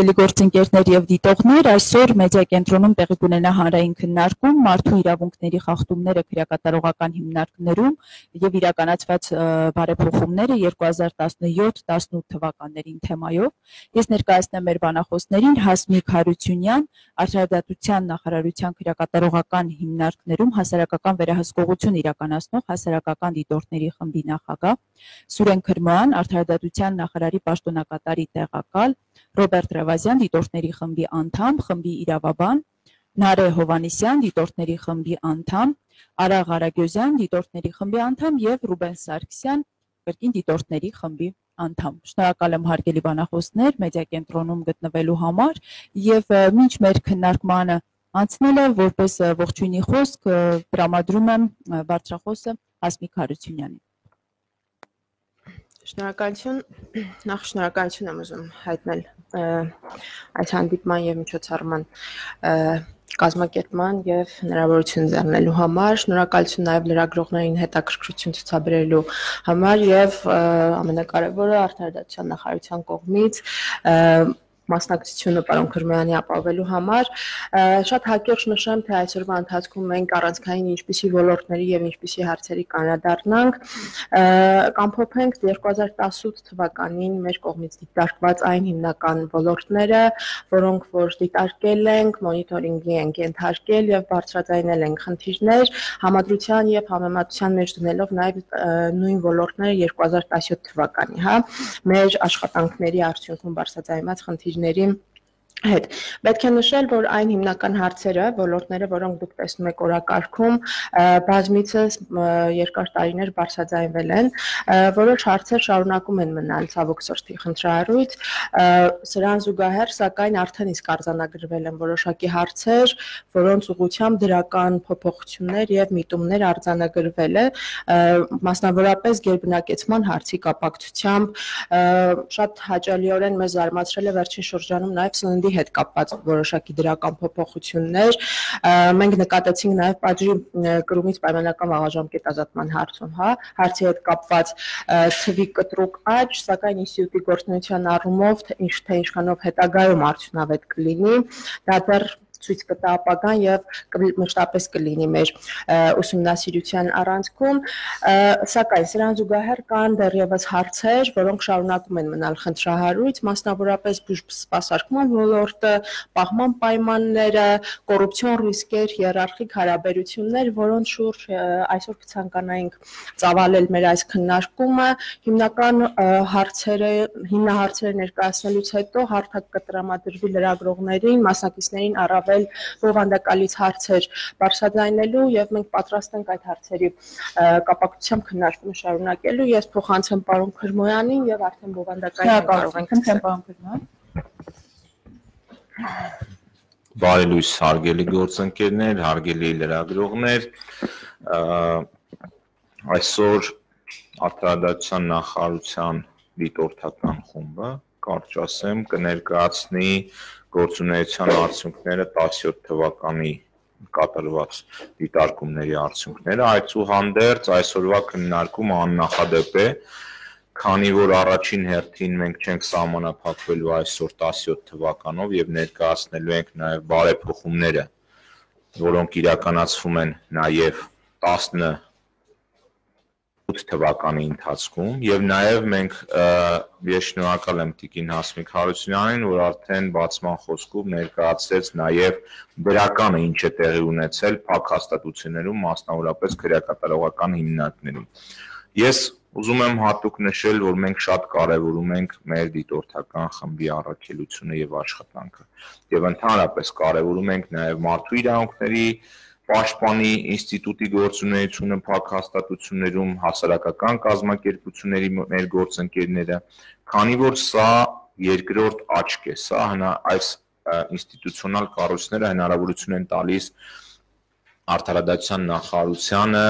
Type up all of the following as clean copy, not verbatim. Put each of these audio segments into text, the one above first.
Հարգելի գործընկերներ եւ դիտողներ, այսօր մեդիա կենտրոնում տեղի կունենա հանրային քննարկում մարդու իրավունքների խախտումները քրեակատարողական հիմնարկներում եւ իրականացված բարեփոխումները 2017-18 թվականներին թեմայով։ Ես ներկայացնեմ մեր բանախոսներին Հասմիկ Հարությունյան, Արդարադատության նախարարության քրեակատարողական հիմնարկներում հասարակական վերահսկողություն իրականացնող հասարակական դիտորդների խմբի նախագահ, Սուրեն Քրման, Արդարադատության նախարարի պաշտոնակատարի տեղակալ, Ռոբերտ Ռևազյան, դիտորդների խմբի անդամ, խմբի իրավաբան, Նարե Հովանեսյան, դիտորդների խմբի անդամ, Արա Ղարագյոզյան, դիտորդների խմբի անդամ եւ Ռուբեն Սարգսյան, կրկին դիտորդների խմբի անդամ։ Շնորհակալ եմ հարգելի բանախոսներ մեդիա կենտրոնում գտնվելու համար եւ մինչ մեր քննարկմանը անցնելը որպես ողջույնի խոսք տրամադրում եմ բարձրախոսը Հասմիկ Հարությունյանին։ Շնորհակալություն, նախ շնորհակալություն եմ ուզում հայտնել այս հանդիպման եւ միջոցառման կազմակերպման եւ հնարավորություն ձեռնելու համար, շնորհակալություն նաեւ լրագրողներին հետաքրքրություն ցուցաբերելու համար եւ ամենակարևորը Արդարադատության նախարարության կողմից մասնակցությունը պարոն Քրմյանի ապահովելու համար շատ հակիրճ նշեմ, թե այսօրվա ընթացքում մենք առանցքային ինչպիսի ոլորտների եւ ինչպիսի հարցերի կանրադառնանք, կամփոփենք 2018 թվականին մեր կողմից դիտարկված այն հիմնական ոլորտները, որոնք որ դիտարկել ենք, մոնիտորինգի ենք ենթարկել եւ բարձրաձայնել ենք խնդիրներ, համադրության եւ համեմատության մեջ դնելով նաեւ նույն ոլորտները 2017 թվականի, հա, մեր աշխատանքների արդյունքում բարձրաձայնված խնդիրների հետ։ Պետք է նշել, որ այն հիմնական հարցերը, ոլորտները, որոնք դուք տեսնում եք օրակարգում, բազմիցս երկար տարիներ բարձրաձայնվել են, որոշ հարցեր շարունակում են մնալ ցավոք սրտի խնդրահարույց, սրան զուգահեռ, սակայն արդեն իսկ արձանագրվել են որոշակի հարցեր, որոնց ուղղությամբ դրական փոփոխություններ եւ միտումներ արձանագրվել է, մասնավորապես գերբնակեցման հարցի կապակցությամբ շատ հաճելիորեն մեզ զարմացրել է վերջին շրջանում նաեւ սննդի հետ կապված որոշակի դրական փոփոխություններ, մենք նկատեցինք նաեւ պատժի կրումից պայմանական վաղաժամկետ ազատման հարցում, հա, հարցի հետ կապված թվի կտրուկ աճ, սակայն ինստիտուտի գործունեության առումով թե ինչքանով հետագայում արդյունավետ կլինի, դա դեռ ցույց կտա ապագան եւ մշտապես կլինի մեր ուսումնասիրության առանցքում, սակայն սրան զուգահեռ կան դեռևս հարցեր, որոնք շարունակում են մնալ խնդրահարույց, մասնավորապես բուժսպասարկման ոլորտը, պահման պայմանները, կոռուպցիոն ռիսկեր, հիերարխիկ հարաբերություններ, որոնց շուրջ այսօր կցանկանայինք ծավալել մեր այս քննարկումը, հիմնական հիմնահարցերը ներկայացնելուց հետո հարթակ կտրամադրվի լրագրողներին, մասնակիցներին առավել բովանդակալից հարցեր բարձրաձայնելու եւ մենք պատրաստ ենք այդ հարցերի կապակցությամբ քննարկումը շարունակելու։ Ես փոխանցեմ պարոն Քրմոյանին եւ արդեն բովանդակային կարող ենք պարոն Քրման։ Բարի լույս հարգելի գործընկերներ, հարգելի լրագրողներ, այսօր Արդարադատության նախարարության դիտորդական խումբը, կարճ ասեմ, կներկայացնի գործունեության արդյունքները 17 թվականի կատարված դիտարկումների արդյունքները, այդուհանդերձ այսօրվա քննարկումը աննախադեպ է, քանի որ առաջին հերթին մենք չենք սահմանափակվելու այսօր 17 թվականով եւ ներկայացնելու ենք նաեւ բարեփոխումները, որոնք իրականացվում են նաեւ 18 թվականի ընթացքում եւ նաեւ մենք ես շնորհակալ եմ Տիկին Հասմիկ Հարությունյանին, որ արդեն բացման խոսքով ներկայացրեց նաեւ դրականը ինչ է տեղի ունեցել փակ հաստատություններում, մասնավորապես քրեակատարողական հիմնարկներում։ Ես ուզում եմ հատուկ նշել, որ մենք շատ կարևորում ենք մեր դիտորդական խմբի առաքելությունը եւ աշխատանքը եւ ընդհանրապես կարևորում ենք նաեւ մարդու իրավունքների պաշտպանի ինստիտուտի գործունեությունը փակ հաստատություններում, հասարակական կազմակերպությունների մեր գործընկերները, քանի որ սա երկրորդ աչք է, սա այս ինստիտուցիոնալ կառույցները հնարավորություն են տալիս Արդարադատության նախարարությանը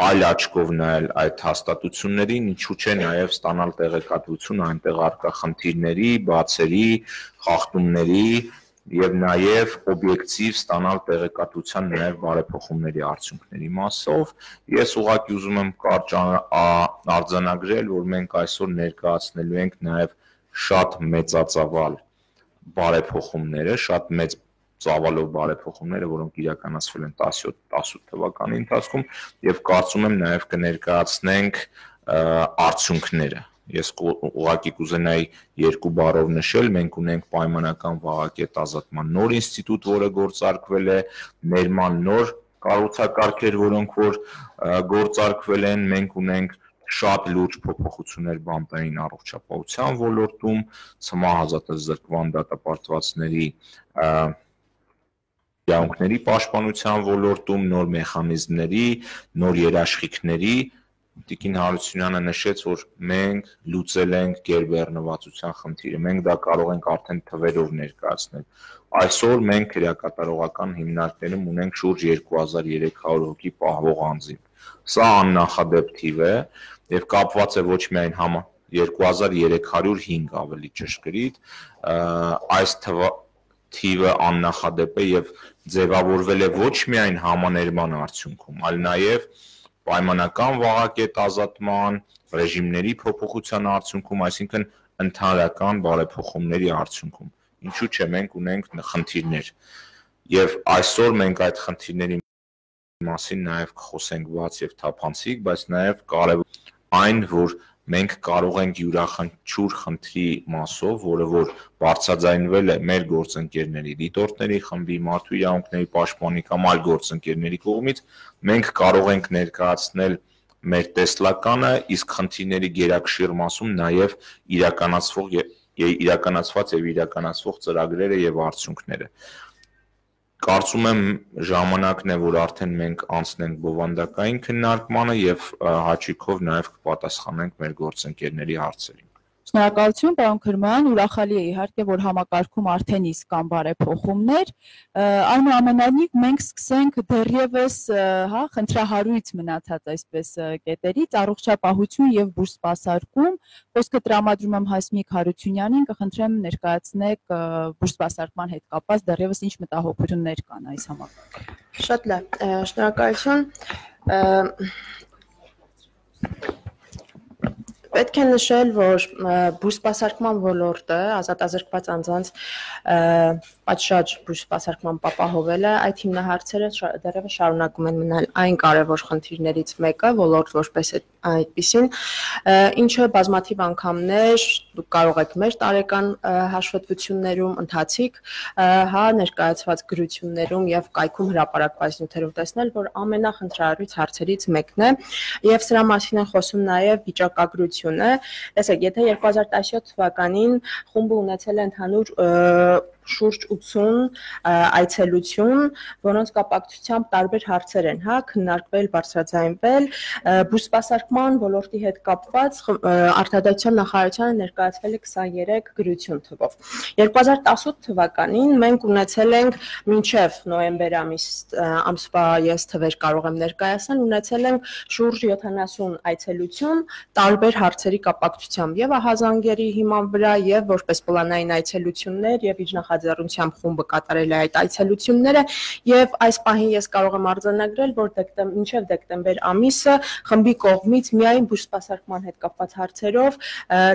այլ աչքով նայել այդ հաստատություններին, ինչու՞ չէ նաև ստանալ տեղեկատվություն այնտեղ առկա խնդիրների, բացերի, խախտումների եւ նաեւ օբյեկտիվ ստանալ տեղեկատվության նաեւ բարեփոխումների արդյունքների մասով ես ուղղակի ուզում եմ կարճ արձանագրել, որ մենք այսօր ներկայացնելու ենք նաեւ շատ մեծածավալ բարեփոխումները, շատ մեծ ծավալով բարեփոխումները, որոնք իրականացվել են 17-18 թվականի ընթացքում եւ կարծում եմ նաեւ կներկայացնենք արդյունքները։ Ես ուղղակի կուզենայի երկու բառով նշել, մենք ունենք պայմանական վաղակետ ազատման նոր ինստիտուտ, որը գործարկվել է, ներման նոր կառուցակարգեր, որոնք որ գործարկվել են, մենք ունենք շատ լուրջ փոփոխություններ բանտային առողջապահության ոլորտում, ցմահազատազրկման դատապարտվածների իրավունքների պաշտպանության ոլորտում, նոր մեխանիզմների, նոր երաշխիքների, Տիկին Հարությունյանը նշեց, որ մենք լուծել ենք գերբեռնվածության խնդիրը, մենք դա կարող ենք արդեն թվերով ներկայացնել։ Այսօր մենք քրեակատարողական հիմնարկներում ունենք շուրջ 2300 հոգի պահվող անձին։ Սա աննախադեպ թիվ է եւ կապված է ոչ միայն 2305 ավելի ճշգրիտ, այս թիվը աննախադեպ է եւ ձևավորվել է ոչ միայն համաներման արդյունքում, այլ նաեւ պայմանական վաղակետ ազատման, ռեժիմների փոփոխության արդյունքում, այսինքն ընդհանրական բարեփոխումների արդյունքում։ Ինչու՞ չէ, մենք ունենք խնդիրներ։ Եվ այսօր մենք այդ խնդիրների մասին նաև կխոսենք բաց եւ թափանցիկ, բայց նաև կարևոր այն, որ մենք կարող ենք յուրաքանչյուր խնդրի մասով, որը որ բարձրաձայնվել է մեր գործընկերների, դիտորդների խմբի, մարդու իրավունքների պաշտպանի կամ այլ գործընկերների կողմից, մենք կարող ենք ներկայացնել մեր տեսլականը, իսկ խնդիրների գերակշիռ մասում նաև իրականացված եւ իրականացվող ծրագրերը եւ արդյունքները։ Կարծում եմ ժամանակն է, որ արդեն մենք անցնենք բովանդակային քննարկմանը եւ հաճույքով նաեւ կպատասխանենք մեր գործընկերների հարցերին։ Շնորհակալություն, պարոն Քրման, ուրախալի է իհարկե, որ համակարգում արդեն իսկ կան բարեփոխումներ, այնուամենայնիվ մենք սկսենք դեռևս, խնդրահարույց մնացած այսպես կետերից, առողջապահություն եւ բուրսպասարկում, խոսքը տրամադրում եմ Հասմիկ Հարությունյանին, կխնդրեմ ներկայացնեք բուրսպասարկման հետ կապված դեռևս ինչ մտահոգություններ կան այս համակարգում։ Շատ լավ, շնորհակալություն։ Պետք է նշել, որ բուրսպասարկման ոլորտը ազատազրկված անձանց պատշաճ բուրսպասարկման ապահովելը այդ հիմնահարցերը դեռևս շարունակում են մնալ այն կարևոր խնդիրներից մեկը, ոլորտ որպես այդպիսին, ինչը բազմաթիվ անգամներ դուք կարող եք մեր տարեկան հաշվետվություններում ընթացիկ ներկայացված գրություններում եւ կայքում հրապարակված նյութերում տեսնել, որ ամենախնդրահարույց հարցերից մեկն է եւ սրա մասին են խոսում նաեւ վիճակագրությունը։ Տեսեք, եթե 2017 թվականին խումբը ունեցել է ընդհանուր շուրջ 80 այցելություն, որոնց կապակցությամբ տարբեր հարցեր են, քննարկվել, բարձրաձայնվել, բուրսպասարկման ոլորտի հետ կապված արտադրության նախարարությանը ներկայացվել է 23 գրություն թվով։ 2018 թվականին մենք ունեցել ենք մինչև նոյեմբեր ամսվա ես թվեր կարող եմ ներկայացնել, ունեցել ենք շուրջ 70 այցելություն տարբեր հարցերի կապակցությամբ եւ ահազանգերի հիման վրա եւ որպես պլանային այցելություններ եւ իջնախաձեռնությամբ խումբը կատարել է այդ այցելությունները եւ այս պահին ես կարող եմ արձանագրել, որ մինչև դեկտեմբեր ամիսը խմբի կողմից միայն բուրսպասարկման հետ կապված հարցերով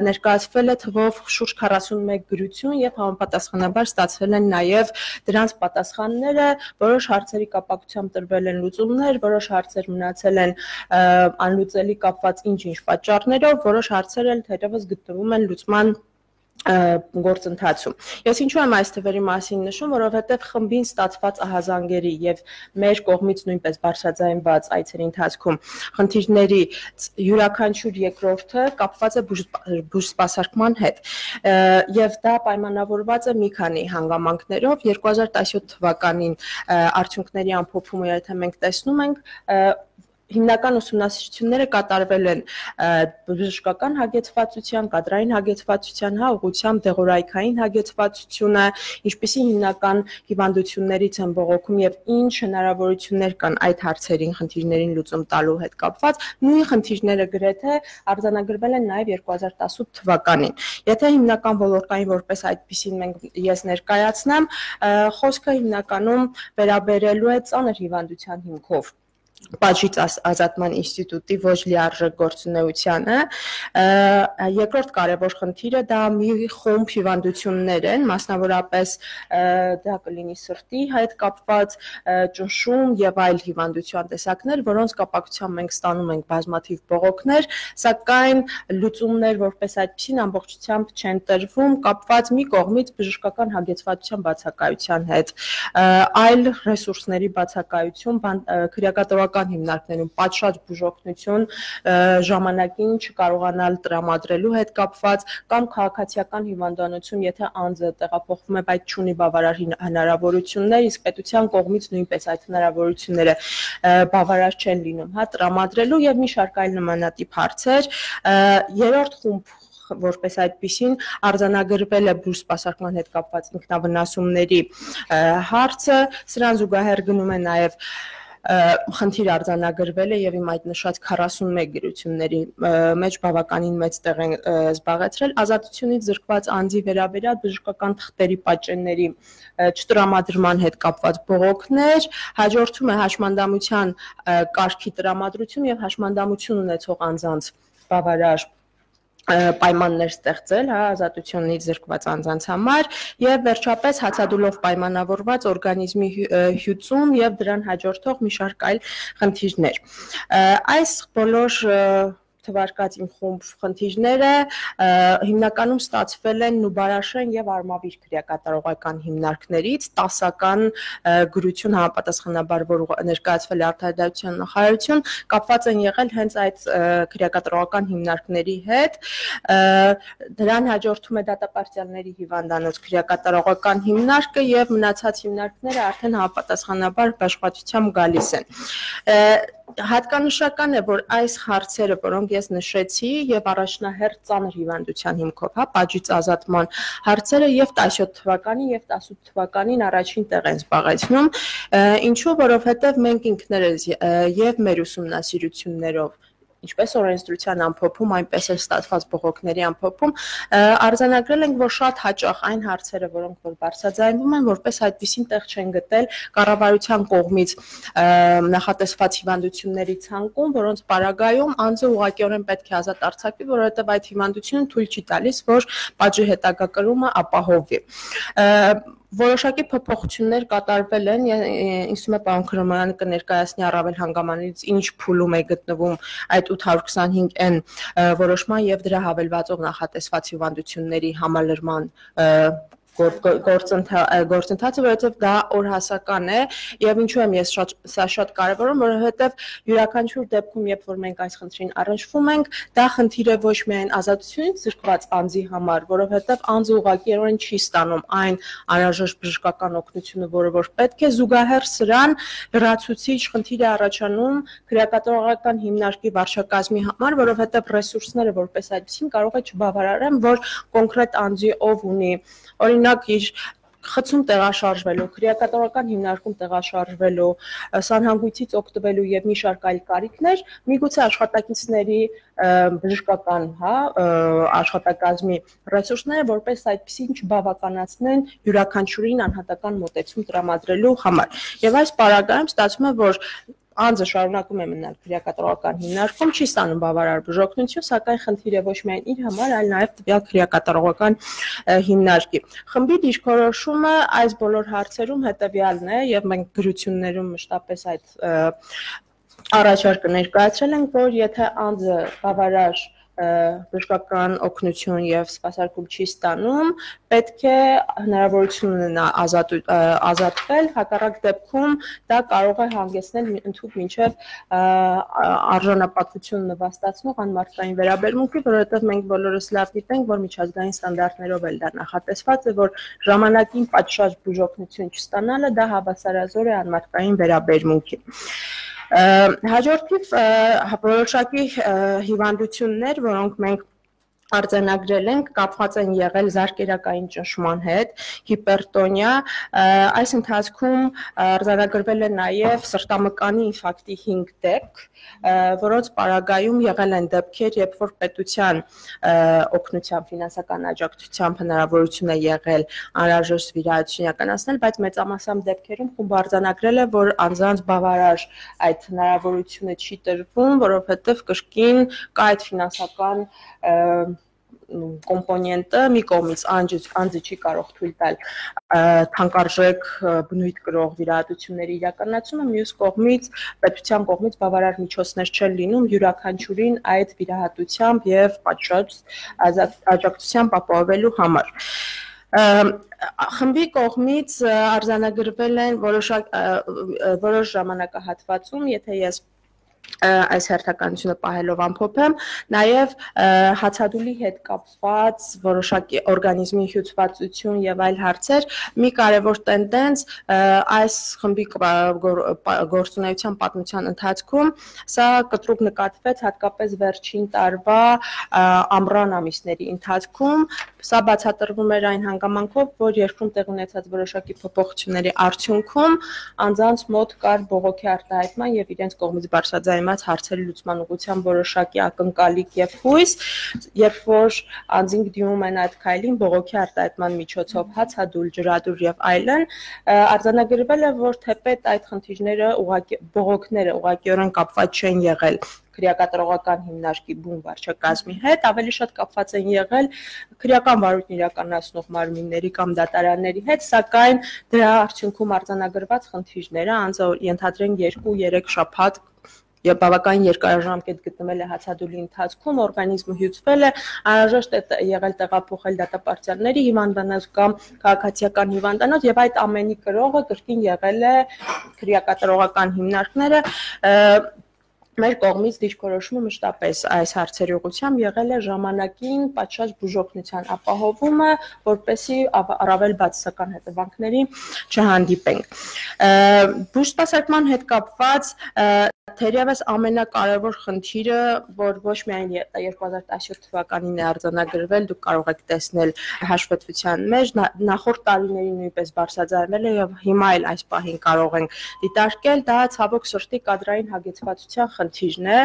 ներկայացվել է թվով շուրջ 41 գրություն եւ համապատասխանաբար ստացվել են նաեւ դրանց պատասխանները, որոշ հարցերի կապակցությամբ տրվել են լուծումներ, որոշ հարցեր մնացել են անլուծելի կապված ինչ-ինչ պատճառներով, որոշ հարցեր էլ թերևս գտնվում են լուծման գործընթացում։ Ես ինչու եմ այս թվերի մասին նշում, որովհետև խմբին ստացված ահազանգերի եւ մեր կողմից նույնպես բարձրաձայնված այցերի ընթացքում խնդիրների յուրաքանչյուր երկրորդը կապված է բուրսպասարկման հետ եւ դա պայմանավորված է մի քանի հանգամանքներով 2017 թվականին արդյունքների ամփոփումը եթե մենք տեսնում ենք հիմնական ուսումնասիրությունները կատարվել են բժշկական հագեցվածության, կադրային հագեցվածության, ուղղությամբ դեղորայքային հագեցվածությունը, ինչպիսի հիմնական հիվանդություններից են բողոքում եւ ինչ հնարավորություններ կան այդ հարցերին, խնդիրներին լուծում տալու հետ կապված, նույն խնդիրները գրեթե արձանագրվել են նաեւ 2018 թվականին։ Եթե հիմնական ոլորտային որպես այդպիսին ես ներկայացնեմ, խոսքը հիմնականում վերաբերելու է ծանր հիվանդության հիմքով Պատժից ազատման ինստիտուտի ոչ լիարժեք գործունեությանը։ Երկրորդ կարևոր խնդիրը դա մի խումբ հիվանդություններ են, մասնավորապես դա կլինի սրտի հետ կապված, ճնշում եւ այլ հիվանդության տեսակներ, որոնց կապակցությամբ մենք ստանում ենք բազմաթիվ բողոքներ, սակայն լուծումներ որպես այդպեսին ամբողջությամբ չեն տրվում, կապված մի կողմից բժշկական հագեցվածության բացակայության հետ, այլ ռեսուրսների բացակայություն, քրեակատորական հիմնարկներում պատշաճ բուժօգնություն ժամանակին չկարողանալ տրամադրելու հետ կապված կամ քաղաքացիական հիվանդանոցում, եթե անձը տեղափոխվում է, բայց չունի բավարար հնարավորություններ, իսկ պետության կողմից նույնպես այդ հնարավորությունները բավարար չեն լինում, տրամադրելու եւ մի շարք այլ նմանատիպ հարցեր։ Երրորդ խումբ որպես այդպիսին արձանագրվել է բուժ սպասարկման հետ կապված ինքնավնասումների հարցը, սրան զուգահեռ գնում է նաեւ խնդիր արձանագրվել է եւ իմ այդ նշած 41 գրությունների մեջ բավականին մեծ տեղ են զբաղեցրել ազատությունից զրկված անձի վերաբերյալ բժշկական թղթերի պատճենների չտրամադրման հետ կապված բողոքներ, հաջորդում է հաշմանդամության կարգի տրամադրություն եւ հաշմանդամություն ունեցող անձանց բավարար պայմաններ ստեղծել, ազատությունից զրկված անձանց համար եւ վերջապես հացադուլով պայմանավորված օրգանիզմի հյուծում եւ դրան հաջորդող մի շարք այլ խնդիրներ։ Այս բոլոր թվարկած իմ խումբ խնդիրները հիմնականում ստացվել են Նուբարաշեն եւ Արմավիր քրեակատարողական հիմնարկներից 10-ական գրություն համապատասխանաբար, որ ներկայացվել է արտարդարության նախարարություն, կապված են եղել հենց այդ քրեակատարողական հիմնարկների հետ։ Դրան հաջորդում է դատապարտյալների հիվանդանոց քրեակատարողական հիմնարկը եւ մնացած հիմնարկները արդեն համապատասխանաբար աշխատությամբ գալիս են։ Հատկանշական է, որ այս հարցերը, որոնք ես նշեցի եւ առաջնահերթ ծանր հիվանդության հիմքով, պատժից ազատման հարցերը եւ 17 թվականին եւ 18 թվականին առաջին տեղ են զբաղեցնում, ինչու, որովհետեւ մենք ինքներս եւ մեր ուսումնասիրություններով ինչպես օրենսդրության ամփոփում, այնպես էլ ստացված բողոքների ամփոփում արձանագրել ենք, որ շատ հաճախ այն հարցերը, որոնք որ բարձրաձայնվում են, որպես այդպիսին տեղ չեն գտել կառավարության կողմից նախատեսված հիվանդությունների ցանկում, որոնց պարագայում անձը ուղղակիորեն պետք է ազատ արձակվի, որովհետև այդ հիվանդությունը թույլ չի տալիս, որ պատժի հետագա կրումը ապահովվի։ Որոշակի փոփոխություններ կատարվել են, ինձ թվում է պարոն Քրոմյանը կներկայացնի առավել հանգամանալից ինչ փուլում է գտնվում այդ 825N որոշման եւ դրա հավելվածող նախատեսված հիվանդությունների համալրման գործընթացը, որովհետև դա օրհասական է եւ ինչու եմ ես սա շատ կարեւորում, որովհետև յուրաքանչյուր դեպքում, երբ որ մենք այս խնդրին առնչվում ենք, դա խնդիր է ոչ միայն ազատությունից զրկված անձի համար, որովհետև անձը ուղղակիորեն չի ստանում այն անհրաժեշտ բժշկական օգնությունը, որը որ պետք է, զուգահեռ սրան լրացուցիչ խնդիր է առաջանում քրեակատարողական հիմնարկի վարչակազմի համար, որովհետև ռեսուրսները որպես այդպեսին կարող է չբավարարեն, որ կոնկրետ անձի ով ունի օրինակ իր խցում տեղաշարժվելու, քրեակատարողական հիմնարկում տեղաշարժվելու, սանհանգույցից օգտվելու եւ մի շարք այլ կարիքներ, միգուցե աշխատակիցների բժշկական, աշխատակազմի ռեսուրսները որպես այդպեսին չբավականացնեն յուրաքանչյուրին անհատական մոտեցում տրամադրելու համար։ Եվ այս պարագայում ստացվում է, որ անձը շարունակում է մնալ քրեակատարողական հիմնարկում, չի ստանում բավարար բուժօգնություն, սակայն խնդիր է ոչ միայն իր համար, այլ նաև տվյալ քրեակատարողական հիմնարկի։ Խմբի դիրքորոշումը այս բոլոր հարցերում հետևյալն է, եւ մենք գրություններում մշտապես այդ առաջարկը ներկայացրել ենք, որ եթե անձը բավարար բժշկական օգնություն եւ սպասարկում չի ստանում, պետք է հնարավորություն ունենա ազատվել, հակառակ դեպքում դա կարող է հանգեցնել ընդհանուր մինչեւ արժանապատվություն նվաստացնող անմարդկային վերաբերմունքի, որովհետեւ մենք բոլորս լավ գիտենք, որ միջազգային ստանդարտներով էլ դա նախատեսված է, որ ժամանակին պատշաճ բուժօգնություն չստանալը դա հավասարազոր է անմարդկային վերաբերմունքի։ Հաջորդիվ որոշակի հիվանդություններ, որոնք մենք արձանագրել ենք, կապված են եղել զարկերակային ճնշման հետ, հիպերտոնիա, այս ընթացքում արձանագրվել է նաև սրտամկանի ինֆարկտի 5 դեպք, որոնց պարագայում եղել են դեպքեր, երբ որ պետության օգնությամբ, ֆինանսական աջակցությամբ հնարավորություն է եղել անհրաժեշտ վիրահատություն իրականացնել, բայց մեծամասամբ դեպքերում խումբը արձանագրել է, որ անձանց բավարար այդ հնարավորությունը չի տրվում, որովհետև կրկին կա այդ ֆինանսական կոմպոնենտը մի կողմից անձը չի կարող թույլ տալ թանկարժեք բնույթ կրող վիրահատությունների իրականացումը, մյուս կողմից պետության կողմից բավարար միջոցներ չեն լինում յուրաքանչյուրին այդ վիրահատությամբ եւ պատշաճ աջակցությամբ ապահովելու համար։ Խմբի կողմից արձանագրվել են որոշ ժամանակահատվածում, եթե ես այս հերթականությունը պահելով ամփոփեմ, նաև հացադուլի հետ կապված որոշակի օրգանիզմի հյուծվածություն եւ այլ հարցեր, մի կարևոր տենդենց այս խմբի գործունեության պատմության ընթացքում, սա կտրուկ նկատվեց հատկապես վերջին տարվա ամռան ամիսների ընթացքում, սա բացատրվում էր այն հանգամանքով, որ երկրում տեղ ունեցած որոշակի փոփոխությունների արդյունքում անձանց մոտ կար բողոքի արտահայտման եւ իրենց կողմից բարձրաձայնված հարցերի լուծման ուղղությամբ որոշակի ակնկալիք եւ հույս, երբ որ անձինք դիմում են այդ քայլին բողոքի արտահայտման միջոցով հացադուլ, ջրադուր եւ այլն, արձանագրվել է, որ թեպետ այդ խնդիրները բողոքները ուղղակիորեն կապված չեն եղել քրեակատարողական հիմնարկի բուն վարչակազմի հետ, ավելի շատ կապված են եղել քրեական վարույթն իրականացնող մարմինների կամ դատարանների հետ, սակայն դրա արդյունքում արձանագրված խնդիրները անձը ենթադրենք 2-3 շաբաթ եւ բավականին երկարաժամկետ գտնվել է հացադուլի ընթացքում, օրգանիզմը հյուծվել է, անհրաժեշտ է եղել տեղափոխել դատապարտյալների հիվանդանոց կամ քաղաքացիական հիվանդանոց եւ այդ ամենի կրողը կրկին եղել է քրեակատարողական հիմնարկները մեր կողմից դիրքորոշումը մշտապես այս հարցերի ուղղությամբ եղել է ժամանակին պատշաճ բուժօգնության ապահովումը, որպեսզի առավել բացասական հետևանքների չհանդիպենք։ Բուժսպասարկման հետ կապված թերևս ամենակարևոր խնդիրը, որ ոչ միայն 2017 թվականին է արձանագրվել, դուք կարող եք տեսնել հաշվետվության մեջ, նախորդ տարիներին նույնպես բարձրաձայնվել է եւ հիմա էլ այս պահին կարող ենք դիտարկել, դա ցավոք սրտի կադրային հագեցվածության խնդիրն է,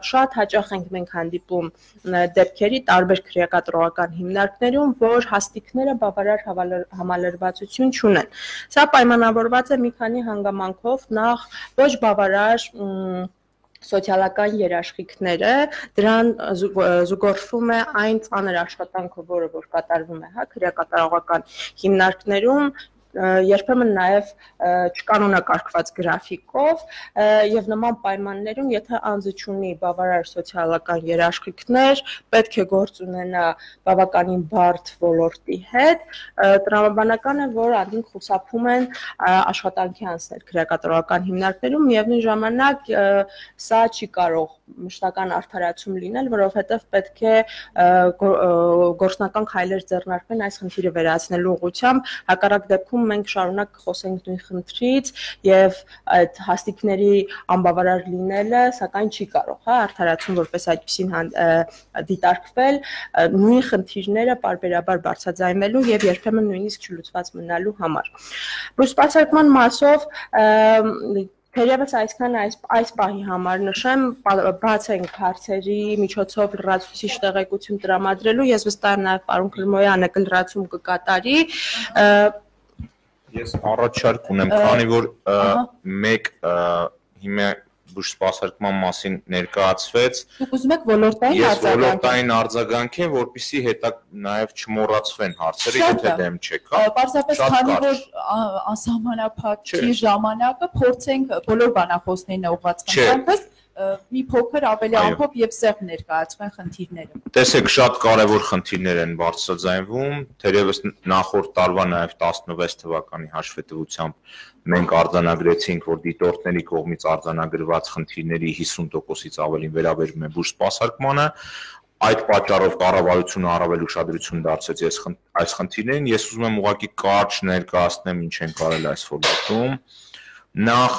շատ հաճախ ենք մենք հանդիպում դեպքերի տարբեր քրեակատարողական հիմնարկներում, որ հաստիկները բավարար համալրվածություն չունեն։ Սա պայմանավորված է մի քանի հանգամանքով, նախ ոչ բավարար սոցիալական երաշխիքները, դրան զուգորդվում է այն ծանր աշխատանքը, որը որ կատարվում է քրեակատարողական հիմնարկներում, երբեմն նաև չկանոնակարգված գրաֆիկով եւ նման պայմաններում, եթե անձը ունի բավարար սոցիալական երաշխիքներ, պետք է գործ ունենա բավականին բարդ ոլորտի հետ, տրամաբանական է, որ անդին խուսափում են աշխատանքի անցնել քրեակատարողական հիմնարկներում, միևնույն ժամանակ սա չի կարող մշտական արդարացում լինել, որովհետև պետք է գործնական քայլեր ձեռնարկվեն այս խնդիրը վերացնելու ուղղությամբ, հակառակ դեպքում մենք շարունակ խոսենք նույն խնդրից եւ այդ հաստիկների անբավարար լինելը, սակայն չի կարող, արդարացում որպես այդպեսին դիտարկվել, նույն խնդիրները պարբերաբար բարձրաձայնվելու եւ երբեմն նույնիսկ չլուծված մնալու համար։ Բուժսպասարկման մասով թերևս այսքան այս պահի համար նշեմ, բաց ենք հարցերի միջոցով լրացուցիչ տեղեկություն տրամադրելու, ես վստահ եմ նաև պարոն Քրմոյանը կլրացում կկատարի։ Ես առաջարկ ունեմ, քանի որ մեկ հիմա բուժսպասարկման մասին ներկայացվեց։ Դուք ուզում եք ոլորտային արձագանք։ Ես ոլորտային արձագանքեմ, որպեսզի հետո նաև չմոռացվեն հարցերը, եթե դեմ չեք, հա։ Պարզապես քանի որ անսահմանափակ չի ժամանակը, փորձենք բոլոր բանախոսներին ուղղված խնդրանքս մի փոքր ավելի ամփոփ եւ սեղմ ներկայացվեն խնդիրները։ Տեսեք, շատ կարևոր խնդիրներ են բարձրաձայնվում, թերևս նախորդ տարվա նաև 16 թվականի հաշվետվությամբ մենք արձանագրեցինք, որ դիտորդների կողմից արձանագրված խնդիրների 50%-ից ավելին վերաբերում է բուժսպասարկմանը, այդ պատճառով կառավարությունը առավել ուշադրություն դարձրեց այս խնդիրներին, ես ուզում եմ ուղղակի կարճ ներկայացնեմ ինչ են կարել այս ոլորտում։ Նախ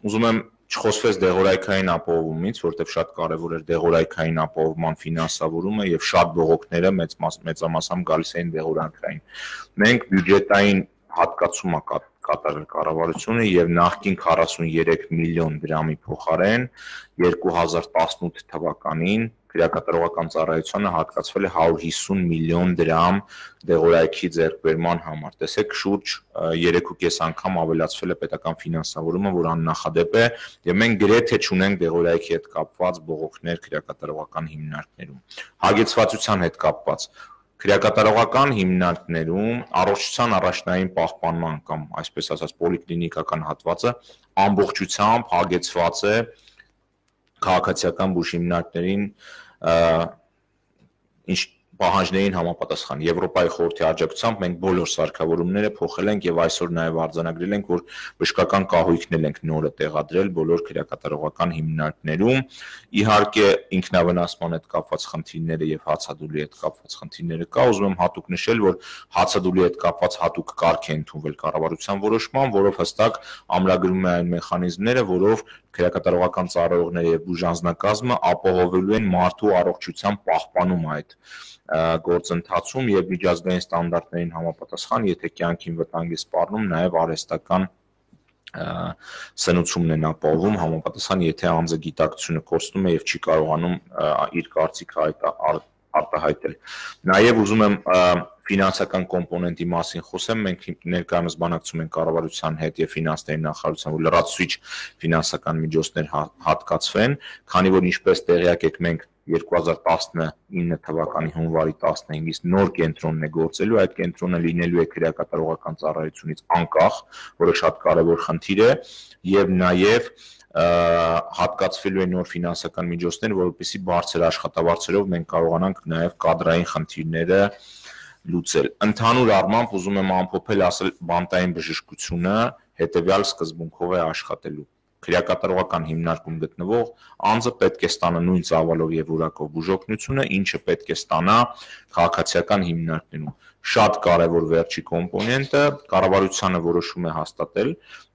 ուզում եմ Չխոսվեց դեղորայքային ապահովումից, որտեղ շատ կարևոր էր դեղորայքային ապահովման ֆինանսավորումը եւ շատ բողոքները մեծամասամբ գալիս էին դեղորայքային։ Մենք բյուջետային հատկացում կատարել կառավարությունը եւ նախկին 43 միլիոն դրամի փոխարեն 2018 թվականին քրեակատարողական ծառայությանը հատկացվել է 150 միլիոն դրամ դեղորայքի ձեռքբերման համար։ Տեսեք, շուրջ 3.5 անգամ ավելացվել է պետական ֆինանսավորումը, որ աննախադեպ է, եւ մենք գրեթե չունենք դեղորայքի հետ կապված բողոքներ քրեակատարողական հիմնարկներում։ Հագեցվածության հետ կապված քրեակատարողական հիմնարկներում առողջության առաջնային պահպանման կամ այսպես ասած պոլիկլինիկական հատվածը ամբողջությամբ հագեցված է քաղաքացիական բուժ հիմնարկներին պահանջներին համապատասխան Եվրոպայի խորհրդի աջակցությամբ մենք բոլոր սարքավորումները փոխել ենք եւ այսօր նաեւ արձանագրել ենք, որ բժշկական կահույքն ենք նորը տեղադրել բոլոր քրեակատարողական հիմնարկներում։ Իհարկե ինքնավնասման հետ կապված խնդիրները եւ հացադուլի հետ կապված խնդիրները կա, ուզում եմ հատուկ նշել, որ հացադուլի հետ կապված հատուկ կարգ է ընդունվել կառավարության որոշման, որով հստակ ամրագրում է այն մեխանիզմները, որով քրեակատարողական ծառայողները եւ բուժանձնակազմը ապահովելու են մարդու առողջության պահպանումը այդ գործընթացում եւ միջազգային ստանդարտներին համապատասխան, եթե կյանքին վտանգ է սպառնում, նաեւ արհեստական սնուցումն են ապահովում համապատասխան, եթե անձը գիտակցությունը կորցնում է եւ չի կարողանում իր կարծիքը արտահայտել։ Նաեւ ուզում եմ ֆինանսական կոմպոնենտի մասին խոսեմ, մենք ներկայումս բանակցում ենք կառավարության հետ եւ ֆինանսների նախարարության, որ լրացուցիչ ֆինանսական միջոցներ հատկացվեն, քանի որ ինչպես տեղյակ եք, մենք 2019 թվականի հունվարի 15-ից նոր կենտրոնն է գործելու, այդ կենտրոնը լինելու է քրեակատարողական ծառայությունից անկախ, որը շատ կարևոր խնդիր է, եւ նաեւ հատկացվելու է նոր ֆինանսական միջոցներ, որովհետեւ բարձր աշխատավարձերով մենք կարողանանք նաեւ կադրային խնդիրները լուծել։ Ընդհանուր առմամբ ուզում եմ ամփոփել ասել բանտային բժշկությունը հետեւյալ սկզբունքով է աշխատելու։ Քրեակատարողական հիմնարկում գտնվող անձը պետք է ստանա նույն ծավալով եւ որակով բուժօգնությունը, ինչը պետք է ստանա քաղաքացիական հիմնարկներում։ Շատ կարևոր վերջի կոմպոնենտը կառավարությանը որոշում է հաստատել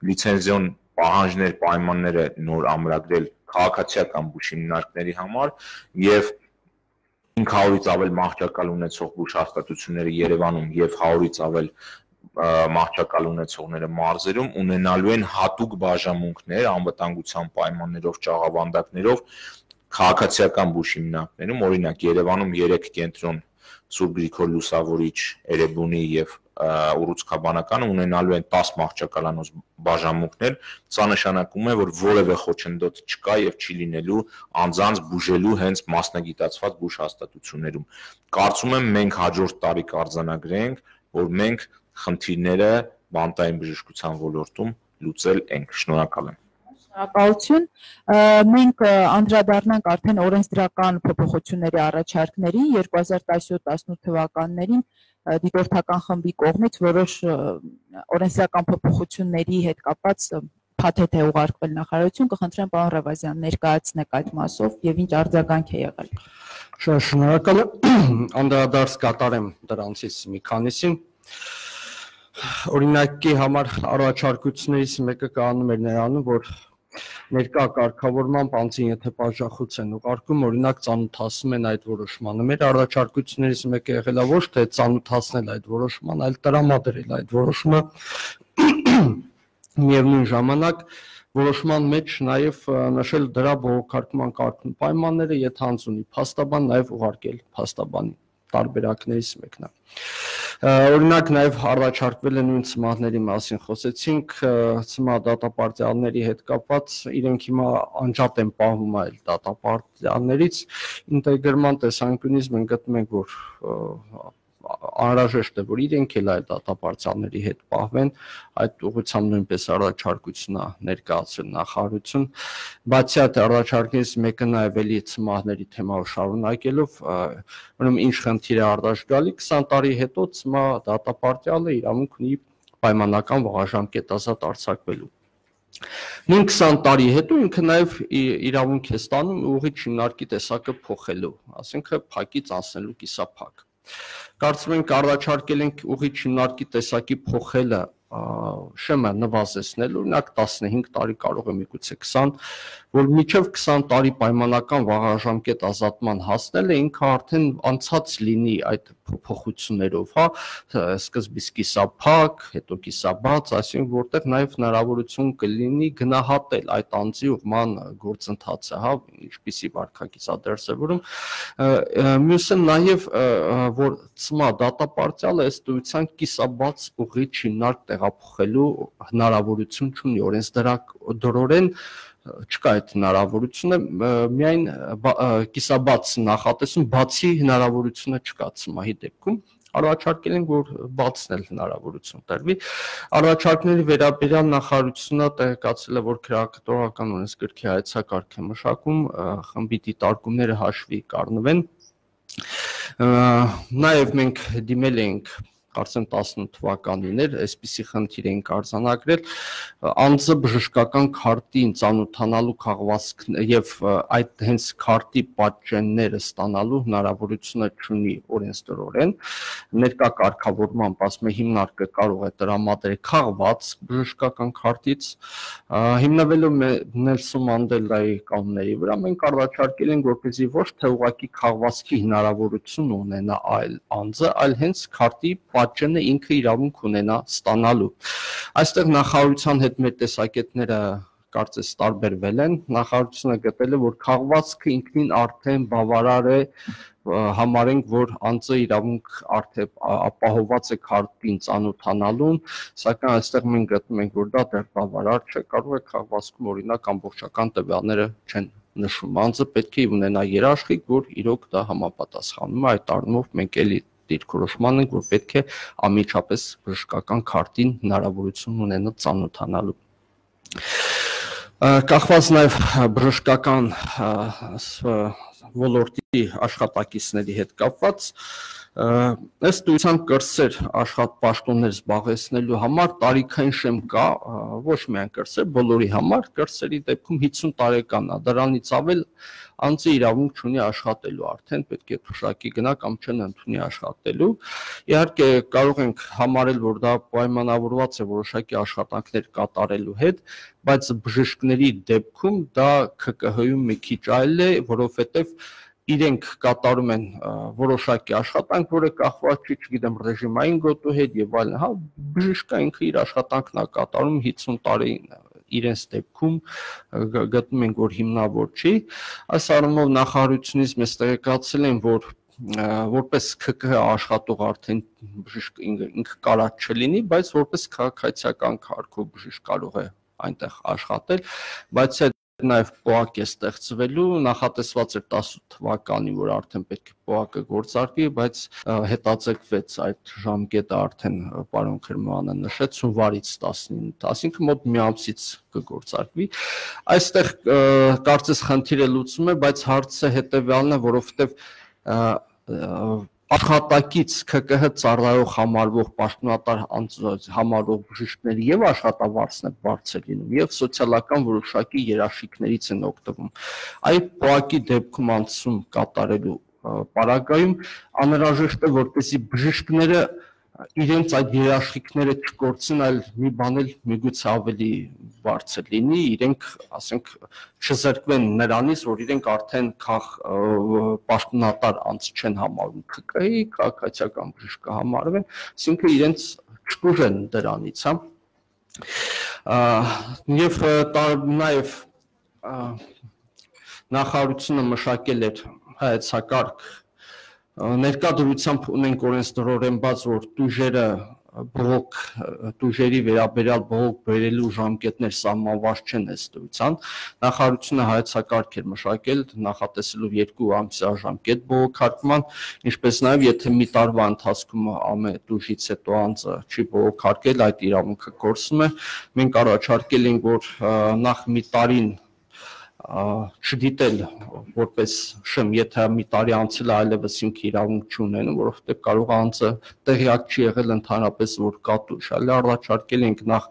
լիցենզիոն պահանջներ, պայմանները նոր ամրագրել քաղաքացիական բուժ հիմնարկների համար եւ 500-ից ավել մահճակալ ունեցող բուժհաստատությունները Երևանում եւ 100-ից ավել մահճակալ ունեցողները մարզերում ունենալու են հատուկ բաժանմունքներ անվտանգության պայմաններով, ճաղավանդակներով քաղաքացիական բուժ հիմնարկներում, օրինակ Երևանում 3 կենտրոն Սուրբ Գրիգոր Լուսավորիչ, Էրեբունի եւ ուռուցքաբանականը ունենալու են 10 մահճակալանոց բաժանմունքներ, սա նշանակում է, որ որևէ խոչընդոտ չկա եւ չի լինելու անձանց բուժելու հենց մասնագիտացված բուժհաստատություններում։ Կարծում եմ մենք հաջորդ տարի կարձանագրենք, որ մենք խնդիրները բանտային բժշկության ոլորտում լուծել ենք։ Շնորհակալ եմ։ Շնորհակալություն։ Մենք անդրադառնանք արդեն օրենսդրական փոփոխությունների առաջարկներին 2017-18 թվականներին դիտորդական խմբի կողմից որոշ օրենսդրական փոփոխությունների հետ կապված փաթեթ է ուղարկվել նախարարություն, կխնդրեմ պարոն Ռևազյան ներկայացնեք այդ մասով եւ ինչ արձագանք է եղել։ Շնորհակալ եմ, անդրադարձ կատարեմ դրանցից մի քանիսին։ Օրինակի համար առաջարկություններից մեկը կանում էր նրանում, որ ներկա կարգավորման անձին եթե բաժախոց են ուղարկում, օրինակ ծանոթացնում են այդ որոշմանը։ Մեր առաջարկություններից մեկը եղել է ոչ թե ծանոթացնել այդ որոշման, այլ տրամադրել այդ որոշումը միևնույն ժամանակ որոշման մեջ նաև նշել դրա բողոքարկման կարգն պայմանները, եթե անձ ունի փաստաբան, նաև ուղարկել փաստաբանին, տարբերակներից մեկն է։ Օրինակ նաև առաջարկվել է նույն ծմահների մասին խոսեցինք, ծմահ դատապարտյալների հետ կապված իրենք հիմա անջատ են պահվում այլ դատապարտյալներից, ինտեգրման տեսանկյունից մենք գտնում ենք, որ անհրաժեշտ է, որ իրենք էլ այդ դատապարտյալների հետ պահվեն, այդ ուղղությամբ նույնպես առաջարկություն է ներկայացրել նախարարություն, բացի այդ առաջարկներից մեկը նաև էլի ծմահների թեմայով շարունակելով, ուրեմն ինչ խնդիր է առաջ գալի, 20 տարի հետո ծմահ դատապարտյալը իրավունք ունի պայմանական վաղաժամկետազատ արձակվելու։ Նույն 20 տարի հետո ինքը նաև իրավունք է ստանում ուղիղ հիմնարկի տեսակը փոխելու, ասենք փակից անցնելու կիսափակ։ Կարծում ենք առաջարկել ենք ուղիղ հիմնարկի տեսակի փոխելը շեմը նվազեցնել, օրինակ 15 տարի կարող է միգուցե 20, որ միջև 20 տարի պայմանական վաղաժամկետ ազատման հասնելը ինքը արդեն անցած լինի այդ փոփոխություններով, հա, սկզբից կիսափակ, հետո կիսաբաց, այսինքն որտեղ նաև հնարավորություն կլինի գնահատել այդ անձի ուղղման գործընթացը, հա, ինչպիսի վարքագիծ է դրսևորում։ Մյուսը նաև որ ՑՄԱ դատապարտյալը ըստ էության կիսաբաց ուղիչ հիմնարկ տեղափոխելու հնարավորություն չունի, օրենսդրորեն չկա այդ հնարավորությունը, միայն կիսաբաց նախատեսում բացի հնարավորությունը չկա ՑՄԱ-ի դեպքում, առաջարկել են, որ բացնել հնարավորություն տրվի։ Առաջարկների վերաբերյալ նախարարությունը տեղեկացրել է, որ քրեակատարական օրենսգրքի հայեցակարգ է մշակում, խմբի դիտարկումները հաշվի կառնվեն։ Նաև մենք դիմել ենք կարծեմ 18 թվականին էր, այսպիսի խնդիր էին արձանագրել, անձը բժշկական քարտին ծանոթանալու քաղվածք եւ այդ հենց քարտի պատճենները ստանալու հնարավորությունը չունի օրենսդրորեն, ներկա կարգավորման ասում հիմնարկը կարող է տրամադրել քաղված բժշկական քարտից, հիմնվելով Նելսոն Մանդելայի կանոնների վրա, մենք առաջարկել ենք, որպեսզի ոչ թե ուղղակի քաղվածքի հնարավորություն ունենա այլ անձը, այլ հենց քարտի պատճենը ինքը իրավունք ունենա ստանալու։ Այստեղ նախարարության հետ մեր տեսակետները կարծես տարբերվել են, նախարարությունը գտել է, որ քաղվածքը ինքնին արդեն բավարար է համարենք, որ անձը իրավունք արդեն ապահովված է քարտին ծանոթանալուն, սակայն այստեղ մենք գտնում ենք, որ դա դեռ բավարար չէ, կարող է քաղվածքում օրինակ ամբողջական տվյալները չեն նշում, անձը պետք է ունենա երաշխիք, որ իրոք դա համապատասխանում է, այդ առումով մենք էլի դիրքորոշման ենք, որ պետք է անմիջապես բժշկական քարտին հնարավորություն ունենա ծանոթանալու։ Կախված նաև բժշկական ոլորտի աշխատակիցների հետ կապված, ըստ էության կրսեր աշխատպաշտոններ զբաղեցնելու համար տարիքային շեմ կա, ոչ միայն կրսեր, բոլորի համար, կրսերի դեպքում 50 տարեկան է, դրանից ավել անձը իրավունք չունի աշխատելու, արդեն պետք է թուշակի գնա կամ չընդունի աշխատելու։ Իհարկե կարող ենք համարել, որ դա պայմանավորված է որոշակի աշխատանքներ կատարելու հետ, բայց բժիշկների դեպքում դա ՔԿՀ-ում մի քիչ այլ է, որովհետև իրենք կատարում են որոշակի աշխատանք, որը կախված չի, չգիտեմ, ռեժիմային գոտու հետ եւ այլն, հա, բժիշկը ինքը իր աշխատանքն է կատարում 50 տարի իրենց դեպքում գտնում ենք, որ հիմնավոր չի, այս առումով նախարարությունից մեզ տեղեկացել են, որ որպես ՔԿՀ աշխատող արդեն բժիշկ ինքը կարած չլինի, բայց որպես քաղաքացիական կարգով բժիշկ կարող է այնտեղ աշխատել, բայց նաև ՊՕԱԿ է ստեղծվելու, նախատեսված էր 18 թվականին, որ արդեն պետք է ՊՕԱԿ-ը գործարկվի, բայց հետաձգվեց այդ ժամկետը արդեն պարոն Քրմյանը նշեց հունվարից 19, այսինքն մոտ մի ամսից կգործարկվի։ Այստեղ կարծես խնդիրը լուծվում է, բայց հարցը հետևյալն է, որովհետև աշխատակից ՔԿՀ ծառայող համարվող պաշտոնատար համարվող բժիշկների եւ աշխատավարձն է բարձր լինում եւ սոցիալական որոշակի երաշխիքներից են օգտվում։ Այդ ՊՕԱԿ-ի դեպքում անցում կատարելու պարագայում անհրաժեշտ է, որպեսզի բժիշկները իրենց այդ երաշխիքները չկորցնեն, այլ մի բան էլ միգուցե ավելի բարձր լինի, իրենք, ասենք, չզրկվեն նրանից, որ իրենք արդեն պաշտոնատար անձ չեն համարվում ՔԿՀ-ի, քաղաքացիական բժիշկ կհամարվեն, այսինքն իրենց չտուժեն դրանից, հա։ Եվ նաև նախարարությունը մշակել էր հայեցակարգ ներկա դրությամբ ունենք օրենսդրորեն բաց, որ տուժերը բողոք տուժերի վերաբերյալ բողոք բերելու ժամկետներ սահմանված չեն ըստ էության, նախարարությունը հայեցակարգ էր մշակել նախատեսելով 2 ամսյա ժամկետ բողոքարկման, ինչպես նաև եթե մի տարվա ընթացքում ամեն տուժից հետո անձը չի բողոքարկել, այդ իրավունքը կորսում է, մենք առաջարկել ենք, որ նախ մի տարին չդիտել որպես շեմ, եթե մի տարի անցել է այլևս ինքը իրավունք չունենում, որովհետև կարող անձը տեղյակ չի եղել ընդհանրապես, որ կա տուժ, այլ առաջարկել ենք նախ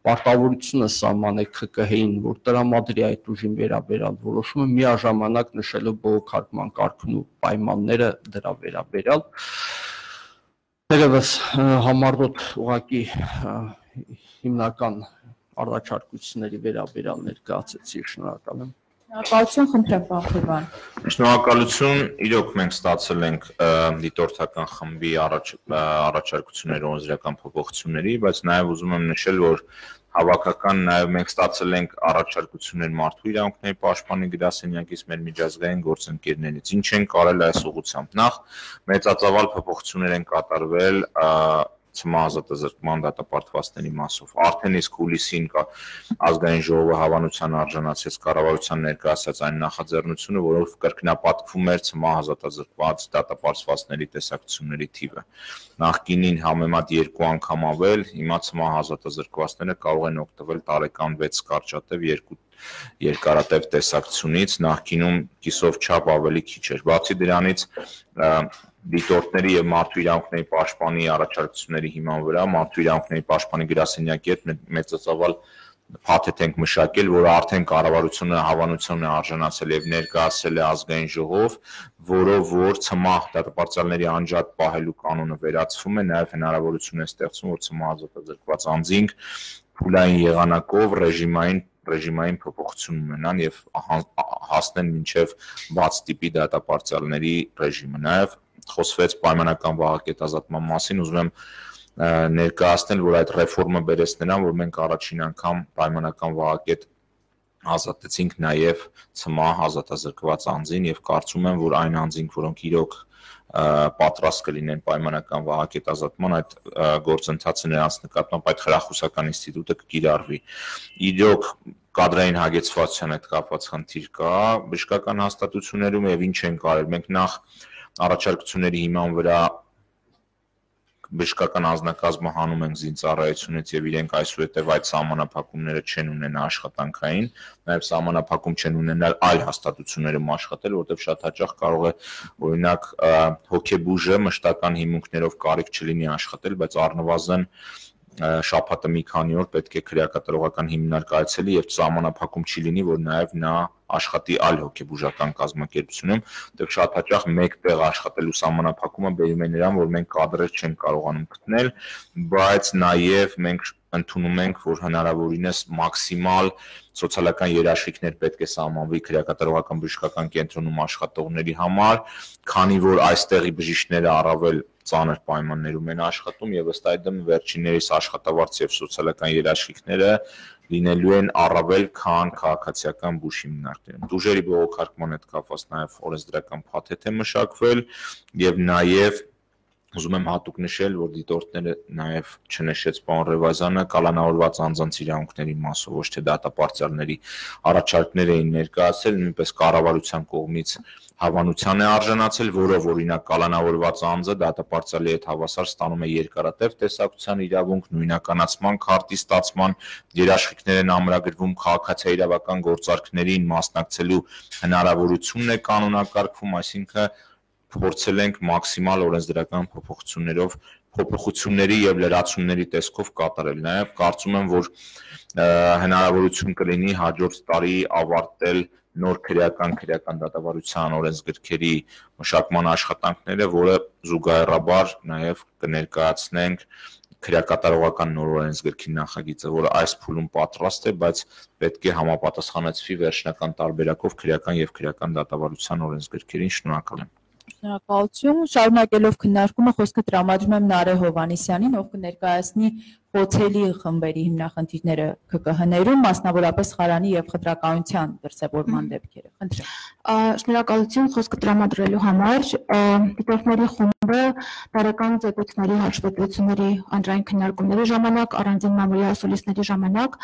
պարտավորությունը սահմանել ՔԿՀ-ին, որ տրամադրի այդ ուժին վերաբերյալ որոշումը միաժամանակ նշելով բողոքարկման կարգն ու պայմանները դրա վերաբերյալ։ Դերևս համառոտ ուղղակի հիմնական առաջարկությունների վերաբերյալ ներկայացեցի, շնորհակալ եմ։ Շնորհակալություն, խնդրեմ, պարոն Խորվան։ Շնորհակալություն, իրոք մենք ստացել ենք դիտորդական խմբի առաջարկություններ օրենսդրական փոփոխությունների, բայց նաև ուզում եմ նշել, որ հավաքական նաև մենք ստացել ենք առաջարկություններ մարդու իրավունքների պաշտպանի գրասենյակից մեր միջազգային գործընկերներից։ Ինչ են կարել այս ուղղությամբ։ Նախ մեծածավալ փոփոխություններ են կատարվել ցմահազատազրկման դատապարտվածների մասով։ Արդեն իսկ հուլիսին ազգային ժողովը հավանության արժանացրեց կառավարության ներկայացած այն նախաձեռնությունը, որով կրկնապատկվում էր ցմահազատազրկված դատապարտվածների տեսակցությունների թիվը։ Նախկինին համեմատ 2 անգամ ավել, հիմա ցմահազատազրկվածները կարող են օգտվել տարեկան 6 կարճատև 2 երկարատև տեսակցությունից, նախկինում կիսով չափ ավելի քիչ էր։ Բացի դրանից դիտորդների եւ մարդու իրավունքների պաշտպանի առաջարկությունների հիման վրա մարդու իրավունքների պաշտպանի գրասենյակի հետ մեծածավալ փաթեթ ենք մշակել, որը արդեն կառավարությունը հավանության է արժանացել եւ ներկայացել է ազգային ժողով, որով որ ցմահ դատապարտյալների անջատ պահելու կանոնը վերացվում է, նաեւ հնարավորություն է ստեղծվում, որ ցմահազատազրկված անձինք փուլային եղանակով ռեժիմային փոփոխություն ունենան եւ հասնեն մինչեւ բաց տիպի դատապարտյալների ռեժիմը։ Նաեւ խոսվեց պայմանական վահակետազատման մասին, ուզում եմ ներկայացնել, որ այդ ռեֆորմը բերեց նրան, որ մենք առաջին անգամ պայմանական վահակետ ազատեցինք նաև ցմահ ազատազրկված անձին եւ կարծում եմ, որ այն անձինք, որոնք իրոք պատրաստ կլինեն պայմանական վահակետազատման, այդ գործընթացը նրանց նկատմամբ այդ խրախուսական ինստիտուտը կկիրառվի։ Իրոք կադրային հագեցվածության հետ կապված խնդիր կա բժշկական հաստատություններում եւ ինչ են կարել։ Մենք նախ առաջարկությունների հիման վրա բժշկական անձնակազմը հանում ենք զինծառայությունից եւ իրենք այսուհետեւ այդ սահմանափակումները չեն ունենա աշխատանքային, նաեւ սահմանափակում չեն ունենալ այլ հաստատություններում աշխատել, որտեղ շատ հաճախ կարող է օրինակ հոգեբուժը մշտական հիմունքներով կարիք չլինի աշխատել, բայց առնվազն շաբաթը մի քանի օր պետք է քրեակատարողական հիմնարկ այցելի եւ սահմանափակում չի լինի, որ նաեւ նա աշխատի այլ հոգեբուժական կազմակերպությունում, դեռ շատ հաճախ մեկ տեղ աշխատելու սահմանափակումը բերում է նրան, որ մենք կադրեր չենք կարողանում գտնել, բայց նաեւ մենք ընդունում ենք, որ հնարավորինս մաքսիմալ սոցիալական երաշխիքներ պետք է սահմանվի քրեակատարողական բժշկական կենտրոնում աշխատողների համար, քանի որ այստեղի բժիշկները առավել ծանր պայմաններում են աշխատում եւ ըստ այդմ վերջիններիս աշխատավարձ եւ սոցիալական երաշխիքները լինելու են առավել քան քաղաքացիական բուժ հիմնարկներում։ Դուժերի բողոքարկման հետ կապված նաեւ օրենսդրական փաթեթ է մշակվել եւ նաեւ ուզում եմ հատուկ նշել, որ դիտորդները նաև չնշեց պարոն Ռևազյանը կալանավորված անձանց իրավունքների մասով, ոչ թե դատապարտյալների առաջարկներ էին ներկայացել, նույնպես կառավարության կողմից հավանության է արժանացել, որով օրինակ կալանավորված անձը դատապարտյալի հետ հավասար ստանում է երկարատև տեսակցության իրավունք, նույնականացման քարտի ստացման երաշխիքներ են ամրագրվում, քաղաքացիական գործարքներին մասնակցելու հնարավորությունն է կանոնակարգվում, այսինքն փորձել ենք մաքսիմալ օրենսդրական փոփոխությունների եւ լրացումների տեսքով կատարել։ Նաեւ կարծում եմ, որ հնարավորություն կլինի հաջորդ տարի ավարտել նոր քրեական դատավարության օրենսգրքերի մշակման աշխատանքները, որը զուգահեռաբար նաեւ կներկայացնենք քրեակատարողական նոր օրենսգրքի նախագիծը, որը այս փուլում պատրաստ է, բայց պետք է համապատասխանեցվի վերջնական տարբերակով քրեական եւ քրեական դատավարության օրենսգրքերին։ Շնորհակալ եմ։ Շնորհակալություն։ Շարունակելով քննարկումը խոսքը տրամադրում եմ Նարէ Հովհաննիսյանին, ով կներկայացնի խոցելի խմբերի հիմնախնդիրները ԿԿՀ-ներում, մասնավորապես խարանի եւ խտրականության դրսեւորման դեպքերը։ Խնդրեմ։ Շնորհակալություն խոսքը տրամադրելու համար։ Դիտորդների խումբը տարեկան զեկույցների հաշվետվությունների անձնային քննարկումների ժամանակ, առանձին մամուլի ասուլիսների ժամանակ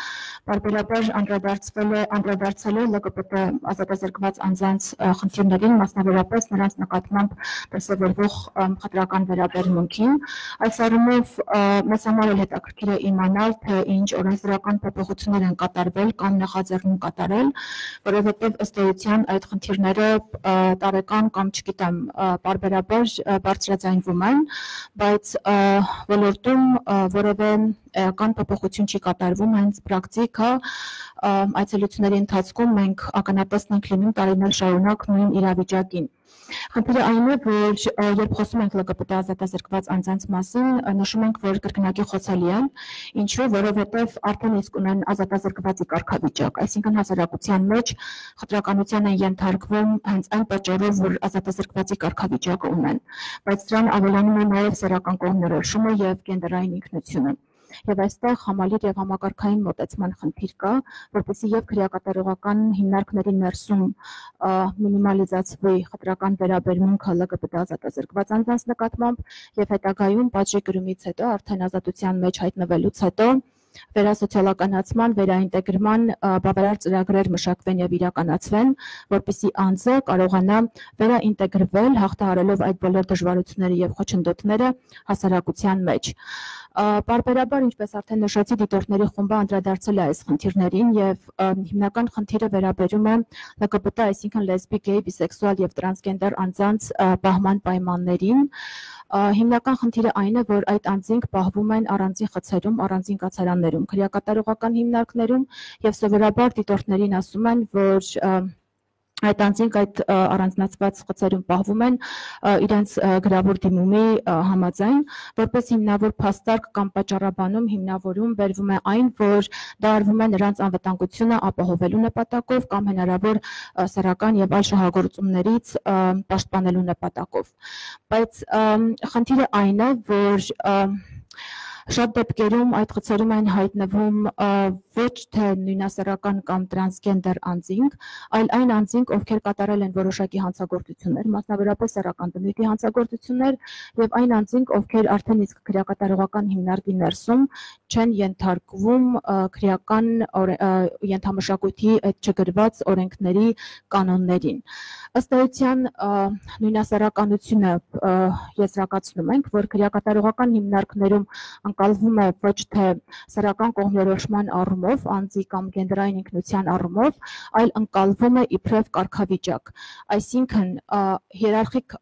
բարբերաբար անդրադարձել է ԼԿՊՏ ազատազրկված անձանց խնդիրներին, մասնավորապես նրանց նկատմամբ դրսևորվող խտրական վերաբերմունքին։ Այս առումով մեզ համար էլ հետաքրքիր է իմանալ, թե ինչ օրենսդրական փոփոխություններ են կատարվել կամ նախաձեռնում կատարել, որովհետև ըստ էության այդ խնդիրները տարեկան կամ չգիտեմ բարբերաբար բարձրաձայնվում են, բայց ոլորտում որևէ էական փոփոխություն չի կատարվում, հենց պրակտիկա այցելությունների ընթացքում մենք ականատեսն ենք լինում տարիներ շարունակ նույն իրավիճակին։ Խնդիրը այն է, որ երբ խոսում ենք ԼԳԲՏ ազատազրկված անձանց մասին, նշում ենք, որ կրկնակի խոցելի են, ինչու, որովհետև արդեն իսկ ունեն ազատազրկվածի կարգավիճակ, այսինքն հասարակության մեջ խտրականության են ենթարկվում հենց այն պատճառով, որ ազատազրկվածի կարգավիճակը ունեն, բայց դրան ավելանում է նաև սեռական կողմնորոշումը եւ գենդերային ինքնությունը։ Եվ այստեղ համալիր եւ համակարգային մոտեցման խնդիր կա, որպեսզի եւ քրեակատարողական հիմնարկների ներսում մինիմալիզացվի խտրական վերաբերմունքը ԼԳԲՏ ազատազրկված անձանց նկատմամբ եւ հետագայում պատժի կրումից հետո արդեն ազատության մեջ հայտնվելուց հետո վերասոցիալականացման, վերաինտեգրման բավարար ծրագրեր մշակվեն եւ իրականացվեն, որպեսզի անձը կարողանա վերաինտեգրվել, հաղթահարելով այդ բոլոր դժվարությունները եւ խոչընդոտները հասարակության մեջ։ Պարբերաբար, ինչպես արդեն նշեցի, դիտորդների խումբը անդրադարձել է այս խնդիրներին եւ հիմնական խնդիրը վերաբերում է ԼԳԲՏ, այսինքն լեսբիկ, գեյ, բիսեքսուալ եւ տրանսգենդեր անձանց պահման պայմաններին։ Հիմնական խնդիրը այն է, որ այդ անձինք պահվում են առանձին խցերում, առանձին կացարաններում, քրեակատարողական հիմնարկներում եւ սովորաբար դիտորդներին ասում են, որ այդ անձինք այդ առանձնացված խցերում պահվում են իրենց գրավոր դիմումի համաձայն, որպես հիմնավոր փաստարկ կամ պատճառաբանում հիմնավորում բերվում է այն, որ դա արվում է նրանց անվտանգությունը ապահովելու նպատակով կամ հնարավոր սեռական եւ այլ շահագործումներից պաշտպանելու նպատակով։ Բայց խնդիրը այն է, որ շատ դեպքերում այդ խցերում են հայտնվում ոչ թե նույնասեռական կամ տրանսգենդեր անձինք, այլ այն անձինք, ովքեր կատարել են որոշակի հանցագործություններ, մասնավորապես սեռական բնույթի հանցագործություններ, եւ այն անձինք, ովքեր արդեն իսկ քրեակատարողական հիմնարկի ներսում չեն ենթարկվում քրեական ենթամշակույթի այդ չգրված օրենքների կանոններին։ Ըստ էության նույնասեռականությունը եզրակացնում ենք, որ քրեակատարողական հիմնարկներում անկալվում է ոչ թե սեռական կողմնորոշման առումով, անձի կամ գենդերային ինքնության առումով, այլ անկալվում է իբրև կարգավիճակ։ Այսինքն հիերարխիկ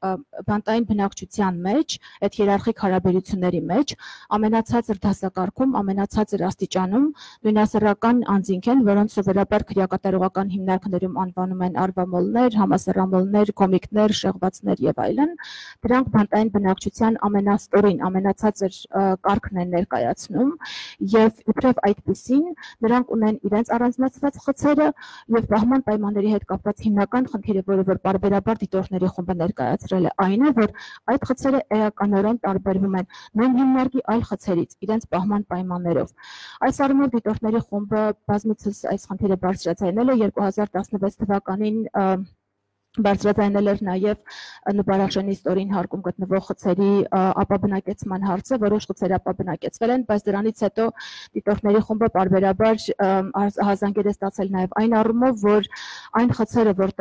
բանտային բնակչության մեջ, այդ հիերարխիկ հարաբերությունների մեջ ամենացածր դասակարգում, ամենացածր աստիճանում նույնասեռական անձինք են, որոնց սովորաբար քրեակատարողական հիմնարկներում անվանում են արվամոլներ, համասեռամոլներ, կոմիկներ, շեղվածներ եւ այլն։ Դրանք բանտային բնակչության ամենաստորին, ամենացածր կարգն են ներկայացնում եւ իբրև այդպիսին նրանք ունեն իրենց առանձնացված խցերը եւ պահման պայմանների հետ կապված հիմնական խնդիրը, որը որ պարբերաբար դիտորդների խումբը ներկայացրել է, այն է, որ այդ խցերը էականորեն տարբերվում են նույն հիմնարկի այլ խցերից իրենց պահման պայմաններով։ Այս առումով դիտորդների խումբը բազմիցս այս խնդիրը բարձրացնել է 2016 թվականին բարձրացնել էր նաև նպարաշենի ստորին հարկում գտնվող խցերի ապաբնակեցման հարցը, որոշ խցեր ապաբնակեցվել են, բայց դրանից հետո դիտորդների խումբը պարբերաբար հազանգեր է ստացել նաև այն առումով, որ այն խցերը, որ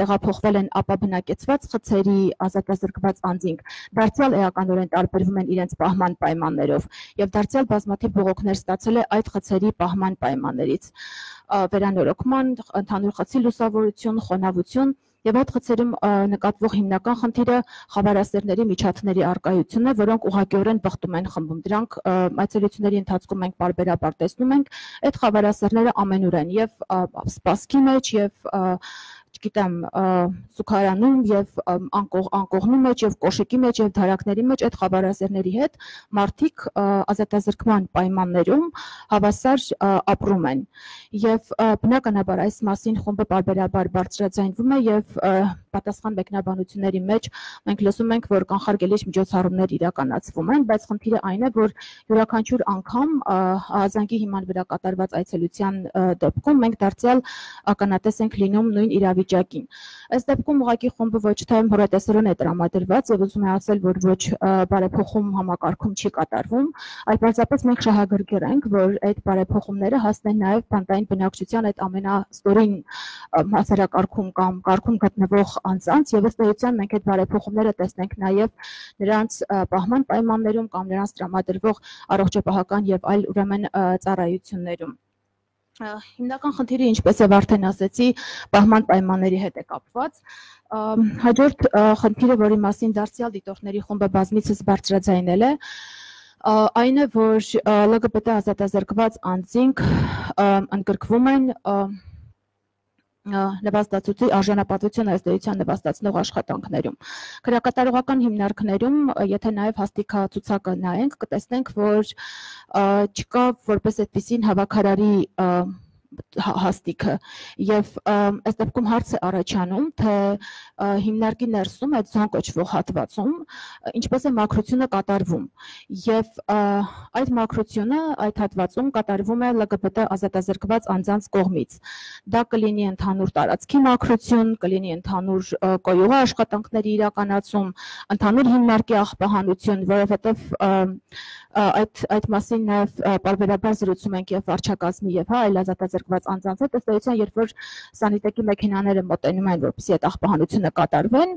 տեղափոխվել են ապաբնակեցված խցերի ազատազրկված անձինք, դարձյալ էականորեն տարբերվում են իրենց պահման պայմաններով եւ դարձյալ բազմաթիվ բողոքներ ստացել է այդ խցերի պահման պայմաններից։ Վերանորոգման, ընդհանուր խցի լուսավորություն, խոնավություն եւ այդ խցերում նկատվող հիմնական խնդիրը խավարասերների միջատների առկայությունն է, որոնք ուղղակիորեն բխտում են խմբում։ Դրանք այցելությունների ընթացքում մենք պարբերաբար տեսնում ենք, այդ խավարասերները ամենուր են եւ սպասքի մեջ եւ չգիտեմ, սուքարանում եւ անկողնու մեջ եւ կոշիկի մեջ եւ դարակների մեջ այդ խավարասերների հետ մարդիկ ազատազրկման պայմաններում հավասար ապրում են եւ բնականաբար այս մասին խումբը պարբերաբար բարձրաձայնվում է եւ պատասխան մեկնաբանությունների մեջ մենք լսում ենք, որ կանխարգելիչ միջոցառումներ իրականացվում են, բայց խնդիրը այն է, որ յուրաքանչյուր անգամ հազանգի հիման վրա կատարված այցելության դեպքում մենք դարձյալ ականատես ենք լինում նույն իրավիճակին։ Այս դեպքում ուղղակի խումբը ոչ թե հորատեսորեն է տրամադրված եւ ուզում է ասել, որ ոչ բարեփոխում համակարգում չի կատարվում, այլ պարզապես մենք շահագրգիռ ենք, որ այդ բարեփոխումները հասնեն նաեւ բանտային բնակչության այդ ամենաստորին հասարակարգում կամ կարգում գտնվող անձանց եւ ըստ էության մենք այդ բարեփոխումները տեսնենք նաեւ նրանց պահման պայմաններում կամ նրանց տրամադրվող առողջապահական եւ այլ ուրեմն ծառայություններում։ Հիմնական խնդիրը, ինչպես եւ արդեն ասեցի, պահման պայմանների հետ է կապված։ Հաջորդ խնդիրը, որի մասին դարձյալ դիտորդների խումբը բազմիցս բարձրաձայնել է, Այն է, որ LGBT ազատազրկված անձինք ընդգրկվում են նվաստացուցի արժանապատվություն ըստեյության նվաստացնող աշխատանքներում։ Քրեակատարողական հիմնարկներում, եթե նաև հաստիքացուցակը նայենք, կտեսնենք, որ չկա որպես այդպիսին հավաքարարի հաստիքը եւ այս դեպքում հարց է առաջանում, թե հիմնարկի ներսում այդ զոն կոչվող հատվածում ինչպես է մաքրությունը կատարվում եւ այդ մաքրությունը այդ հատվածում կատարվում է LGBT ազատազրկված անձանց կողմից։ Դա կլինի ընդհանուր տարածքի մաքրություն, կլինի ընդհանուր կոյուղի աշխատանքների իրականացում, ընդհանուր հիմնարկի աղբահանություն, որովհետեւ այդ մասին նաև պարբերաբար զրուցում ենք եւ վարչակազմի եւ այլ ազատազրկված անձանց հետ, ըստ էության, երբ որ սանիտեկի մեքենաները մոտենում են, որպեսզի այդ աղբահանությունը կատարվեն,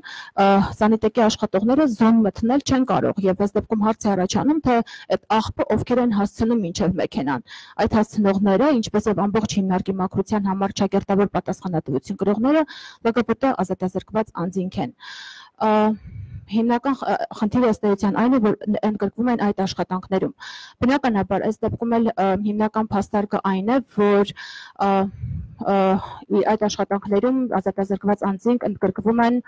սանիտեկի աշխատողները զոն մտնել չեն կարող եւ այս դեպքում հարց է առաջանում, թե այդ աղբը ովքեր են հասցնում մինչեւ մեքենան։ Այդ հասցնողները, ինչպես եւ ամբողջ հիմնարկի մաքրության համար ճակերտավոր պատասխանատվություն կրողները LGBT ազատազրկված անձինք են։ Հիմնական խնդիրը ըստ էության այն է, որ ընդգրկվում են այդ աշխատանքներում։ Բնականաբար, այս դեպքում էլ հիմնական փաստարկը այն է, որ այդ աշխատանքներում ազատազրկված անձինք ընդգրկվում են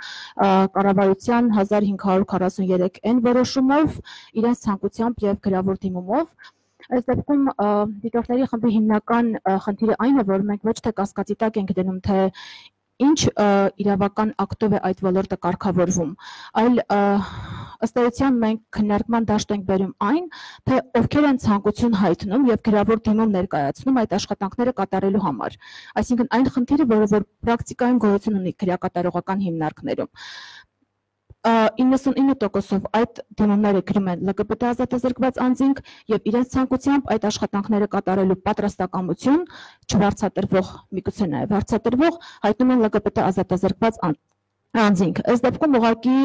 կառավարության 1543N որոշումով, իրենց ցանկությամբ եւ գրավոր դիմումով։ Այս դեպքում դիտորդների խմբի հիմնական խնդիրը այն է, որ մենք ոչ թե կասկածի տակ ենք դնում, թե ինչ իրավական ակտով է այդ ոլորտը կարգավորվում, այլ ըստ էության մենք քննարկման դաշտ ենք բերում այն, թե ովքեր են ցանկություն հայտնում եւ գրավոր դիմում ներկայացնում այդ աշխատանքները կատարելու համար։ Այսինքն այն խնդիրը, որը պրակտիկայում գոյություն ունի քրեակատարողական հիմնարկներում։ 99%-ով այդ դիմումները գրում են LGBT ազատազրկված անձինք եւ իրենց ցանկությամբ այդ աշխատանքները կատարելու պատրաստակամություն չվարձատրվող, միգուցե նաեւ վարձատրվող հայտնում են LGBT ազատազրկված անձինք։ Այս դեպքում ուղղակի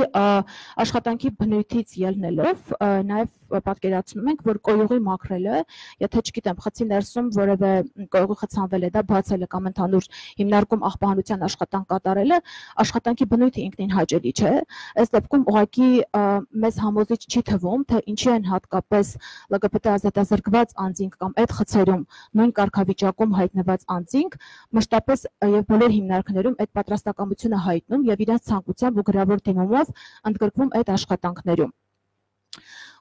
աշխատանքի բնույթից ելնելով նաև պատկերացնում ենք, որ կոյուղի մաքրելը, եթե չգիտեմ, խցի ներսում որևէ կոյուղի խցանվել է, դա բացելը կամ ընդհանուր հիմնարկում աղբահանության աշխատանք կատարելը, աշխատանքի բնույթը ինքնին հաճելի չէ։ Այս դեպքում ուղղակի մեզ համոզիչ չի թվում, թե ինչի են հատկապես LGBT ազատազրկված անձինք կամ այդ խցերում նույն կարգավիճակում հայտնված անձինք մշտապես եւ բոլոր հիմնարկներում այդ պատրաստակամությունը հայտնում եւ իրենց ցանկությամբ ու գրավոր դիմումով ընդգրկվում այդ աշխատանքներում։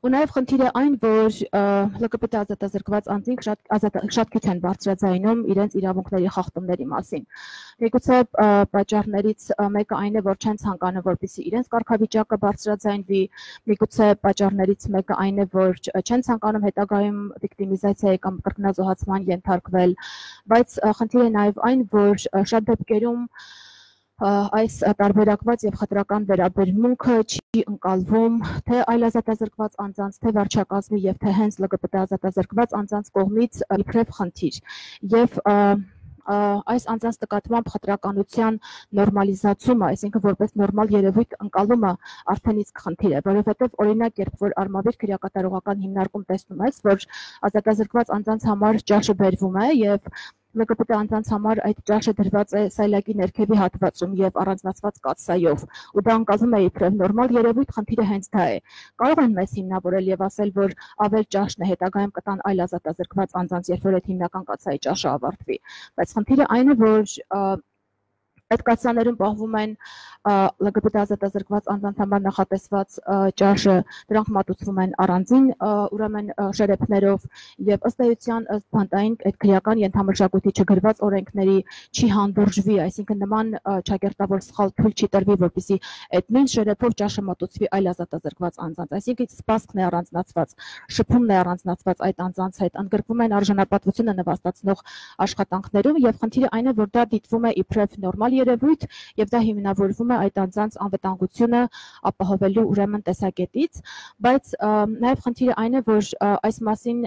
Ու նաև խնդիրը այն, որ LGBT ազատազրկված անձինք շատ քիչ են բարձրաձայնում իրենց իրավունքների խախտումների մասին։ Միգուցե պատճառներից մեկը այն է, որ չեն ցանկանում, որպեսզի իրենց կարգավիճակը բարձրաձայնվի, միգուցե պատճառներից մեկը այն է, որ չեն ցանկանում հետագայում վիկտիմիզացիայի կամ կրկնազոհացման ենթարկվել, բայց խնդիրը նաև այն, որ շատ դեպքերում այս տարբերակված եւ խտրական վերաբերմունքը չի ընկալվում թե այլ ազատազրկված անձանց, թե վարչակազմի եւ թե հենց LGBT ազատազրկված անձանց կողմից իբրև խնդիր եւ այս անձանց նկատմամբ խտրականության նորմալիզացումը, այսինքն որպես նորմալ երևույթ ընկալումը արդեն իսկ խնդիր է, որովհետեւ օրինակ երբ որ արմավիր քրեակատարողական հիմնարկում տեսնում ես, որ ազատազրկված անձանց համար ճաշը բերվում է եւ LGBT անձանց համար այդ ճաշը դրված է սայլակի ներքևի հատվածում եւ առանձնացված կաթսայով, ու դա ընկալվում է իբրև նորմալ երևույթ, խնդիրը հենց դա է։ Կարող են մեզ հիմնավորել եւ ասել, որ ավել ճաշն է, հետագայում կտան այլ ազատազրկված անձանց, երբ որ այդ հիմնական կաթսայի ճաշը ավարտվի, բայց խնդիրը այն է, որ այդ կաթսաներում պահվում են LGBT ազատազրկված անձանց համար նախատեսված ճաշը, դրանք մատուցվում են առանձին ուրեմն շերեփներով եւ ըստ էության ըստ բանտային այդ քրեական ենթամշակույթի չգրված օրենքների չի հանդուրժվի, այսինքն նման ճակերտավոր սխալ թույլ չի տրվի, որպեսզի այդ նույն շերեփով ճաշը մատուցվի այլ ազատազրկված անձանց, այսինքն սպասքն է առանձնացված, շփումն է առանձնացված այդ անձանց հետ, ընդգրկվում են արժանապատվությունը նվաստացնող աշխատանքներում եւ խնդիրը այն է, որ դա դիտվում է իբրև նորմալ երևույթ եւ դա հիմնավորվում է այդ անձանց անվտանգությունը ապահովելու ուրեմն տեսակետից, բայց նաեւ խնդիրը այն է, որ այս մասին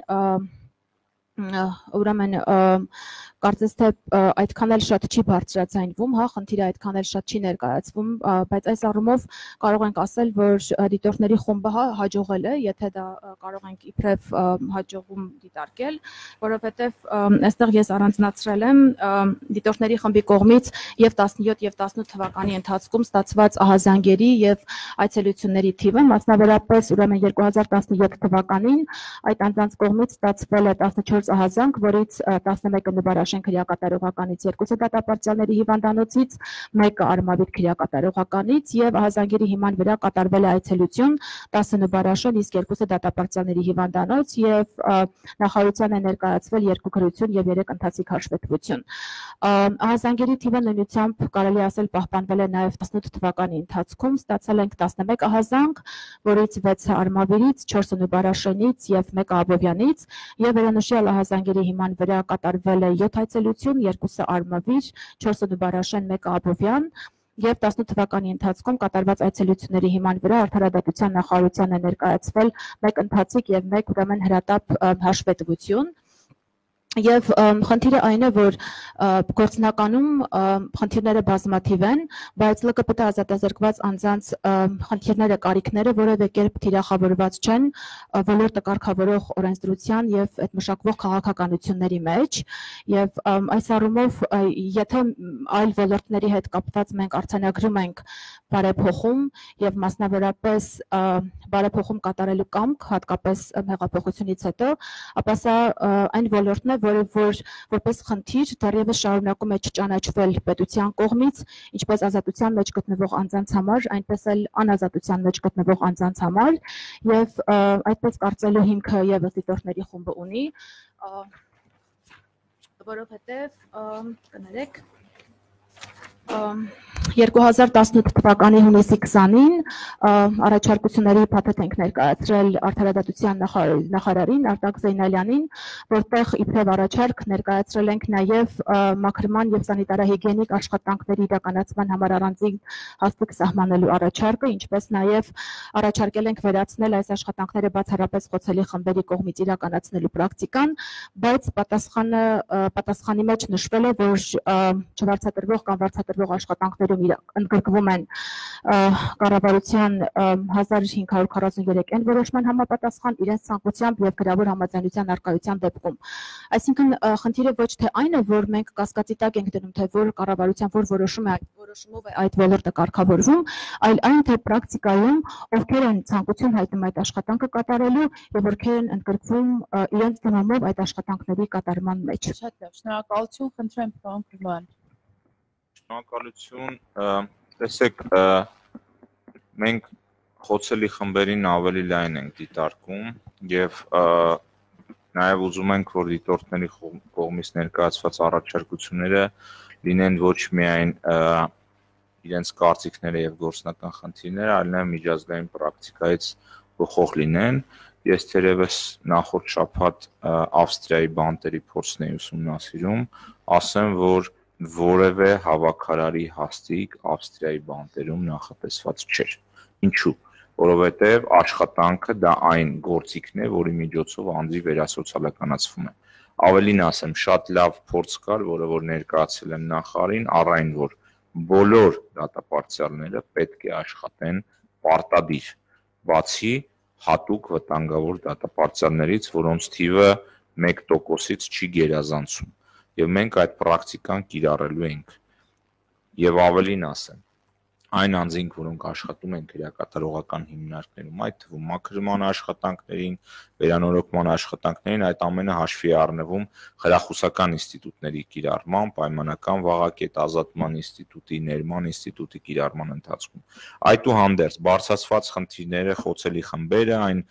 ուրեմն կարծես թե այդքան էլ շատ չի բարձրացնվում, հա, խնդիրը այդքան էլ շատ չի ներկայացվում, բայց այս առումով կարող ենք ասել, որ դիտորդների խումբը հաջողել է, եթե դա կարող ենք իբրև հաջողում դիտարկել, որովհետև այստեղ ես առանձնացրել եմ դիտորդների խմբի կողմից եւ 17 եւ 18 թվականի ընթացքում ստացված ահազանգերի եւ այցելությունների թիվը, մասնավորապես ուրեմն 2017 թվականին այդ անձանց կողմից ստացվել է 14 ահազանգ, որից 11-ը նվարաշեն քրեակատարողականից, 2-ը դատապարտյալների հիվանդանոցից, 1-ը արմավիր քրեակատարողականից եւ ահազանգերի հիման վրա կատարվել է այցելություն 10 նվարաշեն, իսկ 2-ը դատապարտյալների հիվանդանոց եւ նախարարության է ներկայացվել 2 գրություն եւ 3 ընթացիկ հաշվետվություն։ Ահազանգերի թիվը նույնությամբ կարելի ասել պահպանվել է նաեւ 18 թվականի ընթացքում, ստացել ենք 11 ահազանգ, որից 6-ը արմավիրից, 4-ը նվարաշենից եւ 1-ը Աբովյանից եւ վերանշյալ ահազանգերի հիման վրա կատարվել է 7 այցելություն, 2-ը արմավիր, 4-ը նվարաշեն, 1-ը Աբովյան եւ 18 թվականի ընթացքում կատարված այցելությունների հիման վրա Արդարադատության նախարարության է ներկայացվել 1 ընթացիկ եւ 1 ուրեմն հրատապ հաշվետվություն։ Եվ խնդիրը այն է, որ գործնականում խնդիրները բազմաթիվ են, բայց ԼԿՊՏ ազատազրկված անձանց խնդիրները, կարիքները որևէ կերպ թիրախավորված չեն ոլորտը կարգավորող օրենսդրության եւ այդ մշակվող քաղաքականությունների մեջ, եւ այս առումով եթե այլ ոլորտների հետ կապված մենք արձանագրում ենք բարեփոխում եւ մասնավորապես բարեփոխում կատարելու կամք, հատկապես հեղափոխությունից հետո, ապա սա այն ոլորտն է, որը որպես խնդիր դեռևս շարունակում է չճանաչվել պետության կողմից, ինչպես ազատության մեջ գտնվող անձանց համար, այնպես էլ անազատության մեջ գտնվող անձանց համար, եւ այդպես կարծելու հիմքը եւս դիտորդների խումբը ունի, որովհետեւ կներեք 2018 թվականի հունիսի 20-ին առաջարկությունների փաթեթ ենք ներկայացրել Արդարադատության նախարարին Արտակ Զեյնալյանին, որտեղ իբրև առաջարկ ներկայացրել ենք նաև մաքրման եւ սանիտարահիգիենիկ աշխատանքների իրականացման համար առանձին հաստիք սահմանելու առաջարկը, ինչպես նաև առաջարկել ենք վերացնել այս աշխատանքները բացառապես խոցելի խմբերի կողմից իրականացնելու պրակտիկան, բայց պատասխանի մեջ նշվել է, որ չվարձատրվող կամ վարձատրվող աշխատանքներում ընդգրկվում են կառավարության 1543 այն որոշման համապատասխան իրենց ցանկությամբ եւ գրավոր համաձայնության արկայության դեպքում։ Այսինքն խնդիրը ոչ թե այն է, որ մենք կասկածի տակ ենք դնում, թե որ կառավարության որ որոշումով է այդ ոլորտը կարգավորվում, այլ այն թե պրակտիկայում ովքեր են ցանկություն հայտնում այդ աշխատանքը կատարելու եւ ովքեր են ընդգրկվում իրենց դիմումով այդ աշխատանքների կատարման մեջ։ Շատ լավ, շնորհակալություն, խնդրեմ պարոն Կրման։ Շնորհակալություն, տեսեք, մենք խոցելի խմբերին ավելի լայն ենք դիտարկում եւ նաեւ ուզում ենք, որ դիտորդների կողմից ներկայացված առաջարկությունները լինեն ոչ միայն իրենց կարծիքները եւ գործնական խնդիրները, այլ նաեւ միջազգային պրակտիկայից բխող լինեն։ Ես թերևս նախորդ շաբաթ Ավստրիայի բանտերի փորձն էի ուսումնասիրում, ասեմ, որ որևէ հավաքարարի հաստիք Ավստրիայի բանտերում նախատեսված չէր։ Ինչու՞։ Որովհետև աշխատանքը դա այն գործիքն է, որի միջոցով անձի վերասոցիալականացվում է։ Ավելին ասեմ, շատ լավ փորձ կար, որը որ ներկայացել եմ նախարարին, առ այն, որ բոլոր դատապարտյալները պետք է աշխատեն պարտադիր, բացի հատուկ վտանգավոր դատապարտյալներից, որոնց թիվը 1%-ից չի գերազանցում։ Եվ մենք այդ պրակտիկան կիրառելու ենք։ Եվ ավելին ասեմ, այն անձինք, որոնք աշխատում են քրեակատարողական հիմնարկներում, այդ թվում մաքրման աշխատանքներին, վերանորոգման աշխատանքներին, այդ ամենը հաշվի է առնվում խրախուսական ինստիտուտների կիրառման, պայմանական վաղակետ ազատման ինստիտուտի, ներման ինստիտուտի կիրառման ընթացքում։ Այդուհանդերձ, բարձրացված խնդիրները, խոցելի խմբերը, այն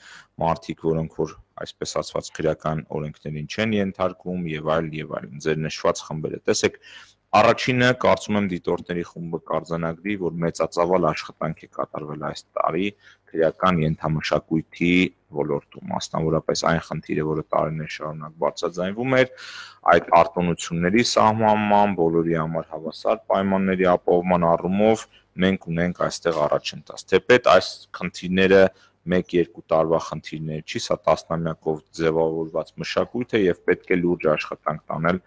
մարդիկ, որոնք որ այսպես ասված քրեական օրենքներին չեն ենթարկվում եւ այլն, ձեր նշված խմբերը։ Տեսեք, առաջինը կարծում եմ դիտորդների խումբը կարձանագրի, որ մեծածավալ աշխատանք է կատարվել այս տարի քրեական ենթամշակույթի ոլորտում, մասնավորապես այն խնդիրը, որը տարիներ շարունակ բարձրաձայնվում էր, այդ արտոնությունների սահմանման, բոլորի համար հավասար պայմանների ապահովման առումով մենք ունենք այստեղ առաջընթաց։ Թեպետ այս խնդիրները 1-2 տարվա խնդիրներ չի, սա տասնամյակով ձևավորված մշակույթ է եւ պետք է լուրջ աշխատանք տանել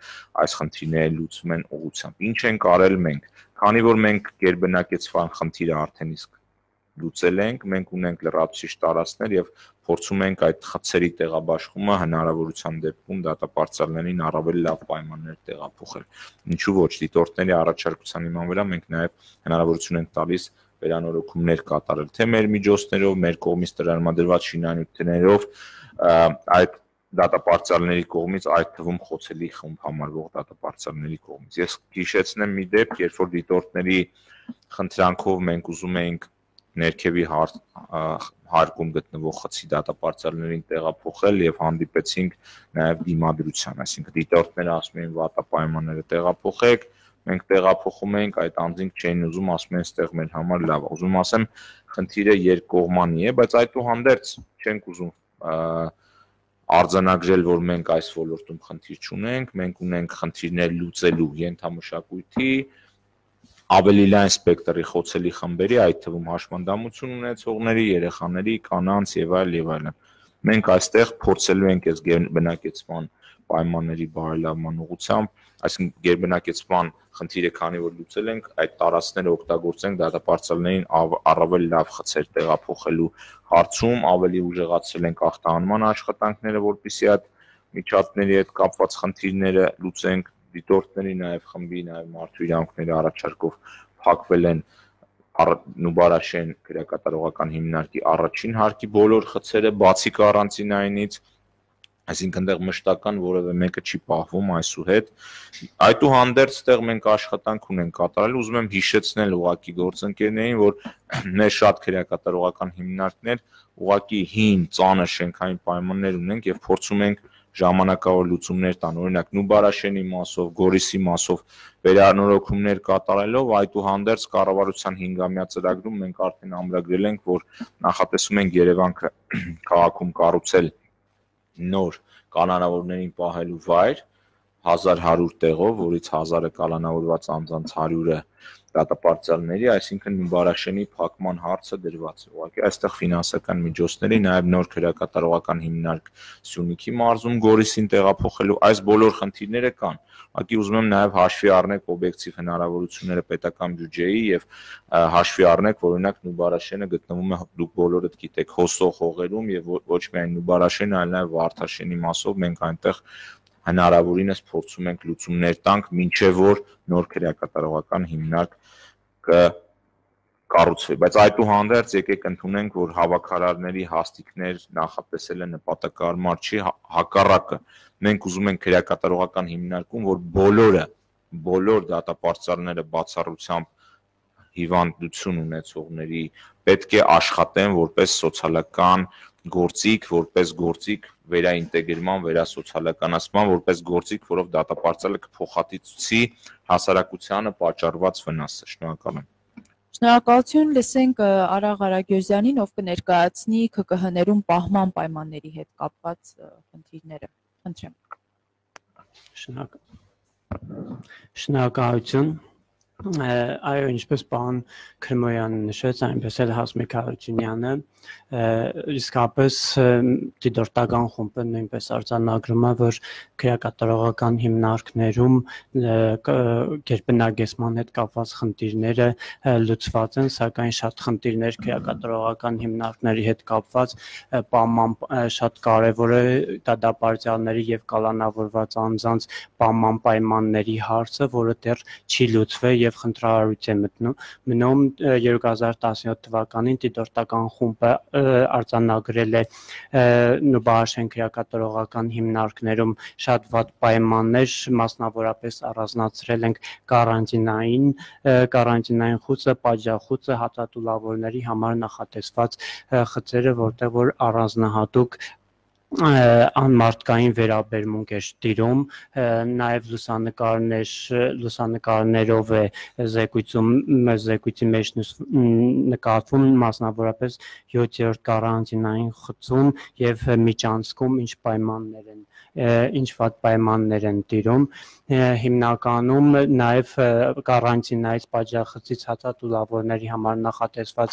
այս խնդիրները լուծման ուղղությամբ։ Ինչ ենք արել մենք, քանի որ մենք գերբնակեցման խնդիրը արդեն իսկ լուծել ենք, մենք ունենք լրացուցիչ տարածքներ եւ փորձում ենք այդ խցերի տեղաբաշխումը հնարավորության դեպքում դատապարտյալներին առավել լավ պայմաններ տեղափոխել։ Ինչու ոչ, դիտորդների առաջարկության հիման վրա մենք նաեւ հնարավորություն ենք տալիս վերանորոգումներ կատարել, թե մեր միջոցներով, մեր կողմից տրամադրված շինանյութերով, այդ դատապարտյալների կողմից, այդ թվում խոցելի խումբ համարվող դատապարտյալների կողմից։ Ես հիշեցնեմ մի դեպք, երբ որ դիտորդների խնդրանքով մենք ուզում էինք ներքևի հարկում գտնվող խցի դատապարտյալներին տեղափոխել եւ հանդիպեցինք նաեւ դիմադրության, այսինքն դիտորդները ասում էին վատապայմանները տեղափոխեք, մենք տեղափոխում ենք, այդ անձինք չէին ուզում, ասում են այստեղ մեր համար լավ է։ Ուզում ասեմ, խնդիրը երկկողմանի է, բայց այդուհանդերձ չենք ուզում արձանագրել, որ մենք այս ոլորտում խնդիր չունենք, մենք ունենք խնդիրներ լուծելու ենթամշակույթի ավելի լայն սպեկտրի խոցելի խմբերի, այդ թվում հաշմանդամություն ունեցողների, երեխաների, կանանց եւ այլն։ Մենք այստեղ փորձելու ենք այս գերբնակեցման պայմանների բարելավման ուղղությամբ, այսինքն գերբնակեցման խնդիրը քանի որ լուծել ենք, այդ տարածքները օգտագործենք դատապարտյալներին առավել լավ խցեր տեղափոխելու հարցում, ավելի ուժեղացրել ենք ախտահանման աշխատանքները, որպեսզի այդ միջատների հետ կապված խնդիրները լուծենք, դիտորդների նաև խմբի, նաև մարդու իրավունքների առաջարկով փակվել են Նուբարաշեն քրեակատարողական հիմնարկի առաջին հարկի բոլոր խցերը, բացի կարանտինայինից, այսինքն այնտեղ մշտական որևէ մեկը չի պահվում այսուհետ։ Այդուհանդերձ այդտեղ մենք աշխատանք ունենք կատարել, ուզում եմ հիշեցնել ուղղակի գործընկերներին, որ մեր շատ քրեակատարողական հիմնարկներ ուղղակի հին, ծանր շենքային պայմաններ ունենք եւ փորձում ենք ժամանակավոր լուծումներ տան, օրինակ Նուբարաշենի մասով, Գորիսի մասով վերանորոգումներ կատարելով, այդուհանդերձ կառավարության 5-ամյա ծրագրում մենք արդեն ամրագրել ենք, որ նախատեսում ենք Երևան քաղաքում կառուցել նոր կանոնավորներին պահելու վայր 1100 տեղով, որից 1000-ը կանոնավորված անձանց 100-ը դատապարտյալների, այսինքն Նուբարաշենի փակման հարցը դրված է։ Ուղղակի այստեղ ֆինանսական միջոցների, նաև նոր քրեակատարողական հիմնարկ Սյունիքի մարզում Գորիսին տեղափոխելու այս բոլոր խնդիրները կան։ Ուղղակի ուզում եմ նաև հաշվի առնեք օբյեկտիվ հնարավորությունները պետական բյուջեի եւ հաշվի առնեք, որ օրինակ Նուբարաշենը գտնվում է, դուք բոլորդ գիտեք, հոսող հողերում եւ ոչ միայն Նուբարաշենը, այլ նաև Վարդաշենի մասով մենք այնտեղ հնարավորինս փորձում ենք լուծումներ տանք, մինչև որ նոր քրեակատարողական հիմնարկ կառուցվի, բայց այդուհանդերձ եկեք ընդունենք, որ հավաքարարների հաստիկներ նախատեսելը նպատակարար չի, հակառակը։ Մենք ուզում ենք քրեակատարողական հիմնարկում, որ բոլոր դատապարտյալները բացառությամբ հիվանդություն ունեցողների պետք է աշխատեն որպես սոցիալական գործիք, որպես գործիք վերաինտեգրման, վերասոցիալականացման, որպես գործիք, որով դատապարտյալը կփոխհատուցի հասարակությանը պատճառված վնասը։ Շնորհակալ եմ։ Շնորհակալություն, լսենք Արաղ Արագյոզյանին, ով կներկայացնի ՔԿՀ-ներում պահման պայմանների հետ կապված խնդիրները։ Խնդրեմ։ Շնորհակալություն։ Այո, ինչպես պարոն Քրմոյանը նշեց, այնպես էլ Հասմիկ Հարությունյանը, իսկապես դիտորդական խումբը նույնպես արձանագրում է, որ քրեակատարողական հիմնարկներում գերբնակեցման հետ կապված խնդիրները լուծված են, սակայն շատ խնդիրներ քրեակատարողական հիմնարկների հետ կապված պահման շատ կարևոր է դատապարտյալների եւ կալանավորված անձանց պահման պայմանների հարցը, որը դեռ չի լուծվել եւ խնդրահարույց է մնում 2017 թվականին դիտորդական խումբը արձանագրել է Նուբարաշեն քրեակատարողական հիմնարկներում շատ վատ պայմաններ, մասնավորապես առանձնացրել ենք կարանտինային խուցը, պատժախուցը, հացատուլավորների համար նախատեսված խցերը, որտեղ որ առանձնահատուկ անմարդկային վերաբերմունք էր տիրում, նաև լուսանկարներով է զեկույցի մեջ նկատվում մասնավորապես 7-րդ կարանտինային խցում եւ միջանցքում ինչ վատ պայմաններ են տիրում, հիմնականում նաև կարանտինայից պատժախցից հացատուլավորների համար նախատեսված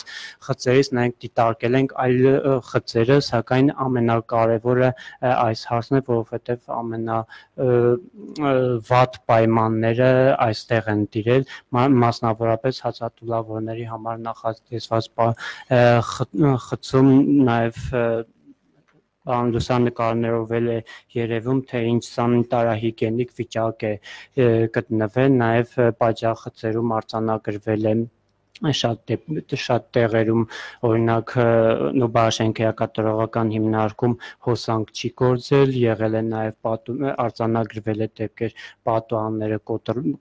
խցերից նաև դիտարկել ենք այլ խցերը, սակայն ամենակարևորը այս հարցն է, որովհետև ամենավատ պայմանները այստեղ են տիրել, մասնավորապես հացատուլավորների համար նախատեսված խցում նաև լուսանկարներով էլ է երևում, թե ինչ սանիտարահիգիենիկ վիճակ է գտնվել, նաև պատժախցերում արձանագրվել է շատ տեղերում, օրինակ Նուբաշեն քրեակատարողական հիմնարկում հոսանք չի գործել, եղել է նաև արձանագրվել է դեպքեր պատուհանները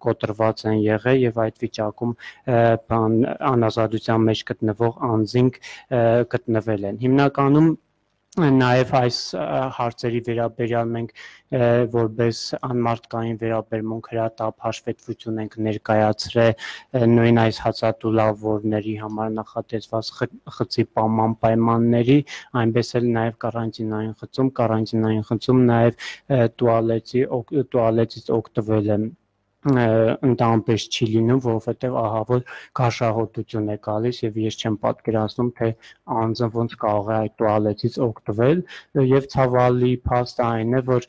կոտրված են եղել եւ այդ վիճակում անազատության մեջ գտնվող անձինք գտնվել են։ Հիմնականում նաև այս հարցերի վերաբերյալ մենք որպես անմարդկային վերաբերմունք հրատապ հաշվետվություն ենք ներկայացրել նույն այս հացատուլավորների համար նախատեսված խցի պայմանների, այնպես էլ նաև կարանտինային խցում նաև տուալետից օգտվել եմ ընդամպես չի լինում, որովհետև ահավոր գաշահոտություն է գալիս եւ ես չեմ պատկերացնում, թե անձը ոնց կարող է այդ տուալետից օգտվել եւ ցավալի փաստը այն է, որ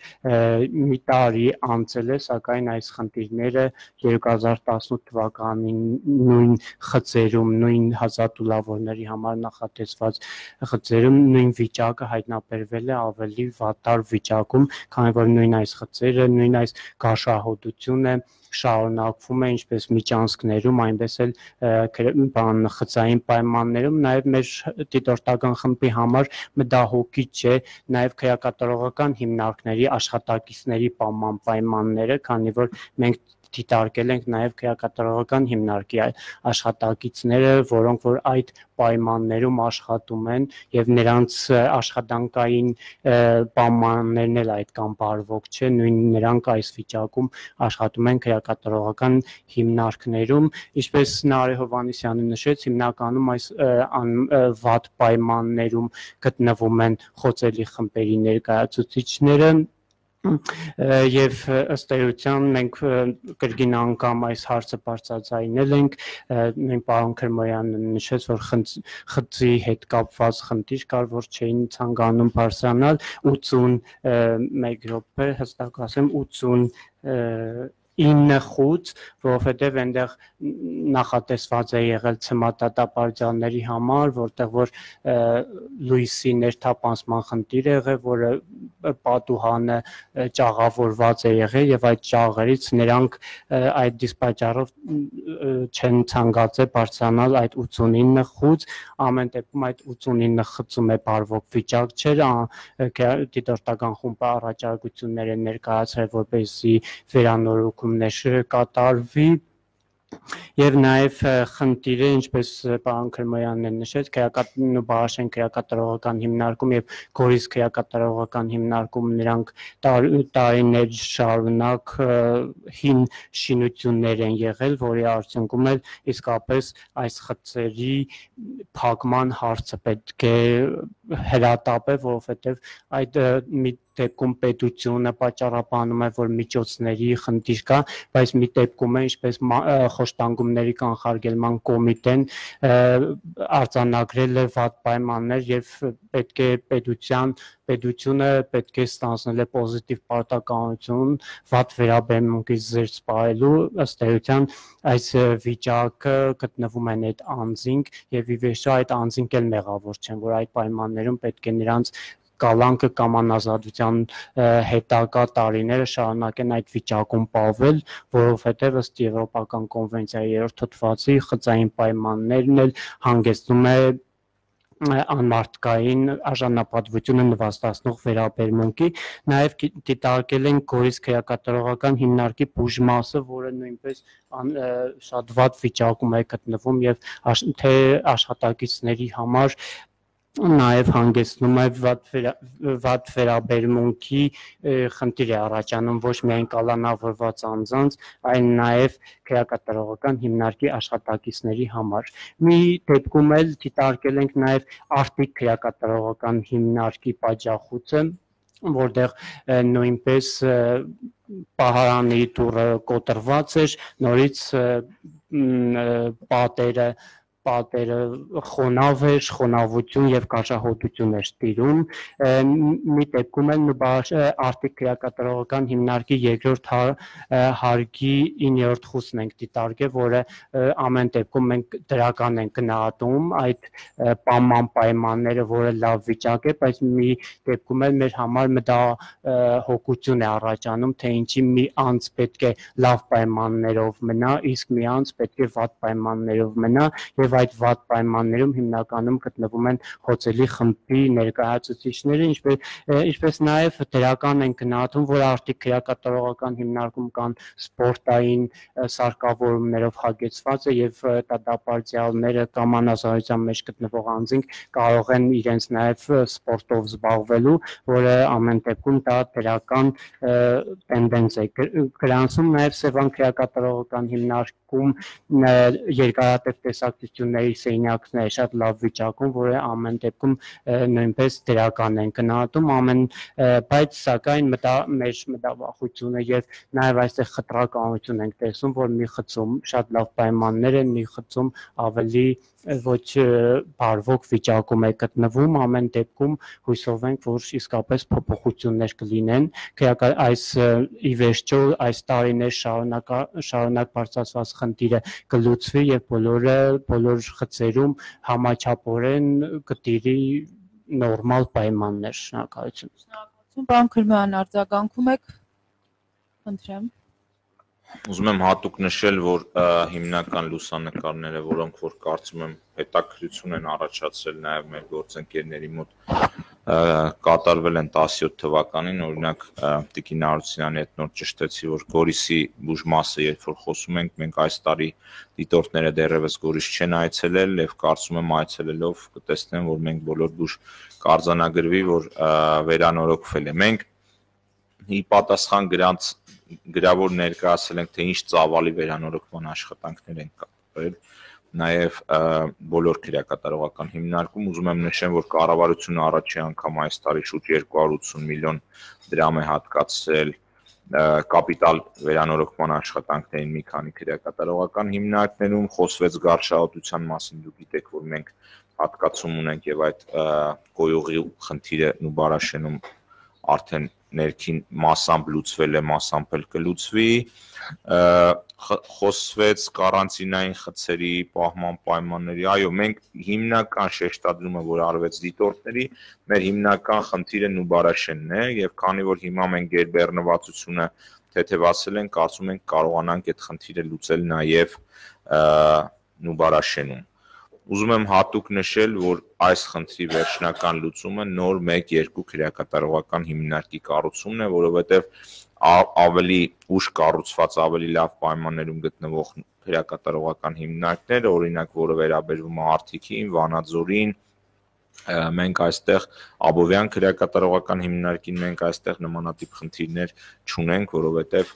մի տարի անցել է, սակայն այս խնդիրները 2018 թվականին նույն խցերում, նույն հացատուլավորների համար նախատեսված խցերում նույն վիճակը հայտնաբերվել է ավելի վատար վիճակում, քանի որ նույն այս խցերը, նույն այս գաշահոտությունը շարունակվում է ինչպես միջանցքներում, այնպես էլ խցային պայմաններում, նաև մեր դիտորդական խմբի համար մտահոգիչ է նաև քրեակատարողական հիմնարկների աշխատակիցների պայմանները, քանի որ մենք դիտարկել ենք նաև քրեակատարողական հիմնարկի աշխատակիցները, որոնք որ այդ պայմաններում աշխատում են եւ նրանց աշխատանքային պայմաններն էլ այդքան բարվոք չէ, նույն նրանք այս վիճակում աշխատում են քրեակատարողական հիմնարկներում, ինչպես Նարէ Հովհաննիսյանը նշեց, հիմնականում այս վատ պայմաններում գտնվում են խոցելի խմբերի ներկայացուցիչները եւ ըստ էության մենք կրկին անգամ այս հարցը բարձրացնել ենք, նույն պարոն Քրմոյանը նշեց, որ խցի հետ կապված խնդիր կար, որ չէին ցանկանում բարձրանալ 81 րոպե, հստակ ասեմ 89 խոց, որովհետև այնտեղ նախատեսված է եղել ցմատատապարդյանների համար, որտեղ որ լույսի ներթափանցման խնդիր է եղել, որը պատուհանը ճաղավորված է եղել եւ այդ ճաղերից նրանք այդ դիսպաճառով չեն ցանկացել բարձրանալ այդ 89 խոց, ամեն դեպքում այդ 89 խցում է բարվոք վիճակ չէր, դիտորդական խումբը առաջարկություններ է ներկայացրել, որպեսզի վերանորոգումներ կատարվի Եվ նաև խնդիրը, ինչպես պարոն Քրմոյանն նշեց, Նուբաշեն քրեակատարողական հիմնարկում եւ Գորիս քրեակատարողական հիմնարկում նրանք տարիներ շարունակ հին շինություններ են եղել, որի արդյունքում էլ իսկապես այս խցերի փակման հարցը պետք է հրատապ է, որովհետեւ այդ մի դեպքում պետությունը պատճառաբանում է, որ միջոցների խնդիր կա, բայց մի դեպքում է, ինչպես խոշտանգումների կանխարգելման կոմիտեն արձանագրել է վատ պայմաններ եւ պետք է պետությունը պետք է ստանձնել է պոզիտիվ պարտականություն վատ վերաբերմունքից զերծ պահելու, ըստ էության այս վիճակը գտնվում են այդ անձինք եւ ի վերջո այդ անձինք էլ մեղավոր չեն, որ այդ պայմաններում պետք է նրանց կալանքը կամ անազատության հետագա տարիները շարունակեն այդ վիճակում պահվել, որովհետև ըստ Եվրոպական կոնվենցիայի 3-րդ հոդվածի խցային պայմաններն էլ հանգեցնում է անմարդկային արժանապատվությունը նվաստացնող վերաբերմունքի, նաև դիտարկել են Գորիս քրեակատարողական հիմնարկի բուժմասը, որը նույնպես շատ վատ վիճակում է գտնվում եւ թե աշխատակիցների համար նաև հանգեցնում է վատ վերաբերմունքի խնդիր է առաջանում ոչ միայն կալանավորված անձանց, այլ նաև քրեակատարողական հիմնարկի աշխատակիցների համար։ Մի դեպքում էլ դիտարկել ենք նաև արտիկ քրեակատարողական հիմնարկի պատժախուցը, որտեղ նույնպես պահարանի դուռը կոտրված էր, նորից պատերը խոնավ էր, խոնավություն եւ կարճահոտություն էր տիրում։ Մի դեպքում էլ արտիկ քրեակատարողական հիմնարկի երկրորդ հարգի 9-րդ խուսն ենք դիտարկել, որը ամեն դեպքում մենք դրական ենք գնահատում այդ պայման պայմանները, որը լավ վիճակ է, բայց մի դեպքում էլ մեր համար մտահոգություն է առաջանում, թե ինչի մի անձ պետք է լավ պայմաններով մնա, իսկ մի անձ պետք է վատ պայմաններով մնա եւ այդ վատ պայմաններում հիմնականում գտնվում են հոցելի խմբի ներկայացուցիչները, ինչպես նաև դրական են գնահատում, որ արտիկ քրեակատարողական հիմնարկում կան սպորտային սարքավորումներով հագեցված է եւ դատապարտյալները կամ անազնության մեջ գտնվող անձինք կարող են իրենց նաև սպորտով զբաղվելու, որը ամեն դեպքում դա դրական տենդենս է գրանցում, նաև Սևան քրեակատարողական հիմնարկում երկարատև տեսակցությունների սենյակները շատ լավ վիճակում, որը ամեն դեպքում նույնպես դրական են գնահատում, բայց սակայն մեր մտավախությունը եւ նաեւ այստեղ խտրականություն ենք տեսնում, որ մի խցում շատ լավ պայմաններ են, մի խցում ավելի ոչ բարվոք վիճակում է գտնվում, ամեն դեպքում հույսով ենք, որ իսկապես փոփոխություններ կլինեն, այս ի վերջո այս տարիներ շարունակ բարձրացված խնդիրը կլուծվի եւ բոլոր խցերում համաչափորեն կտիրի նորմալ պայմաններ։ Շնորհակալություն։ Շնորհակալություն, պարոն Քրմյան, արձագանքում եք, խնդրեմ։ Ուզում եմ հատուկ նշել, որ հիմնական լուսանկարները, որոնք որ կարծում եմ հետաքրքրություն են առաջացրել նաև մեր գործընկերների մոտ, կատարվել են 17 թվականին, օրինակ Տիկին Արությունյանի հետ նոր ճշտեցի, որ Գորիսի բուժմասը, երբ որ խոսում ենք, մենք այս տարի դիտորդները դեռևս Գորիս չեն այցելել եւ կարծում եմ այցելելով կտեսնեն, որ մենք բոլոր բուժ կարձանագրվի, որ վերանորոգվել է։ Մենք ի պատասխան գրավոր ներկայացել ենք, թե ինչ ծավալի վերանորոգման աշխատանքներ են կատարվել, նաև բոլոր քրեակատարողական հիմնարկում ուզում եմ նշեմ, որ կառավարությունը առաջի անգամ այս տարի շուրջ 280 միլիոն դրամ է հատկացրել կապիտալ վերանորոգման աշխատանքներին մի քանի քրեակատարողական հիմնարկներում, խոսվեց գարշահոտության մասին, դուք գիտեք, որ մենք հատկացում ունենք եւ այդ գոյողի խնդիրը Նուբարաշենում արդեն ներքին մասամբ լուծվել է, մասամբ էլ կլուծվի, խոսվեց կարանտինային խցերի պահման պայմանների, այո, մենք հիմնական շեշտադրումը, որ արվեց դիտորդների, մեր հիմնական խնդիրը Նուբարաշենն է եւ քանի որ հիմա մենք գերբեռնվածությունը թեթևացել ենք, կարծում ենք կարողանանք այդ խնդիրը լուծել նաեւ Նուբարաշենում։ Ուզում եմ հատուկ նշել, որ այս խնդրի վերջնական լուծումը նոր 1-2 քրեակատարողական հիմնարկի կառուցումն է, որովհետև ավելի ուշ կառուցված, ավելի լավ պայմաններում գտնվող քրեակատարողական հիմնարկները, օրինակ, որը վերաբերվում է Արթիկին, Վանաձորին, մենք այստեղ Աբովյան քրեակատարողական հիմնարկին մենք այստեղ նմանատիպ խնդիրներ չունենք, որովհետև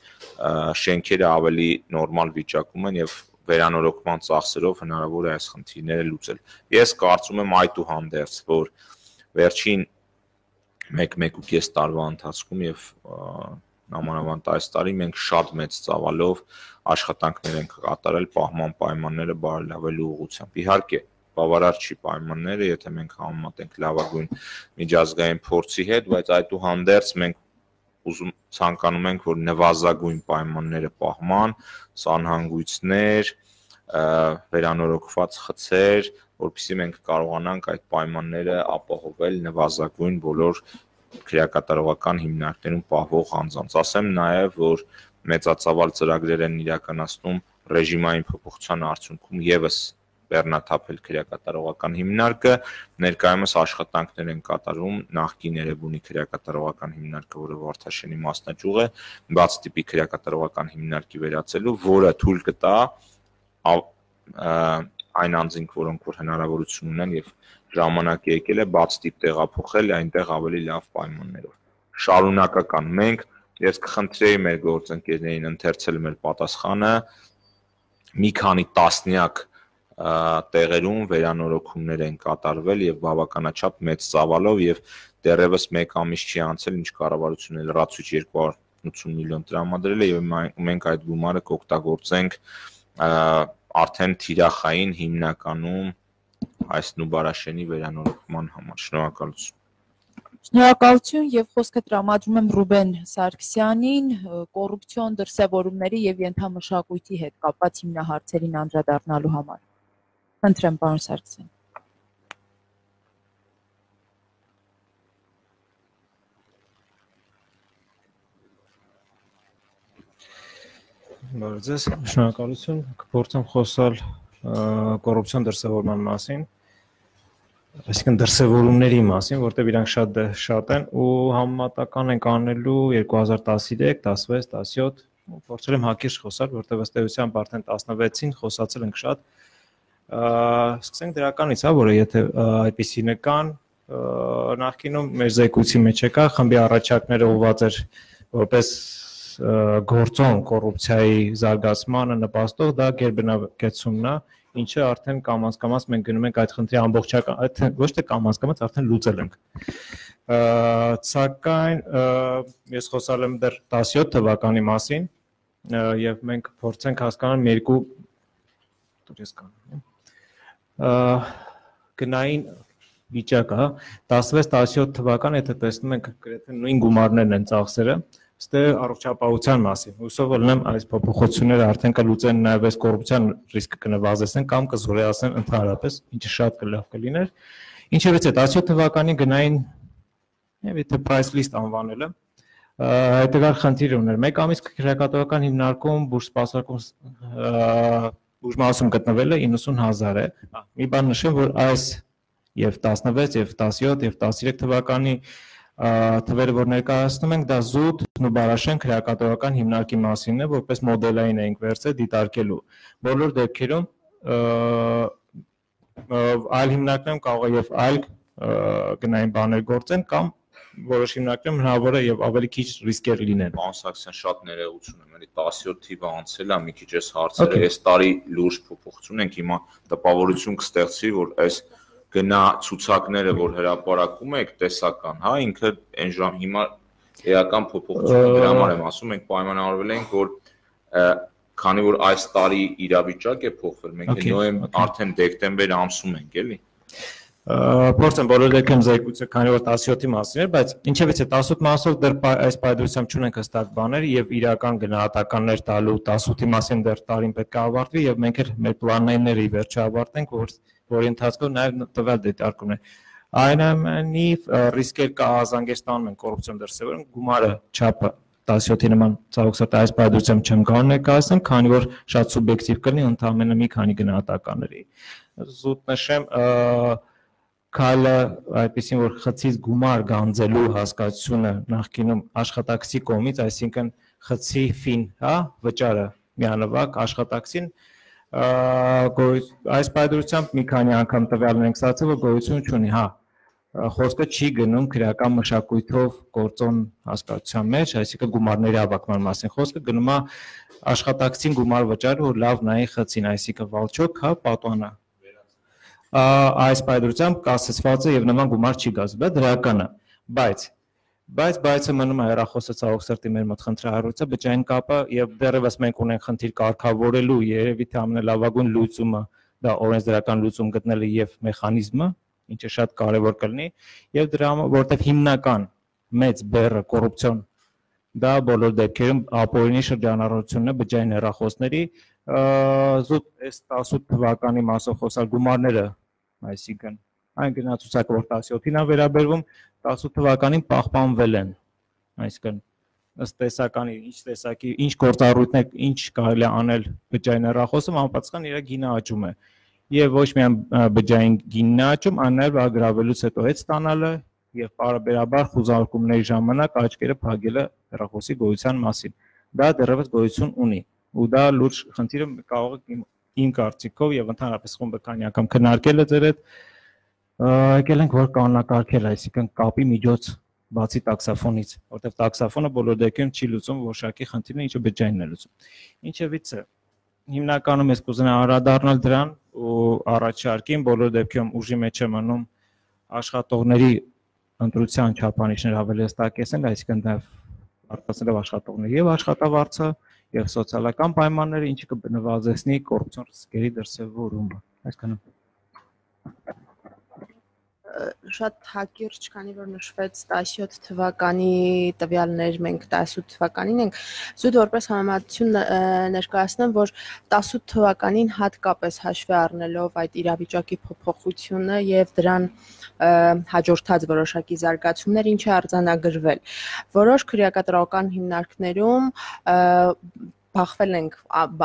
շենքերը ավելի նորմալ վիճակում են եւ վերանորոգման ծախսերով հնարավոր է այս խնդիրները լուծել։ Ես կարծում եմ այդուհանդերձ, որ վերջին 1-1.5 տարվա ընթացքում եւ նամանավանդ այս տարի մենք շատ մեծ ծավալով աշխատանքներ ենք կատարել պահման պայմանները բարելավելու ուղղությամբ։ Իհարկե, բավարար չի պայմանները, եթե մենք համեմատենք լավագույն միջազգային փորձի հետ, բայց այդուհանդերձ մենք ցանկանում ենք, որ նվազագույն պայմանները պահման, սանհանգույցներ, վերանորոգված խցեր, որպեսզի մենք կարողանանք այդ պայմանները ապահովել նվազագույն բոլոր քրեակատարողական հիմնարկներում պահվող անձանց։ Ասեմ նաև, որ մեծածավալ ծրագրեր են իրականացնում ռեժիմային փոփոխության արդյունքում եւս բեռնաթափել քրեակատարողական հիմնարկը, ներկայումս աշխատանքներ են կատարում նախկին Երևանի քրեակատարողական հիմնարկը, որը Վարդաշենի մասնաճյուղ է, բաց տիպի քրեակատարողական հիմնարկի վերածելու, որը թույլ կտա այն անձինք, որոնք որ հնարավորություն ունեն եւ ժամանակ եկել է բաց տիպ տեղափոխել այնտեղ ավելի լավ պայմաններով։ Շարունակական մենք ես կխնդրեի մեր գործընկերներին ընթերցել մեր պատասխանը մի քանի տասնյակ տեղերում վերանորոգումներ են կատարվել եւ բավականաչափ մեծ ծավալով եւ դեռևս 1 ամիս չի անցել ինչ կառավարությունը լրացուցիչ 280 միլիոն տրամադրել է եւ մենք այդ գումարը կօգտագործենք արդեն թիրախային հիմնականում այս Նուբարաշենի վերանորոգման համար։ Շնորհակալություն։ Շնորհակալություն եւ խոսքը տրամադրում եմ Ռուբեն Սարգսյանին կոռուպցիոն դրսևորումների եւ ենթամշակույթի հետ կապված հիմնահարցերին անդրադառնալու համար։ Խնդրեմ, պարոն Սարգսյան։ Բարև ձեզ, շնորհակալություն։ Կփորձեմ խոսալ կոռուպցիոն դրսևորման մասին, այսինքն դրսևորումների մասին, որտեղ իրանք շատ են ու համեմատական ենք անելու 2013, 16, 17, փորձել եմ հակիրճ խոսալ, որտեղ ըստ էության արդեն 16-ին խոսացել ենք շատ։ Սկսենք դրականից, որը եթե այդպիսին կան, նախկինում մեր զեկույցի մեջ եկա, խմբի առաջարկները ուղղված էր որպես գործոն կոռուպցիայի զարգացմանը նպաստող դա գերբնակեցումն է, ինչը արդեն կամաց-կամաց մենք գնում ենք այդ խնդրի ամբողջական, այդ ոչ թե կամաց-կամաց արդեն լուծել ենք։ Սակայն ես խոսալ եմ դեռ 17 թվականի մասին եւ մենք փորձենք հասկանալ մի երկու գնային վիճակը, 16-17 թվական, եթե տեսնում ենք գրեթե նույն գումարներն են ծախսերը, ստե առողջապահության մասին։ Հուսով եմ այս փոփոխությունները արդեն կլուծեն նաև այս կոռուպցիան ռիսկը կնվազեցնեն կամ կզորացնեն ընդհանրապես, ինչը շատ լավ կլիներ։ Ինչևէ, 17 թվականի գնային, եթե price list անվանելը, հետևյալ խնդիր ուներ։ 1 ամիս քրեակատարական հիմնարկում բուժսպասարկում բուժմասում գտնվելը 90,000 է։ Մի բան նշեմ, որ այս եւ 16 եւ 17 եւ 13 թվականի թվերը, որ ներկայացնում ենք, դա զուտ Նուբարաշեն քրեակատարական հիմնարկի մասին է, որպես մոդելային էինք վերցրել դիտարկելու։ Բոլոր դեպքերում այլ հիմնարկներում կարող է եւ այլ գնային բաներ գործեն կամ որոշ հիմնարկներում հնարավոր է եւ ավելի քիչ ռիսկեր լինեն։ Պարոն Սարգսյան, շատ ներողություն եմ, էլի 17 թիվը անցել է, մի քիչ էս հարցերը, այս տարի լուրջ փոփոխություն ենք, հիմա տպավորություն կստեղծվի, որ այս գնա ցուցակները, որ հրապարակում եք, տեսական, հա, ինքը այն ժամ հիմա էական փոփոխություն դրա համար եմ ասում, մենք պայմանավորվել ենք, որ քանի որ այս տարի իրավիճակ է փոխվել, մենք նոյեմբեր արդեն դեկտեմբեր ամսում ենք, էլի։ Փորձեմ բոլոր դեպքերում զեկույցը, քանի որ 17-ի մասին էր, բայց ինչևէ 18 մասով դեռ այս պայմանությամբ չունենք հստակ բաներ եւ իրական գնահատականներ տալու 18-ի մասին դեռ տարին պետք է ավարտվի եւ մենք էլ մեր պլանները ի վերջո ավարտենք, որի ընթացքում նաեւ տվյալ դիտարկումն է։ Այնուամենայնիվ ռիսկեր կա Ազանգեստանում են կոռուպցիոն դրսևորում, գումարը չափը 17-ի նման ցավոք այս պայմանությամբ չեմ կարող ներկայացնել, քանի որ շատ սուբյեկտիվ կլինի ընդհանրապես մի քանի գնահատականների։ Զուտ նշեմ քայլը այդպեսին որ խցից գումար գանձելու հասկացությունը նախկինում աշխատակցի կողմից, այսինքն խցի ֆին, հա, վճարը միանվագ աշխատակցին այս պայմանությամբ մի քանի անգամ տվյալներ ենք ստացել, որ գոյություն չունի, հա, խոսքը չի գնում քրեական մշակույթով գործոն հասկացության մեջ, այսինքն գումարների հավաքման մասին խոսքը գնում է աշխատակցին գումար վճարը, որ լավ նայի խցին, այսինքն վալչոկ, հա, պատանա այս պայմանությամբ կասեցված է եւ նման գումար չի գազվել դրականը, բայց մնում է հեռախոսը ցավոք սրտի մեր մոտ խնդրահարույցը բջջային կապը եւ դեռևս մենք ունենք խնդիր կարգավորելու երևի թե ամենալավագույն լուծումը դա օրենսդրական լուծում գտնելը եւ մեխանիզմը, ինչը շատ կարեւոր կլինի եւ դրա որտեվ հիմնական մեծ բեռը կոռուպցիոն դա բոլոր դեպքերում ապօրինի շրջանառությունն է բջջային հեռախոսների զուտ այս 18 թվականի մասով խոսալ գումարները, այսինքն այն գնացուցակը, որ 17-ին է վերաբերվում, 18 թվականին պահպանվել են, այսինքն ըստ տեսականի, ինչ տեսակի, ինչ գործառույթներ, ինչ կարելի է անել բջջային հեռախոսում, անպատասխան իր գինը աճում է։ Եվ ոչ միայն բջջային գինն է աճում, այլ նաև ագրավելուց հետո հետ ստանալը եւ պարբերաբար խուզարկումների ժամանակ աչքերը փակելը հեռախոսի գոյության մասին։ Դա դեռևս գոյություն ունի։ Ու դա լուրջ խնդիրը կարող է իմ կարծիքով եւ ընդհանրապես խումբը քանի անգամ քննարկել է ձեր հետ, եկել ենք որ կանոնակարգել, այսինքն կապի միջոց բացի տաքսաֆոնից, որտեղ տաքսաֆոնը բոլոր դեպքերում չի լուծում որոշակի խնդիրները, ինչը բջջայինն է լուծում։ Ինչևից հիմնականում ես կուզենա անդրադառնալ դրան ու առաջարկին բոլոր դեպքերում ուժի մեջ է մնում աշխատողների ընտրության չափանիշներ ավելի հստակեցնել, այսինքն դա արտացնելով աշխատողների եւ աշխատավարձը եւ սոցիալական պայմանները, ինչը կնվազեցնի կոռուպցիոն ռիսկերի դրսեւորումը։ Այսքանը։ Շատ հակիրճ, քանի որ նշվեց 17 թվականի տվյալներ, մենք 18 թվականին ենք, զուտ որպես համեմատություն ներկայացնեմ, որ 18 թվականին հատկապես հաշվի առնելով այդ իրավիճակի փոփոխությունը եւ դրան հաջորդած որոշակի զարգացումներ, ինչ է արձանագրվել։ Որոշ քրեակատարական հիմնարկներում բախվել ենք,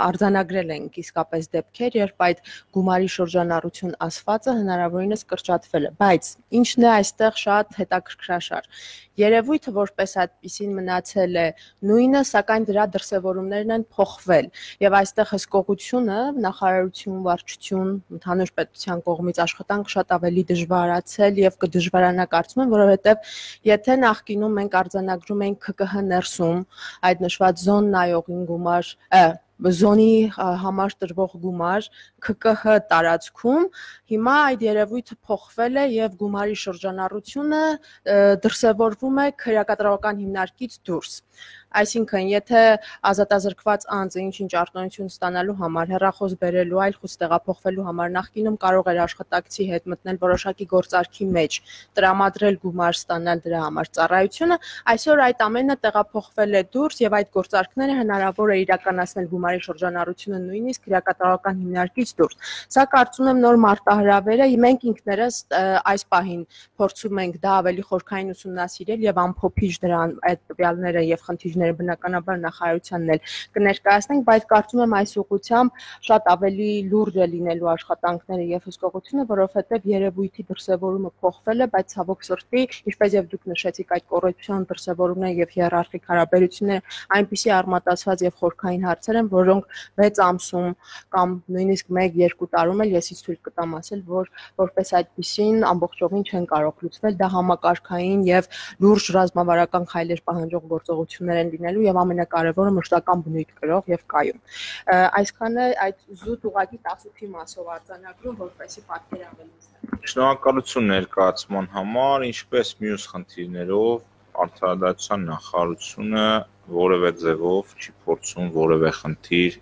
արձանագրել ենք իսկապես դեպքեր, երբ այդ գումարի շրջանառություն ասվածը հնարավորինս կրճատվել է, բայց ինչն է այստեղ շատ հետաքրքրաշար։ Երևույթը որպես այդպիսին մնացել է նույնը, սակայն դրա դրսևորումներն են փոխվել, եւ այստեղ հսկողությունը, նախարարություն, վարչություն, ընդհանուր պետության կողմից աշխատանք շատ ավելի դժվարացել եւ կդժվարանա կարծում եմ, որովհետեւ եթե նախկինում մենք արձանագրում ենք ՔԿՀ ներսում այդ նշված զոն նայողին գումար զոնի համար տրվող գումար ՔԿՀ տարածքում, հիմա այդ երևույթը փոխվել է եւ գումարի շրջանառությունը դրսևորվում է քրեակատարական հիմնարկից դուրս։ Այսինքն, եթե ազատազրկված անձը ինչ-ինչ արտոնություն ստանալու համար, հեռախոս բերելու, այլ խոց տեղափոխվելու համար նախկինում կարող էր աշխատակցի հետ մտնել որոշակի գործարքի մեջ, տրամադրել գումար ստանալ դրա համար ծառայությունը, այսօր այդ ամենը տեղափոխվել է դուրս եւ այդ գործարքները հնարավոր է իրականացնել գումարի շրջանառությունը նույնիսկ քրեակատարական հիմնարկից դուրս։ Սա կարծում եմ նոր մարտահրավեր է, մենք ինքներս այս պահին փորձում ենք դա ավելի խորքային ուսումնասիրել եւ ամփոփիչ դրան այդ տվյալները եւ խնդիրները բնականաբար նախարարությանն էլ կներկայացնենք, բայց կարծում եմ այս ուղղությամբ շատ ավելի լուրջ է լինելու աշխատանքները եւ հսկողությունը, որովհետեւ երևույթի դրսեւորումը փոխվել է, բայց ցավոք սրտի, ինչպես եւ դուք նշեցիք, այդ կոռուպցիոն դրսեւորումները եւ հիերարխիկ հարաբերությունները այնպիսի արմատացված եւ խորքային հարցեր են, որոնք 6 ամսում կամ նույնիսկ 1-2 տարում էլ եսից թույլ կտամ ասել, որ որպես այդպիսին ամբողջովին չեն կարող լուծվել, դա համակարգային եւ լուրջ ռազմավարական քայլեր պահանջող գործողություններ են լինելու եւ ամենակարևորը մշտական բնույթ կրող եւ կայուն։ Այսքանը այդ զուտ ուղղակի 18-ի մասով արձանագրում, որպեսզի պատկեր ավելի ստանանք։ Շնորհակալություն ներկայացման համար, ինչպես մյուս խնդիրներով Արդարադատության նախարարությունը որևէ ձևով չի փորձում որևէ խնդիր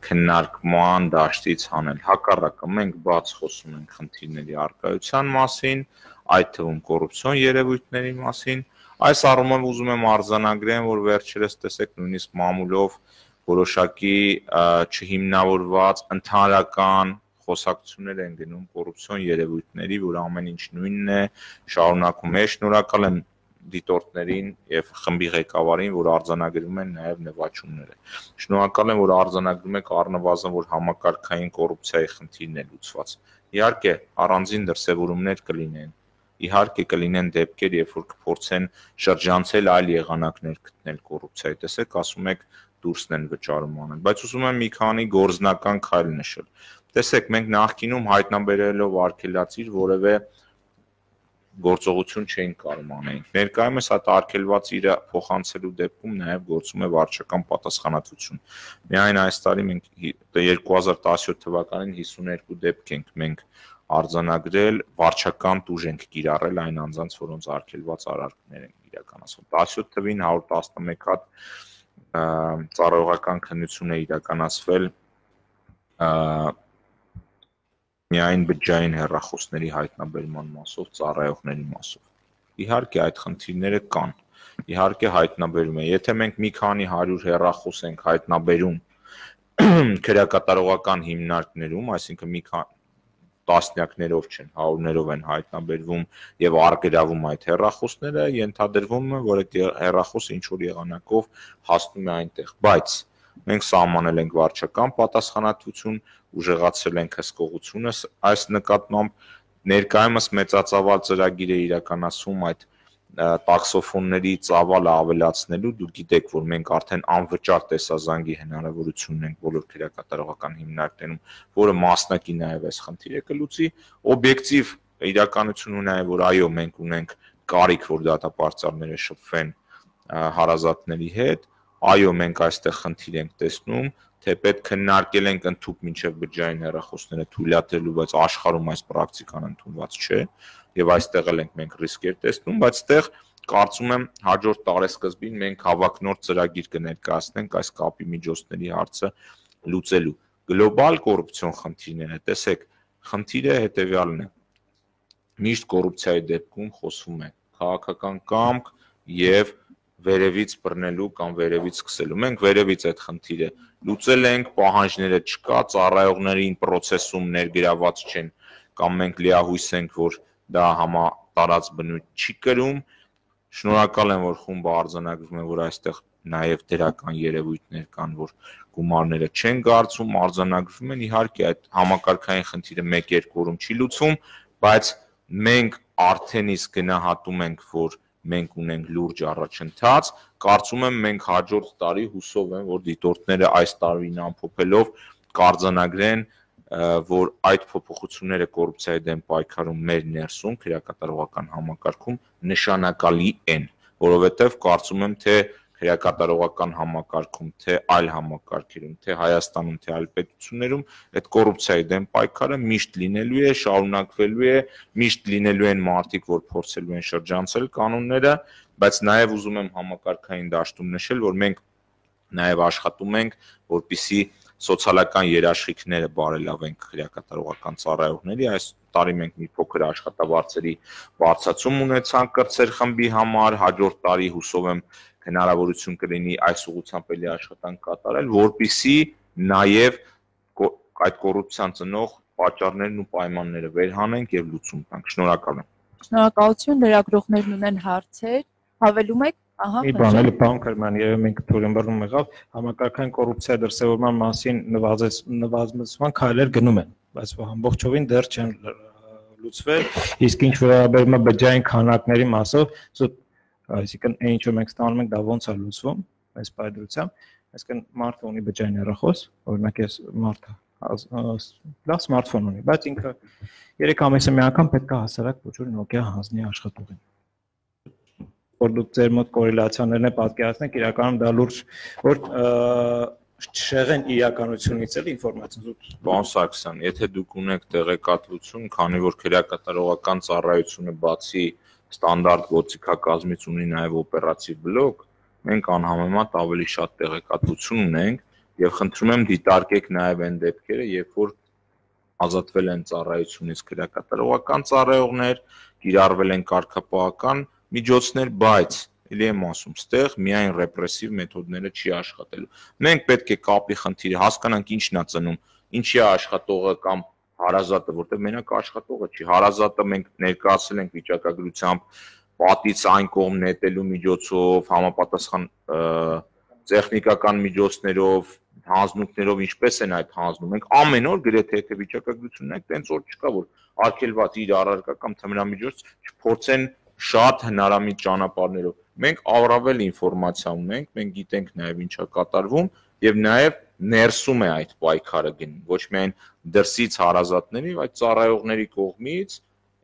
քննարկման դաշտից հանել։ Հակառակը, մենք բաց խոսում ենք խնդիրների առկայության մասին, այդ թվում կոռուպցիոն երևույթների մասին։ Այս առումով ուզում եմ արձանագրեմ, որ վերջերս տեսեք նույնիսկ մամուլով որոշակի չհիմնավորված ընդհանրական խոսակցություններ են գնում կոռուպցիոն երևույթների, որ ամեն ինչ նույնն է, շարունակում է։ Շնորհակալ եմ դիտորդներին եւ խմբի ղեկավարին, որ արձանագրում են նաեւ նվաճումները։ Շնորհակալ եմ, որ արձանագրում եք առնվազն, որ համակարգային կոռուպցիայի խնդիրն է լուծված։ Իհարկե, առանձին դրսևորումներ կլինեն։ Իհարկե կլինեն դեպքեր, երբ որ կփորձեն շրջանցել այլ եղանակներ գտնել կոռուպցիայի։ Տեսեք, ասում եք դուրսն են վճարում անել, բայց ուզում եմ մի քանի գործնական քայլ նշել։ Տեսեք, մենք նախկինում հայտնաբերելով արգելածիր որևէ գործողություն չէին կարող անենք։ Ներկայումս այդ արգելված իրը փոխանցելու դեպքում նաև գործում է վարչական պատասխանատվություն։ Միայն այս տարի մենք 2017 թվականին 52 դեպք ենք մենք արձանագրել, վարչական տուժ ենք կիրառել այն անձանց, որոնց արգելված արարքներ են իրականացվել։ 17 թվին 111 հատ ծառայողական քննություն է իրականացվել միայն բջջային հեռախոսների հայտնաբերման մասով, ծառայողների մասով։ Իհարկե այդ խնդիրները կան, իհարկե հայտնաբերում է։ Եթե մենք մի քանի 100 հեռախոս ենք հայտնաբերում քրեակատարողական հիմնարկներում, այսինքն մի քանի տասնյակներով չեն, հարյուրներով են հայտնաբերվում եւ արգելվում այդ հեռախոսները, ենթադրվում է, որ այդ հեռախոսը ինչ որ եղանակով հասնում է այնտեղ, բայց մենք սահմանել ենք վարչական պատասխանատվություն, ուժեղացրել ենք հսկողությունը, այս նկատմամբ ներկայումս մեծածավալ ծրագիր է իրականացում այդ տաքսոֆոնների ծավալը ավելացնելու դուք գիտեք, որ մենք արդեն անվճար տեսազանգի հնարավորություն ունենք բոլոր քրեակատարողական հիմնարկներում, որը մասնակի նաև այս խնդիրը կլուծի, օբյեկտիվ իրականությունն է, որ այո, մենք ունենք կարիք, որ դատապարտյալները շփվեն հարազատների հետ, այո, մենք այստեղ խնդիր ենք տեսնում, թե պետք քննարկել ենք ընդհանուր մինչև բջջային հեռախոսները թույլատրելու, բայց աշխարհում այս պրակտիկան ընդունված չէ, եւ այստեղ էլ ենք մենք ռիսկեր տեսնում, բայց այստեղ կարծում եմ հաջորդ տարեսկզբին մենք հավակնորդ ծրագիր կներկայացնենք այս կապի միջոցների հարցը լուծելու։ Գլոբալ կոռուպցիոն խնդիրները, տեսեք, խնդիրը հետեւյալն է։ Միշտ կոռուպցիայի դեպքում խոսվում է քաղաքական կամք եւ վերևից բռնելու կամ վերևից սկսելու։ Մենք վերևից այդ խնդիրը լուծել ենք, պահանջները չկա, ծառայողներին process-ում ներգրաված չեն, կամ մենք լիահույս ենք, որ դա համատարած բնույթ չի կրում։ Շնորհակալ եմ, որ խումբը արձանագրում է, որ այստեղ նաև դրական երևույթներ կան, որ գումարները չեն գարցում, արձանագրվում են, իհարկե այդ համակարգային խնդիրը 1-2 օրում չի լուծվում, բայց մենք արդեն իսկ գնահատում ենք, որ մենք ունենք լուրջ առաջընթաց, կարծում եմ մենք հաջորդ տարի հուսով եմ, որ դիտորդները այս տարին ամփոփելով կարձանագրեն, որ այդ փոփոխությունները կոռուպցիայի դեմ պայքարում մեր ներսում քրեակատարողական համակարգում նշանակալի են, որովհետև կարծում եմ, թե քրեակատարողական համակարգում, թե այլ համակարգերում, թե Հայաստանում, թե այլ պետություններում այդ կոռուպցիայի դեմ պայքարը միշտ լինելու է, շարունակվելու է, միշտ լինելու են մարդիկ, որ փորձելու են շրջանցել կանոնները, բայց նաև ուզում եմ համակարգային դաշտում նշել, որ մենք նաև աշխատում ենք, որպեսզի սոցիալական երաշխիքները բարելավենք քրեակատարողական ծառայողների, այս տարի մենք մի փոքր աշխատավարձերի բարձրացում ունեցանք կրտսեր խմբի համար, հաջորդ տարի հուսով եմ հնարավորություն կլինի այս ուղղությամբ էլի աշխատանք կատարել, որպեսզի նաև այդ կոռուպցիան ծնող պատճառներն ու պայմանները վերհանենք եւ լուծում տանք։ Շնորհակալ եմ։ Շնորհակալություն, լրագրողներն ունեն հարցեր, հավելում եք, ահա։ Մի բան էլի բան Քրման, երբ մենք թուրմբռնում եղավ, համակարգային կոռուպցիա դրսևորման մասին նվազեցման քայլեր գնում են, բայց ամբողջովին դեռ չեն լուծվել, իսկ ինչ վերաբերում է բջջային քանակների մասով, այսինքն այն ինչ որ մենք ստանում ենք, դա ոնց է լուծվում, այս պայմանությամբ, այսինքն մարդը ունի բջջային հեռախոս, օրինակ ես մարդը լավ սմարթֆոն ունի, բայց ինքը 3 ամիսը մի անգամ պետք է հասարակ ոչ որ Nokia հանձնի աշխատողին։ Որ դուք ձեր մոտ կորելացիաներն է պատկերացնեք, իրականում դա լուրջ որ չեղեն իրականությունից էլ ինֆորմացիա։ Պարոն Սարգսյան, եթե դուք ունեք տեղեկատվություն, քանի որ քրեակատարողական ծառայությունը բացի ստանդարտ գործիքակազմից ունի նաև օպերատիվ բլոկ, մենք անհամեմատ ավելի շատ տեղեկատվություն ունենք եւ խնդրում եմ դիտարկեք նաև այն դեպքերը, երբ որ ազատվել են ծառայությունից քրեակատարողական ծառայողներ, կիրառվել են կարգապահական միջոցներ, բայց ելի եմ ասում, ստեղ միայն ռեպրեսիվ մեթոդները չի աշխատելու։ Մենք պետք է կապի խնդիրը հասկանանք ինչն է ծնում, ինչի է աշխատողը կամ հարազատը, որտեղ մենակ աշխատողը չի, հարազատը մենք ներկայացել ենք վիճակագրությամբ պատից այն կողմ նետելու միջոցով, համապատասխան տեխնիկական միջոցներով, հանձնություններով ինչպես են այդ հանձնում։ Մենք ամեն օր գրեթե եթե վիճակագրությունն ենք, տենց օր չկա, որ արգելված իր առարկա կամ թմրամիջոց չփորձեն շատ հնարամիտ ճանապարհներով։ Մենք առավել ինֆորմացիա ունենք, մենք գիտենք նաև ինչա կատարվում եւ նաև ներսում է այդ պայքարը գնում, ոչ միայն դրսից հարազատների, այլ ծառայողների կողմից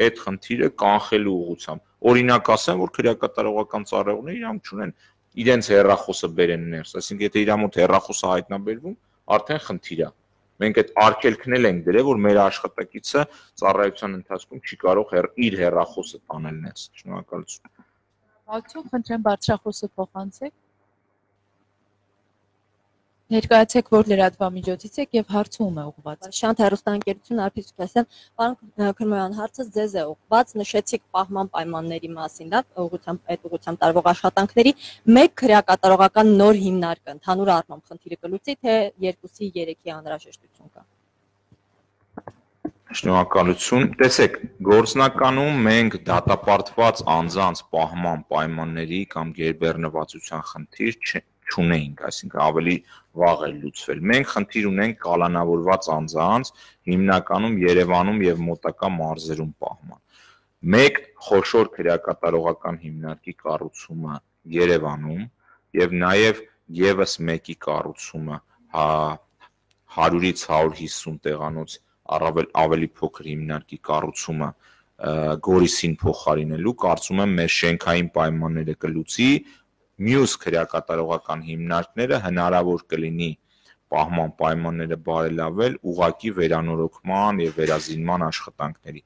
այդ խնդիրը կանխելու ուղղությամբ։ Օրինակ ասեմ, որ քրեակատարողական ծառայողները իրանք չունեն իրենց հեռախոսը բերեն ներս, այսինքն եթե իր մոտ հեռախոսը հայտնաբերվում, արդեն խնդիր է։ Մենք այդ արգելքն ենք դրել, որ մեր աշխատակիցը ծառայության ընթացքում չի կարող իր հեռախոսը տանել ներս։ Շնորհակալություն։ Ողջույն, խնդրեմ բարձրախոսը փոխանցեք։ Ներկայացեք, որ լրատվամիջոցից եք եւ հարցը ում է ուղղված։ Շանթ հեռուստաընկերություն Արփիս Սուքասյան, պարոն Քրմոյան, հարցը ձեզ է ուղղված, նշեցիք պահման պայմանների մասին, դա այդ ուղղությամբ տարվող աշխատանքների, մեկ քրեակատարողական նոր հիմնարկ ընդհանուր առմամբ խնդիրը կլուծի, թե 2-ի 3-ի անհրաժեշտություն կա։ Շնորհակալություն։ Տեսեք, գործնականում մենք դատապարտված անձանց պահման պայմանների կամ գերբեռնվածության խնդիր չունենք, այսինքն ավելի վաղ է լուծվել։ Մենք խնդիր ունենք կալանավորված անձանց, հիմնականում Երևանում եւ մոտակա մարզերում պահման։ Մեկ խոշոր քրեակատարողական հիմնարկի կառուցումը Երևանում եւ նաեւ եւս մեկի կառուցումը 100-ից 150 տեղանոց ավելի փոքր հիմնարկի կառուցումը Գորիսին փոխարինելու կարծում եմ մեր շենքային պայմանները կլուծի, մյուս քրեակատարողական հիմնարկները հնարավոր կլինի պահման պայմանները բարելավել ուղղակի վերանորոգման եւ վերազինման աշխատանքների։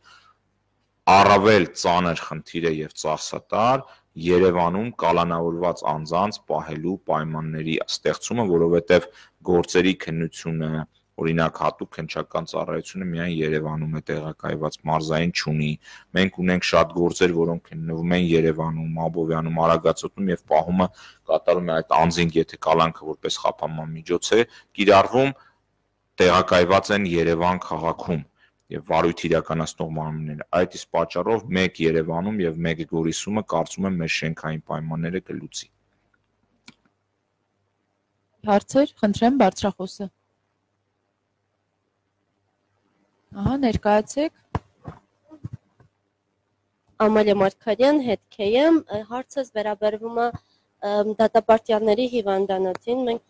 Առավել ծանր խնդիր է եւ ծախսատար Երևանում կալանավորված անձանց պահելու պայմանների ստեղծումը, որովհետեւ գործերի քննությունը, օրինակ հատուկ քննչական ծառայությունը միայն Երևանում է տեղակայված, մարզային չունի։ Մենք ունենք շատ գործեր, որոնք քննվում են Երևանում, Աբովյանում, Արագածոտում եւ պահումը կատարում է այդ անձինք, եթե կալանքը որպես խափանման միջոց է կիրառվում, տեղակայված են Երևան քաղաքում եւ վարույթ իրականացնող մարմինները։ Այդ իսկ պատճառով մեկ Երևանում եւ մեկ Գորիսումը կարծում եմ մեր շենքային պայմանները կլուծի։ Հարցեր, խնդրեմ բարձրախոսը։ Ահա, ներկայացեք։ Ամալիա Մարգարյան, հետքեմ, հարցս վերաբերվում է դատապարտյալների հիվանդանոցին։ Մենք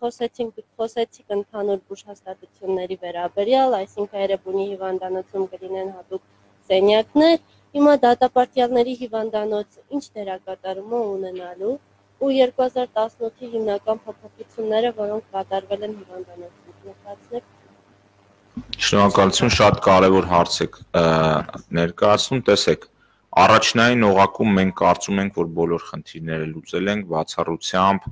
խոսեցիք ընդհանուր բուժհաստատությունների վերաբերյալ, այսինքն Էրեբունի հիվանդանոցում կլինեն հատուկ սենյակներ։ Հիմա դատապարտյալների հիվանդանոցը ինչ դերակատարում է ունենալու ու 2018-ի հիմնական փոփոխությունները, որոնք կատարվել են հիվանդանոցում։ Ներկայացնեք։ Շնորհակալություն, շատ կարևոր հարց եք ներկայացնում, տեսեք, առաջնային օղակում մենք կարծում ենք, որ բոլոր խնդիրները լուծել ենք, բացառությամբ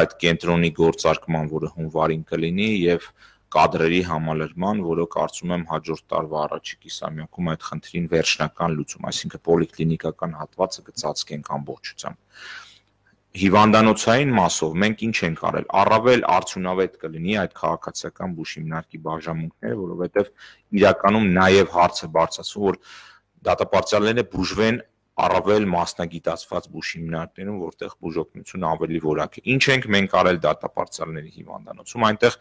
այդ կենտրոնի գործարկման, որը հունվարին կլինի եւ կադրերի համալրման, որը կարծում եմ հաջորդ տարվա առաջի կիսամյակում այդ խնդրին վերջնական լուծում, այսինքն պոլիկլինիկական հատվածը կծածկենք ամբողջությամբ։ Հիվանդանոցային մասով մենք ինչ ենք արել, առավել արդյունավետ կլինի այդ քաղաքացիական բուժ հիմնարկի բաժանմունքները, որովհետև իրականում նաև հարցը բարձրացում, որ դատապարտյալները բուժվեն առավել մասնագիտացված բուժ հիմնարկներում, որտեղ բուժօգնությունը ավելի որակ է։ Ինչ ենք մենք արել դատապարտյալների հիվանդանոցում, այնտեղ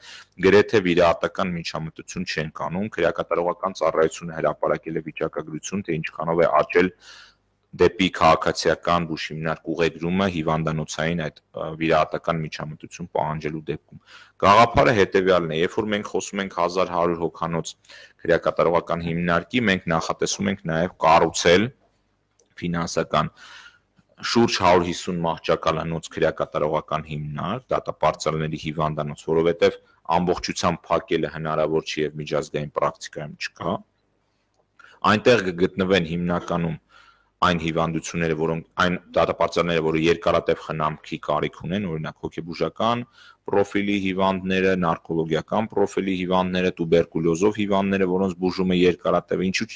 գրեթե վիրահատական միջամտություն չենք անում, քրեակատարողական ծառայությունը հրապարակել է վիճակագրություն, թե ինչքանով է աճել դեպի քաղաքացիական բուժ հիմնարկ ուղեգրումը հիվանդանոցային այդ վիրահատական միջամտություն պահանջելու դեպքում։ Գաղափարը հետևյալն է, երբ որ մենք խոսում ենք 1100 հոգանոց քրեակատարողական հիմնարկի, մենք նախատեսում ենք նաև կառուցել ֆինանսական շուրջ 150 մահճակալանոց քրեակատարողական հիմնարկ, դատապարտյալների հիվանդանոց, որովհետև ամբողջությամբ փակելը հնարավոր չի եւ միջազգային պրակտիկայում չկա։ Այնտեղ կգտնվեն հիմնականում այն հիվանդությունները, որոնք այն դատապարտյալները, որը երկարատև խնամքի կարիք ունեն, օրինակ հոգեբուժական պրոֆիլի հիվանդները, նարկոլոգիական պրոֆիլի հիվանդները, տուբերկուլյոզով հիվանդները, որոնց բուժումը երկարատև, ինչու՞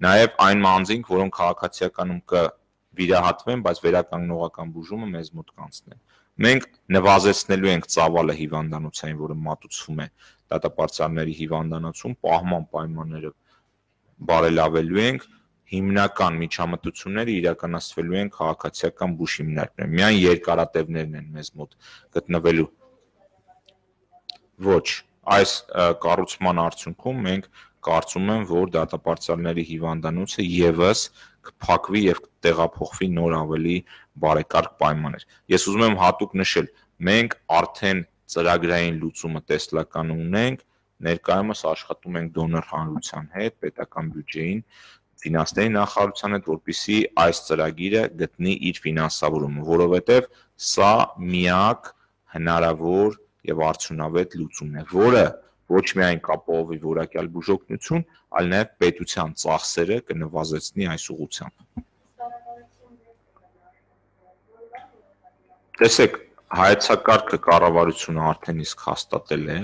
նաև այն մանձինք, որոնք քաղաքացիականում կվիրահատվեն, բայց վերականգնողական բուժումը մեզ մոտ կանցնեն։ Մենք նվազեցնելու ենք ծավալը հիվանդանոցային, որը մատուցվում է դատապարտյալների հիվանդանոցում, պահման պայմանները բարելավելու ենք, հիմնական միջամտությունները իրականացվելու են քաղաքացիական բուժ հիմնարկներում։ Միայն երկարատևներն են մեզ մոտ գտնվելու։ Ոչ, այս կառուցման արդյունքում մենք կարծում եմ, որ դատապարտյալների հիվանդանոցը եւս կփակվի եւ կտեղափոխվի նոր ավելի բարեկարգ պայմաններ։ Ես ուզում եմ հատուկ նշել, մենք արդեն ծրագրային լուծումը տեսլական ունենք, ներկայումս աշխատում ենք դոնոր հանրության հետ, պետական բյուջեին, ֆինանսների նախարարության հետ, որպեսզի այս ծրագիրը գտնի իր ֆինանսավորումը, որովհետև սա միակ հնարավոր եւ արդյունավետ լուծումն է, որը ոչ միայն կապահովի որակյալ բուժօգնություն, այլ նաեւ պետության ծախսերը կնվազեցնի այս ուղղությամբ։ Տեսեք, հայեցակարգը կառավարությունը արդեն իսկ հաստատել է,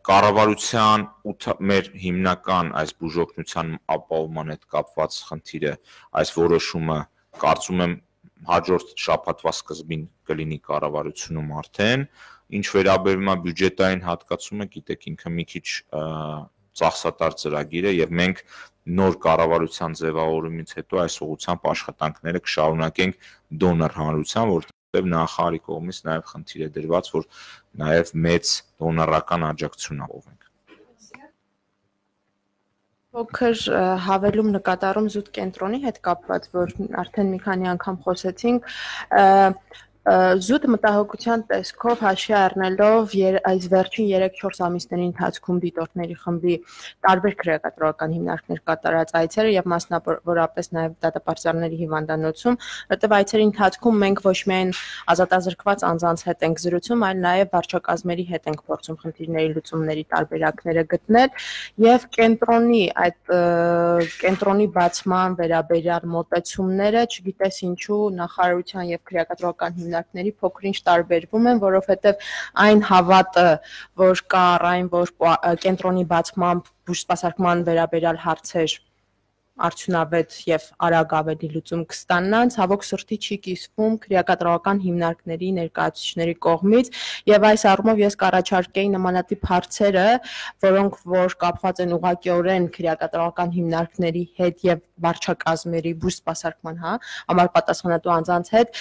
կառավարության մեր հիմնական այս բուժօգնության ապահովման հետ կապված խնդիրը, այս որոշումը կարծում եմ հաջորդ շաբաթվա սկզբին կլինի կառավարությունում արդեն, ինչ վերաբերում է բյուջետային հատկացումը, գիտեք, ինքը մի քիչ ծախսատար ծրագիր է եւ մենք նոր կառավարության ձևավորումից հետո այս ուղղությամբ աշխատանքները կշարունակենք դոնոր հանրության, որտեղ նախարարի կողմից նաև խնդիր է դրված, որ նաև մեծ դոնորական աջակցություն ապահովենք։ Փոքր հավելում նկատառում զուտ կենտրոնի հետ կապված, որ արդեն մի քանի անգամ խոսեցինք, զուտ մտահոգության տեսքով հաշվի առնելով այս վերջին 3-4 ամիսների ընթացքում դիտորդների խմբի տարբեր քրեակատարողական հիմնարկներ կատարած այցերը եւ մասնավորապես նաեւ դատապարտյալների հիվանդանոցում, որտեղ այցերի ընթացքում մենք ոչ միայն ազատազրկված անձանց հետ ենք զրուցում, այլ նաեւ վարչակազմերի հետ ենք փորձում խնդիրների լուծումների տարբերակները գտնել եւ կենտրոնի բացման վերաբերյալ մոտեցումները, չգիտես ինչու նախարարության եւ քրեակատարողական հիմնարկների փոքր-ինչ տարբերվում են, որովհետև այն հավատը, որ կա այն, որ կենտրոնի բացմամբ բուժսպասարկման վերաբերյալ հարցեր արդյունավետ եւ արագ ավելի լուծում կստանան, ցավոք սրտի չի կիսվում քրեակատարողական հիմնարկների ներկայացուցիչների կողմից եւ այս առումով ես կառաջարկեի նմանատիպ հարցերը, որոնք որ կապված են ուղղակիորեն քրեակատարողական հիմնարկների հետ եւ վարչակազմերի բուժսպասարկման, համար պատասխանատու անձանց հետ,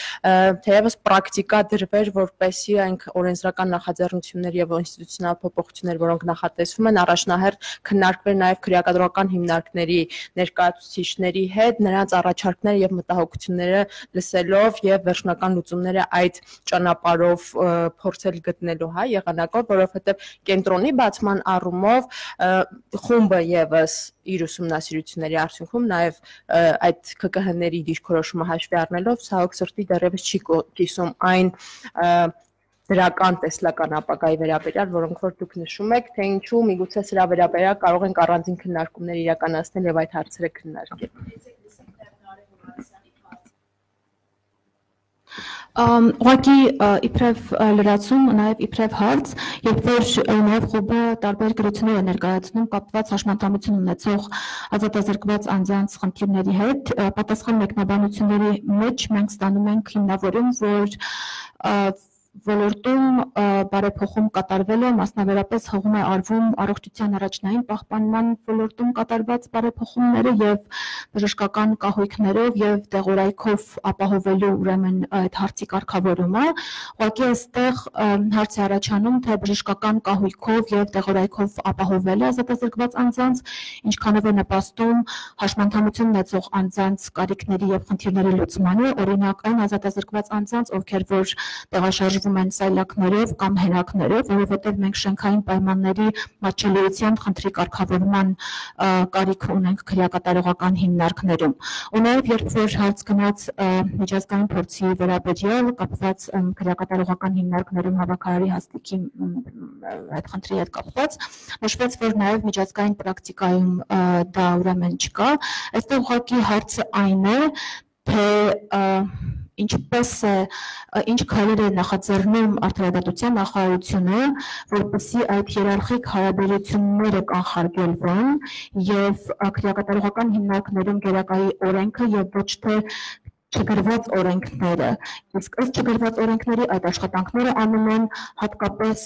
թեևս պրակտիկա դրվեր, որպեսզի այն օրենսդրական նախաձեռնություններ եւ ինստիտուցիոնալ փոփոխություններ, որոնք նախատեսվում են, առաջնահերթ քննարկվեր նաեւ քրեակատարողական հիմնարկների ներկայացուցիչների հետ, նրանց առաջարկները եւ մտահոգությունները լսելով եւ վերջնական լուծումները այդ ճանապարհով փորձել գտնելու եղանակով, որովհետեւ կենտրոնի բացման առումով խումբը եւս իր ուսումնասիրությունների արդյունքում նաեւ այդ ԿԿՀ-ների դիրքորոշումը հաշվի առնելով ցավոք սրտի դեռևս չի կիսում այն դրական տեսլական ապագայի վերաբերյալ, որոնք որ դուք նշում եք, թե ինչու միգուցե սրա վերաբերյալ կարող ենք առանձին քննարկումներ իրականացնել եւ այդ հարցերը քննարկել։ Ուղղակի իբրև լրացում, նաև իբրև հարց, երբ որ նաև խումբը տարբեր գրություններ է ներկայացնում կապված հաշմանդամություն ունեցող ազատազրկված անձանց խնդիրների հետ, պատասխան մեկնաբանությունների մեջ մենք ստանում ենք հիմնավորում, որ ոլորտում բարեփոխում կատարվել է, մասնավորապես հողում է արվում առողջության առաջնային պահպանման ոլորտում կատարված բարեփոխումները եւ բժշկական կահույքներով եւ դեղորայքով ապահովելու ուրեմն այդ հարցի կարգավորումը, ուղղակի այստեղ հարց է առաջանում, թե բժշկական կահույքով եւ դեղորայքով ապահովելը ազատազրկված անձանց ինչքանով է նպաստում հաշմանդամություն ունեցող անձանց կարիքների եւ խնդիրների լուծմանը, օրինակ այն ազատազրկված անձանց, ովքեր որ տեղաշարժ են սայլակներով կամ հենակներով, որովհետև մենք շենքային պայմանների մատչելիության խնդրի կարգավորման կարիք ունենք քրեակատարողական հիմնարկներում։ Ու նաև երբ որ հարց գնաց միջազգային փորձի վերաբերյալ կապված քրեակատարողական հիմնարկներում հավաքարարի հաստիքի այդ խնդրի հետ կապված, նշվեց, որ նաև միջազգային պրակտիկայում դա ուրեմն չկա։ Այստեղ ուղղակի հարցը այն է, թե ինչպես է, ինչ քայլեր է նախաձեռնում արդարադատության նախարարությունը, որպեսզի այդ հիերարխիկ հարաբերությունները կանխարգելվեն եւ քրեակատարողական հիմնարկներում գերակայի օրենքը եւ ոչ թե չգրված օրենքները, իսկ ըստ չգրված օրենքների այդ աշխատանքները անում են հատկապես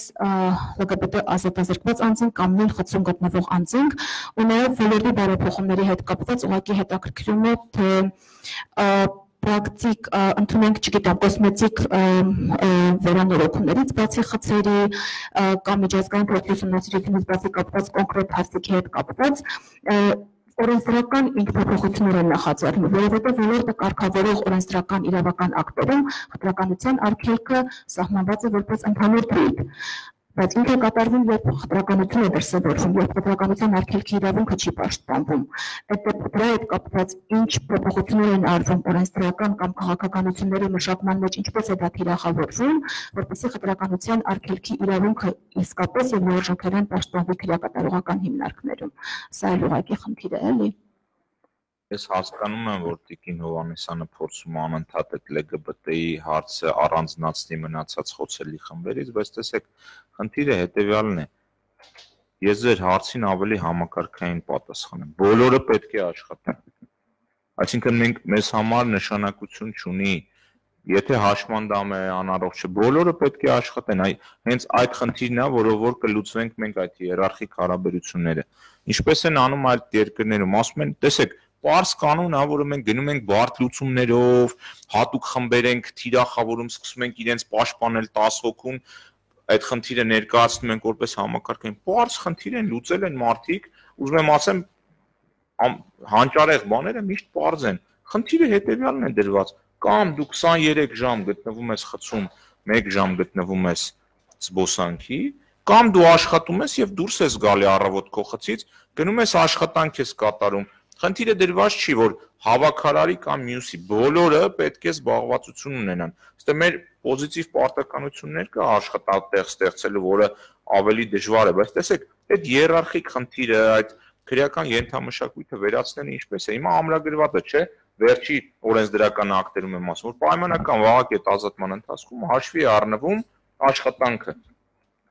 ԼԳԲՏ ազատազրկված անձինք կամ նույն խցում գտնվող անձինք, ու նաև ոլորտի բարեփոխումների հետ կապված ուղղակի հետաքրքրում է, թե պրակտիկ ընդունենք, չգիտեմ, կոսմետիկ վերանորոգումներից բացի խցերի կամ միջազգային փորձի ուսումնասիրությունից բացի կապված կոնկրետ հաստիքի հետ կապված օրենսդրական ինքնափոխություններ են նախաձեռնում, որովհետև ոլորտը կարգավորող օրենսդրական իրավական ակտերում խտրականության արգելքը սահմանված է որպես ընդհանուր թույլ, բայց ինքը կատարվում, երբ խտրականություն է դրսևորվում, երբ խտրականության արգելքի իրավունքը չի պաշտպանվում։ Դրա հետ կապված ինչ փոփոխություններ են արվում օրենսդրական կամ քաղաքականությունների մշակման մեջ, ինչպես է դա թիրախավորվում, որպեսզի խտրականության արգելքի իրավունքը իսկապես եւ լիարժեքորեն պաշտպանվի քրեակատարողական հիմնարկներում։ Սա էլ ուղղակի խնդիր է, էլի։ Ես հասկանում եմ, որ Տիկին Հովհաննիսյանը փորձում է անընդհատ այդ ԼԳԲՏ-ի հարցը առանձնացնի մնացած խոցելի խմբերից, բայց տեսեք, խնդիրը հետեւյալն է։ Ես ձեր հարցին ավելի համակարգային պատասխան եմ։ Բոլորը պետք է աշխատեն։ Այսինքն մենք մեզ համար նշանակություն չունի, եթե հաշմանդամ է անառողջ է, բոլորը պետք է աշխատեն։ Հենց այդ խնդիրն է, որով որ կլուծվենք մենք այդ հիերարխիկ հարաբերությունները։ Ինչպես են անում այլ երկրներում, ասում են, տեսեք, պարզ կանոն է, որը մենք գնում ենք բարդ լուծումներով, հատուկ խմբեր ենք թիրախավորում, սկսում ենք իրենց պաշտպանել 10 հոգուն, այդ խնդիրը ներկայացնում ենք որպես համակարգային։ Պարզ խնդիր են, լուծել են մարդիկ, ուզում եմ ասեմ, հանճարեղ բաները միշտ པարզ են։ Խնդիրը հետեւյալն է դրված. կամ դու 23 ժամ գտնվում ես խցում, 1 ժամ գտնվում ես զբոսանքի, կամ դու աշխատում ես եւ դուրս ես գալի առավոտ քո խցից, գնում ես աշխատանք ես կատարում։ Խնդիրը դրված չի, որ հավաքարարի կամ մյուսի բոլորը պետք է զբաղվածություն ունենան։ Ըստ մեր պոզիտիվ պարտականություններ կա աշխատատեղ ստեղծելու, որը ավելի դժվար է, բայց տեսեք, այդ հիերարխիկ խնդիրը, այդ քրեական ենթամշակույթը վերացնելը ինչպես է։ Հիմա ամրագրված է, չէ՞, վերջի օրենսդրական ակտերում եմ ասում, որ պայմանական վաղակետ ազատման ընթացքում հաշվի է առնվում աշխատանքը։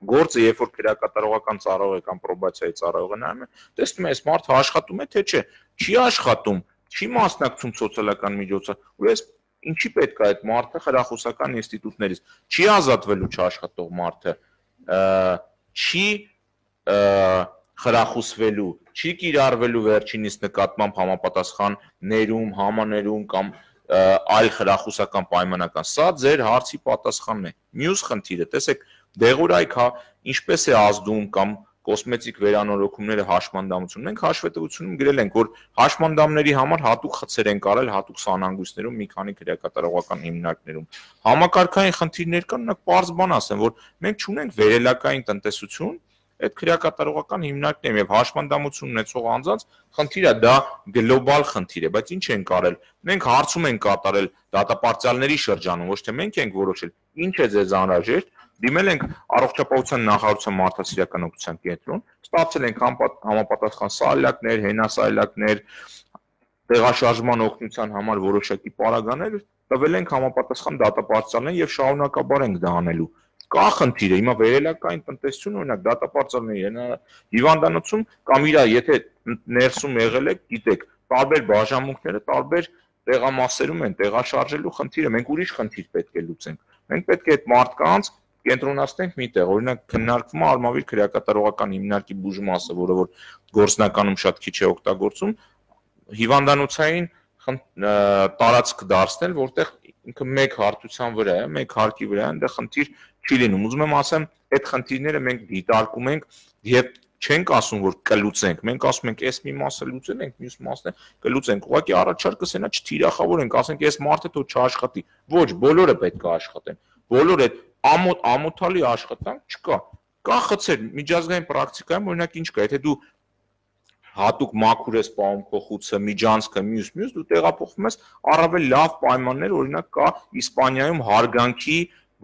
Գործը, երբ որ քրեակատարողական ծառայողը կամ պրոբացիայի ծառայողը նայում է, տեսնում է, այս մարդը աշխատում է, թե չէ, չի աշխատում, չի մասնակցում սոցիալական միջոցառումներին, ու ես ինչի պետք է այդ մարդը խրախուսական ինստիտուտներից չի ազատվելու չաշխատող մարդը, չի խրախուսվելու, չի կիրառվելու վերջինիս նկատմամբ համապատասխան ներում, համաներում կամ այլ խրախուսական պայմանական։ Սա ձեր հարցի պատասխանն է։ Մյուս խնդիրը, տեսեք, դեղորայք ինչպես է ազդում կամ կոսմետիկ վերանորոգումները հաշմանդամություն։ Մենք հաշվետվությունում գրել ենք, որ հաշմանդամների համար հատուկ խցեր են կարել հատուկ սանհանգույցներում մի քանի քրեակատարողական հիմնարկներում։ Համակարգային խնդիրներ կան, նա պարզ բան ասեմ, որ մենք չունենք վերելակային տնտեսություն այդ քրեակատարողական հիմնարկներում եւ հաշմանդամություն ունեցող անձանց խնդիրը դա գլոբալ խնդիր է, բայց ինչ են կարել։ Մենք հարցում ենք կատարել դատապարտյալների շրջանում, ոչ թե մենք ենք որոշել, ինչ է ձեզ անհրաժեշտ։ Դիմել ենք առողջապահության նախարարության մարդասիրական օգնության կենտրոն, ստացել ենք համապատասխան սալյակներ, հենասալյակներ, տեղաշարժման օգնության համար որոշակի պարագաներ, տվել ենք համապատասխան դատապարտյալներին եւ շարունակաբար ենք դա անելու։ Կա խնդիրը, հիմա վերելակային տնտեսություն, օրինակ դատապարտյալների հիվանդանոցում կամ իր եթե ներսում եղել եք, գիտեք, տարբեր բաժանմունքները տարբեր տեղամասերում են տեղաշարժելու խնդիրը, մենք ուրիշ խնդիր պետք է լուծենք։ Մենք պետք է այդ մարդկանց կենտրոնացնենք միտեղ, օրինակ քննարկվում է արմավիր քրեակատարողական հիմնարկի բուժմասը, որը որ գործնականում շատ քիչ է օգտագործում, հիվանդանոցային տարածք դարձնել, որտեղ ինքը մեկ հարթության վրա է, մեկ հարկի վրա է, այնտեղ խնդիր չի լինում։ Ուզում եմ ասեմ, այդ խնդիրները մենք դիտարկում ենք եւ չենք ասում, որ կլուծենք, մենք ասում ենք, այս մի մասը լուծենք, մյուս մասը կլուծենք։ Ուղղակի առաջարկը սենա չթիրախավորենք, ասենք, այս մարդը թող չաշխատի։ Ոչ, բոլորը պետք է աշխատեն։ Բոլորը ամոթալի աշխատանք չկա։ Կա խցեր, միջազգային պրակտիկայում օրինակ ինչ կա, եթե դու հատուկ մաքուր ես պահում քո խուցը, միջանցքը, մյուս, դու տեղափոխվում ես առավել լավ պայմաններ, օրինակ կա Իսպանիայում հարգանքի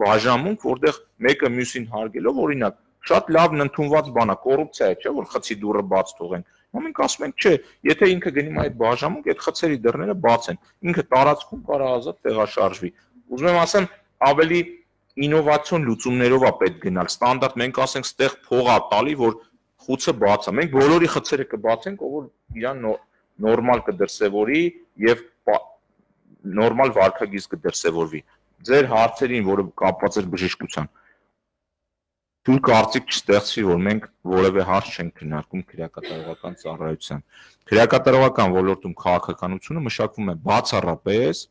բաժանմունք, որտեղ մեկը մյուսին հարգելով, օրինակ, շատ լավ ընդունված բան է, կոռուպցիա է, չէ՞, որ խցի դուռը բաց թողեն։ Մենք ասում ենք, չէ, եթե ինքը գնում այդ բաժանմունք, այդ խցերի դռները բաց են, ինքը տարածքում կարող ազատ տեղաշարժվի։ Ուզում եմ ասեմ, ավելի ինովացիոն լուծումներով է պետք գնալ։ Ստանդարտ մենք ասենք, ստեղ փող է տալի, որ խուցը բաց է։ Մենք բոլորի խցերը կբացենք, ով որ իրան նորմալ կդրսևորի եւ նորմալ վարքագիծ կդրսևորվի։ Ձեր հարցերին, որը կապված էր բժշկության, թույլ կարծիք չստեղծվի, որ մենք որևէ հարց չենք քննարկում քրեակատարողական ծառայության։ Քրեակատարողական ոլորտում քաղաքականությունը մշակվում է բացառապես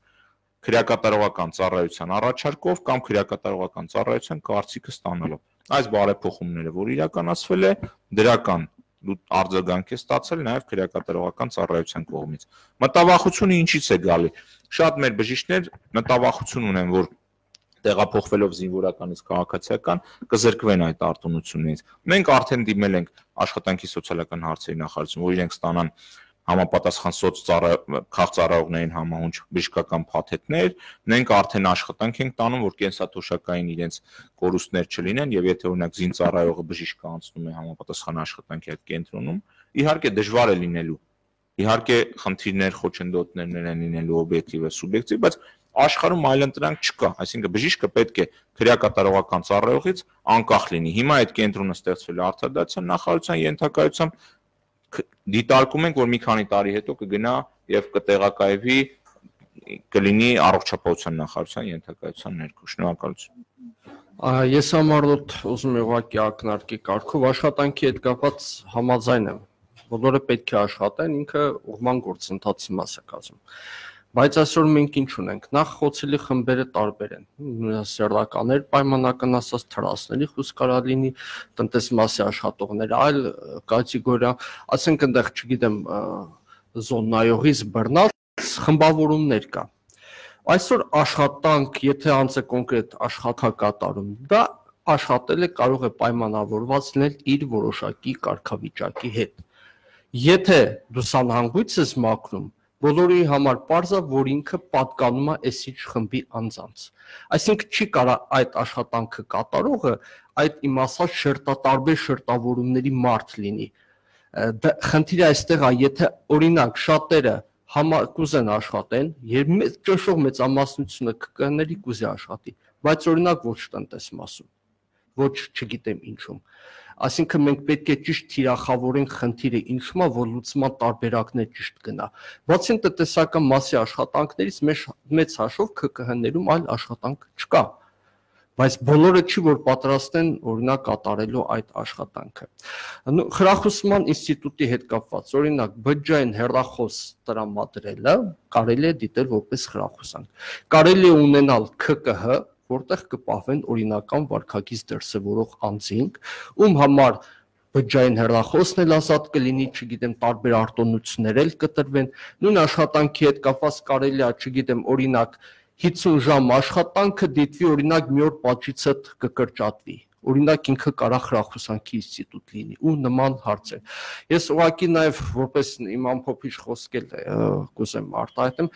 քրեակատարողական ծառայության առաջարկով կամ քրեակատարողական ծառայության կարծիքը ստանալով։ Այս բարեփոխումները, որ իրականացվել է, դրական արձագանք է ստացել նաև քրեակատարողական ծառայության կողմից։ Մտավախությունը ինչից է գալի։ Շատ մեր բժիշկներ մտավախություն ունեն, որ տեղափոխվելով զինվորականից քաղաքացիական կզրկվեն այդ արտոնությունից։ Մենք արդեն դիմել ենք աշխատանքի սոցիալական հարցերի նախարարություն, որ իրենք ստանան համապատասխան քաղծառայողներին համահունչ բժշկական փաթեթներ, մենք արդեն աշխատանք ենք տանում, որ կենսաթոշակային իրենց կորուստներ չլինեն, եւ եթե օրինակ զինծառայողը բժիշկը անցնում է համապատասխան աշխատանքի այդ կենտրոնում, իհարկե դժվար է լինելու, իհարկե խնդիրներ, խոչընդոտներ են լինելու օբյեկտիվ է, սուբյեկտիվ, բայց աշխարհում այլընտրանք չկա, այսինքն բժիշկը պետք է քրեակատարողական ծառայողից անկախ լինի։ Հիմա այդ կենտրոնը ստեղծվել է արտադրության նախարարության ենթակայությամբ, դիտարկում ենք, որ մի քանի տարի հետո կգնա եւ կտեղակայվի, կլինի առողջապահության նախարարության ենթակայության ներքո։ Շնորհակալություն։ Ես համառոտ ուզում եմ ուղղակի ակնարկի կարգով աշխատանքի հետ կապված համաձայն եմ։ Բոլորը պետք է աշխատեն, ինքը ուղղման գործընթացի մաս է կազմում։ Բայց այսօր մենք ինչ ունենք, նախ խոցելի խմբերը տարբեր են, սեռնականներ, պայմանական ասած թրասների խոսք կարա լինի, տնտեսմասի աշխատողներ, այլ կատեգորիա, ասենք այնտեղ, չգիտեմ, զոննայողից բռնած խմբավորումներ կա։ Այսօր աշխատանք, եթե անձը կոնկրետ աշխատակատարում, դա աշխատելը կարող է պայմանավորված լինել իր որոշակի կարգավիճակի հետ։ Եթե դու սանհանգույց ես մաքրում, բոլորի համար պարզ է, որ ինքը պատկանում է այսիչ խմբի անձանց։ Այսինքն չի կարող այդ աշխատանքը կատարողը այդ իմաստած շերտատարբեր շերտավորումների մարդ լինի։ Խնդիրը այստեղ է, եթե օրինակ շատերը կուզեն աշխատեն, եւ ճնշող մեծամասնությունը ԿԿՆ-ների կուզի աշխատի, բայց օրինակ ոչ տնտեսմասում, ոչ չգիտեմ ինչում։ Այսինքն մենք պետք է ճիշտ թիրախավորենք խնդիրը ինչու՞մ է, որ լուծման տարբերակներ ճիշտ գնա։ Բացի տնտեսական մասի աշխատանքներից մեծ հաշվով ԿԿՀ-ներում այլ աշխատանք չկա, բայց բոլորը չի որ պատրաստ են օրինակ կատարելու այդ աշխատանքը։ Խրախուսման ինստիտուտի հետ կապված, օրինակ բջջային հեռախոս տրամադրելը կարելի է դիտել որպես խրախուսանք։ Կարելի է ունենալ ԿԿՀ, որտեղ կպահվեն օրինական վարքագիծ դրսևորող անձինք, ում համար բջջային հեռախոսն էլ ազատ կլինի, չգիտեմ, տարբեր արտոնություններ էլ կտրվեն, նույն աշխատանքի հետ կապված կարելի է, չգիտեմ, օրինակ 50 ժամ աշխատանքը դիտվի օրինակ մի օր պատժիցը կկրճատվի, օրինակ ինքը կարա խրախուսանքի ինստիտուտ լինի ու նման հարցեր։ Ես ուղղակի նաև որպես իմ ամփոփիչ խոսքել կուզեմ արտահայտեմ,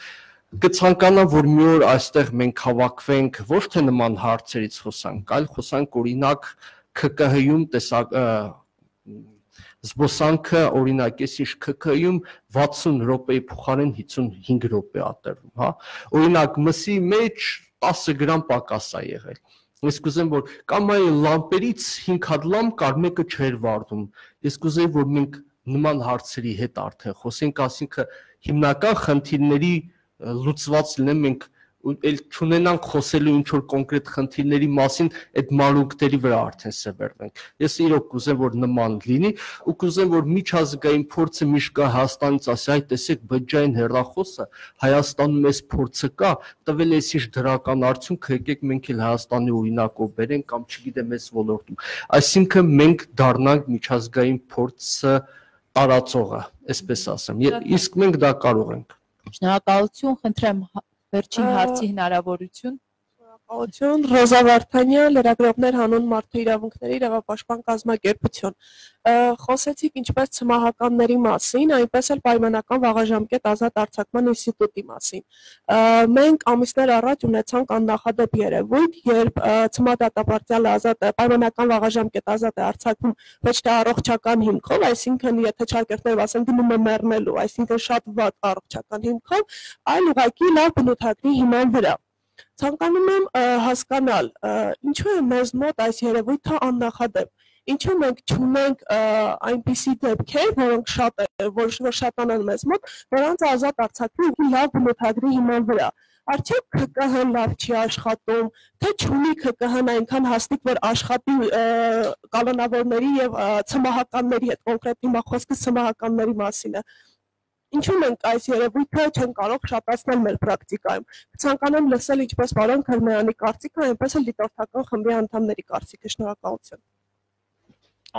կցանկանամ, որ մի օր այստեղ մենք հավաքվենք ոչ թե նման հարցերից խոսանք, այլ խոսանք օրինակ ԿԿՀ-ում զբոսանքը օրինակ էս ինչ ԿԿՀ-ում 60 րոպեի փոխարեն 55 րոպե ա տրվում, հա։ Օրինակ մսի մեջ 10 գրամ պակաս ա եղել։ Ես կուզեմ որ կամ այ լամպերից 5 հատ լամ կար, մեկը չէր վառվում։ Ես կուզեի որ մենք նման հարցերի հետ արդեն խոսենք, ասինքն հիմնական խնդիրների լուծված լինեն, մենք էլ չունենանք խոսելու ինչ որ կոնկրետ խնդիրների մասին, այդ մանրուքների վրա արդեն սևեռվենք։ Ես իրոք կուզեմ որ նման լինի ու կուզեմ որ միջազգային փորձը միշտ կա Հայաստանից ասի, այ տեսեք բջջային հեռախոսը Հայաստանում էս փորձը կա, տվել է ինչ դրական արդյունք, եկեք մենք էլ Հայաստանի օրինակով բերենք կամ չգիտեմ էս ոլորտում։ Այսինքն մենք դառնանք միջազգային փորձը տարածողը, այսպես ասեմ։ Իսկ մենք դա կարող ենք։ Շնորհակալություն, խնդրեմ վերջին հարցի հնարավորություն։ Շնորհակալություն, Ռոզա Վարդանյան, լրագրողներ հանուն մարդու իրավունքների իրավապաշտպան կազմակերպություն։ Խոսեցիք ինչպես ցմահականների մասին, այնպես էլ պայմանական վաղաժամկետ ազատ արձակման ինստիտուտի մասին։ Մենք ամիսներ առաջ ունեցանք աննախադեպ երևույթ, երբ ցմահդատապարտյալը պայմանական վաղաժամկետ ազատ է արձակվում ոչ թե առողջական հիմքով, այսինքն եթե չարկերտներով ասեմ գնում է մեռնելու, այսինքն շատ վատ առողջական հիմքով, այլ ուղղակի լավ բնութագրի հիման վրա։ Ցանկանում եմ հասկանալ, ինչու է մեզ մոտ այս երևույթը աննախադեպ, ինչու մենք չունենք այնպիսի դեպքեր, որոնք շատանան մեզ մոտ, որոնց ազատ արձակվի լավ բնութագրի հիման վրա։ Արդյոք ԿԿՀ-ն լավ չի աշխատում, թե չունի ԿԿՀ-ն այնքան հաստիկ, որ աշխատի կալանավորների եւ ցմահականների հետ, կոնկրետ հիմա խոսքը ցմահականների մասին է։ Ինչու մենք այս երևույթը չեն կարող շատացնել մեր պրակտիկայում։ Ցանկանամ լսել ինչպես պարոն Քրմեյանի կարծիքը, այնպես էլ դիտորդական խմբի անդամների կարծիքը։ Շնորհակալություն։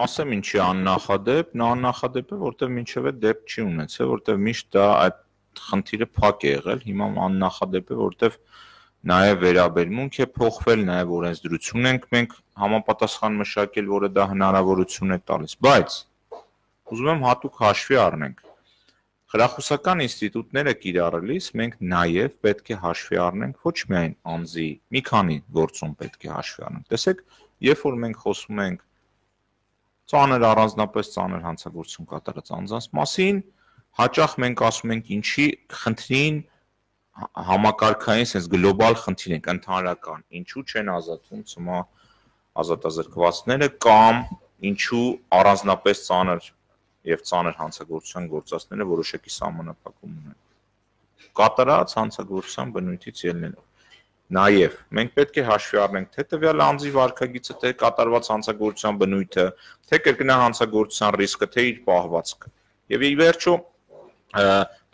Ասեմ ինչի աննախադեպ, նա աննախադեպ է, որտեղ մինչև այդ դեպք չի ունեցել, որտեղ միշտ դա այդ խնդիրը փակ է եղել, հիմա աննախադեպ է, որտեղ նաև վերաբերմունք է փոխվել, նաև օրենսդրություն ենք մենք համապատասխան մշակել, որը դա հնարավորություն է տալիս, բայց ուզում եմ հատուկ հաշվի առնենք Խրախուսական ինստիտուտները կիրառելիս մենք նաև պետք է հաշվի առնենք ոչ միայն անձի մի քանի գործում պետք է հաշվի առնենք։ Տեսեք, երբ որ մենք խոսում ենք ծանր առանձնապես ծանր հանցագործություն կատարած անձանց մասին, հաճախ մենք ասում ենք ինչի խնդրին համակարգային sense գլոբալ խնդիր ենք ընդհանրական, ինչու չեն ազատվում ցմահ ազատազրկվածները կամ ինչու առանձնապես ծանր եւ ծանր հանցագործության գործածները որոշակի սահմանափակում ունեն։ Կատարած հանցագործության բնույթից ելնելով։ Նաեւ մենք պետք է հաշվի առնենք թե տվյալ անձի վարքագիծը, թե կատարված հանցագործության բնույթը, թե կրկնահանցագործության ռիսկը, թե իր պահվածքը։ Եվ ի վերջո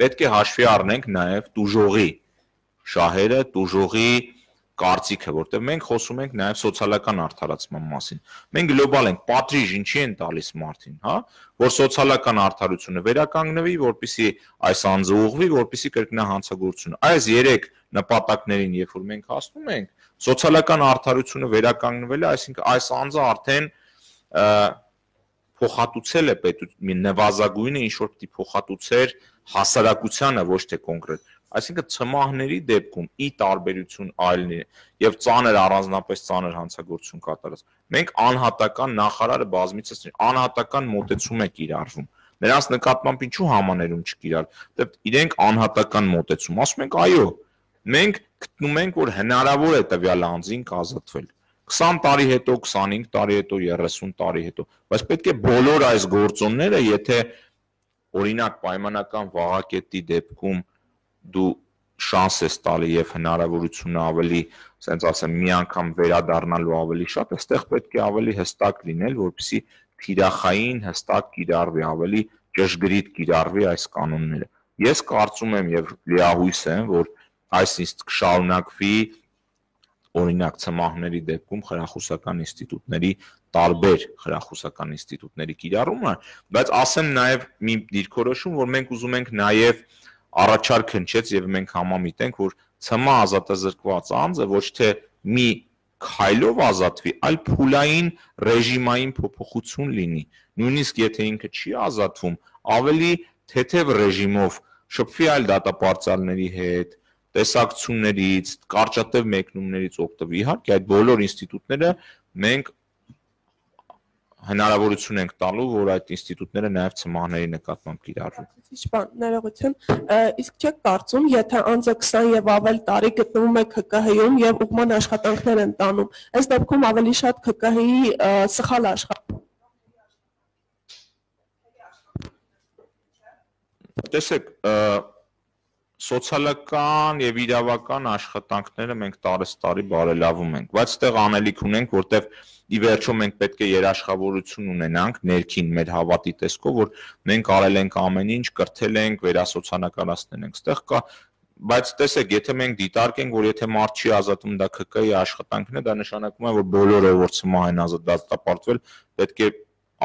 պետք է հաշվի առնենք նաեւ տուժողի շահերը, տուժողի կարծիքը, որտեղ մենք խոսում ենք նաև սոցիալական արդարացման մասին։ Մենք գլոբալ ենք, պատրիժ ինչի են տալիս մարդին, հա, որ սոցիալական արդարությունը վերականգնվի, որպեսզի այս անձը ուղղվի, որպեսզի կրկնա հանցագործությունը։ Այս 3 նպատակներին, երբ որ մենք հասնում ենք, սոցիալական արդարությունը վերականգնվել է, այսինքն այս անձը արդեն փոխհատուցել է նվազագույնը ինչ որ պիտի փոխհատուցեր հասարակությանը, ոչ թե կոնկրետ։ Այսինքն ցմահների դեպքում ի տարբերություն այլների եւ ծանր առանձնապես ծանր հանցագործություն կատարած մենք անհատական նախարարը բազմիցս անհատական մոտեցում է կիրառվում նրանց նկատմամբ ինչու համաներում չկիրառ դե իրենք անհատական մոտեցում ասում ենք այո մենք գտնում ենք որ հնարավոր է տվյալ անձին ազատվել 20 տարի հետո 25 տարի հետո 30 տարի հետո բայց պետք է բոլոր այս գործոնները եթե օրինակ պայմանական վաղակետի դեպքում դու շանս ես տալի եւ հնարավորությունը ավելի, ասենց ասեմ, մի անգամ վերադառնալու ավելի շատ, այստեղ պետք է ավելի հստակ լինել, որպեսզի թիրախային հստակ կիրառվի, ավելի ճշգրիտ կիրառվի այս կանոնները։ Ես կարծում եմ եւ լիահույս եմ, որ այս կշարունակվի օրինակ ցմահների դեպքում խրախուսական ինստիտուտների տարբեր խրախուսական ինստիտուտների կիրառումը, բայց ասեմ նաեւ մի դիրքորոշում, որ մենք ուզում ենք նաեւ առաջարկ հնչեց եւ մենք համամիտենք, որ ՑՄ ազատազրկված անձը ոչ թե մի քայլով ազատվի, այլ փուլային ռեժիմային փոփոխություն լինի։ Նույնիսկ եթե ինքը չի ազատվում, ավելի թեթև ռեժիմով շփվի այլ դատապարտյալների հետ, տեսակցություններից, կարճատև մեկնումներից օգտվի։ Իհարկե այդ բոլոր ինստիտուտները մենք հնարավորություն ենք տալու, որ այդ ինստիտուտները նաև ցմահների նկատմամբ կիրառվեն։ Ճիշտ, ներողություն, իսկ չեք կարծում, եթե անձը 20 եւ ավել տարի գտնվում է ՔԿՀ-ում եւ ուղղման աշխատանքներ են տանում, այս դեպքում ավելի շատ ՔԿՀ-ի սխալ աշխատանք։ Տեսեք, սոցիալական եւ իրավական աշխատանքները մենք տարեստարի բարելավում ենք, բայց այդտեղ անելիք ունենք, որտեղ ի վերջո մենք պետք է երաշխավորություն ունենանք ներքին մեր հավատի տեսքով, որ մենք արել ենք ամեն ինչ, կրթել ենք, վերասոցիալականացնել ենք։ Այդտեղ կա, բայց տեսեք, եթե մենք դիտարկենք, որ եթե մարդ չի ազատում դա ՔԿ-ի աշխատանքն է, դա նշանակում է, որ բոլորը որ ցմահ են ազատապարտվել, պետք է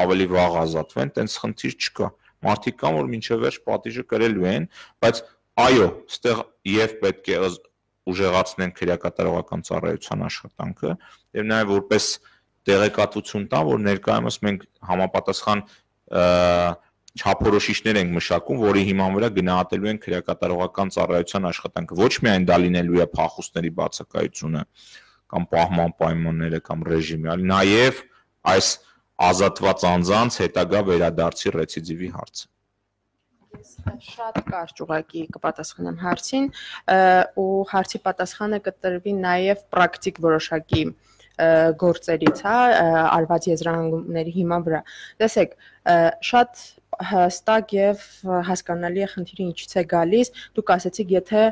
ավելի վաղ ազատվեն, տենց խնդիր չկա։ Մարդիկ կան, որ մինչև վերջ պատիժը կրելու են, բայց այո, այստեղ եւ պետք է ուժեղացնենք քրեակատարողական ծառայության աշխատանքը եւ նաեւ որպես տեղեկատվություն տա, որ ներկայումս մենք համապատասխան չափորոշիչներ ենք մշակում, որի հիման վրա գնահատելու են քրեակատարողական ծառայության աշխատանքը։ Ոչ միայն դա լինելու է փախուստների բացակայությունը կամ պահման պայմանները կամ ռեժիմը, այլ նաեւ այս ազատված անձանց հետագա վերադարձի ռեցիդիվի հարցը։ Շատ կարճ ուղղակի կպատասխանեմ հարցին ու հարցի պատասխանը կտրվի նաև պրակտիկ որոշակի գործերից, հա, արված եզրահանգումների հիման վրա։ Տեսեք, շատ հստակ եւ հասկանալի է խնդիրը ինչից է գալիս։ Դուք ասացիք, եթե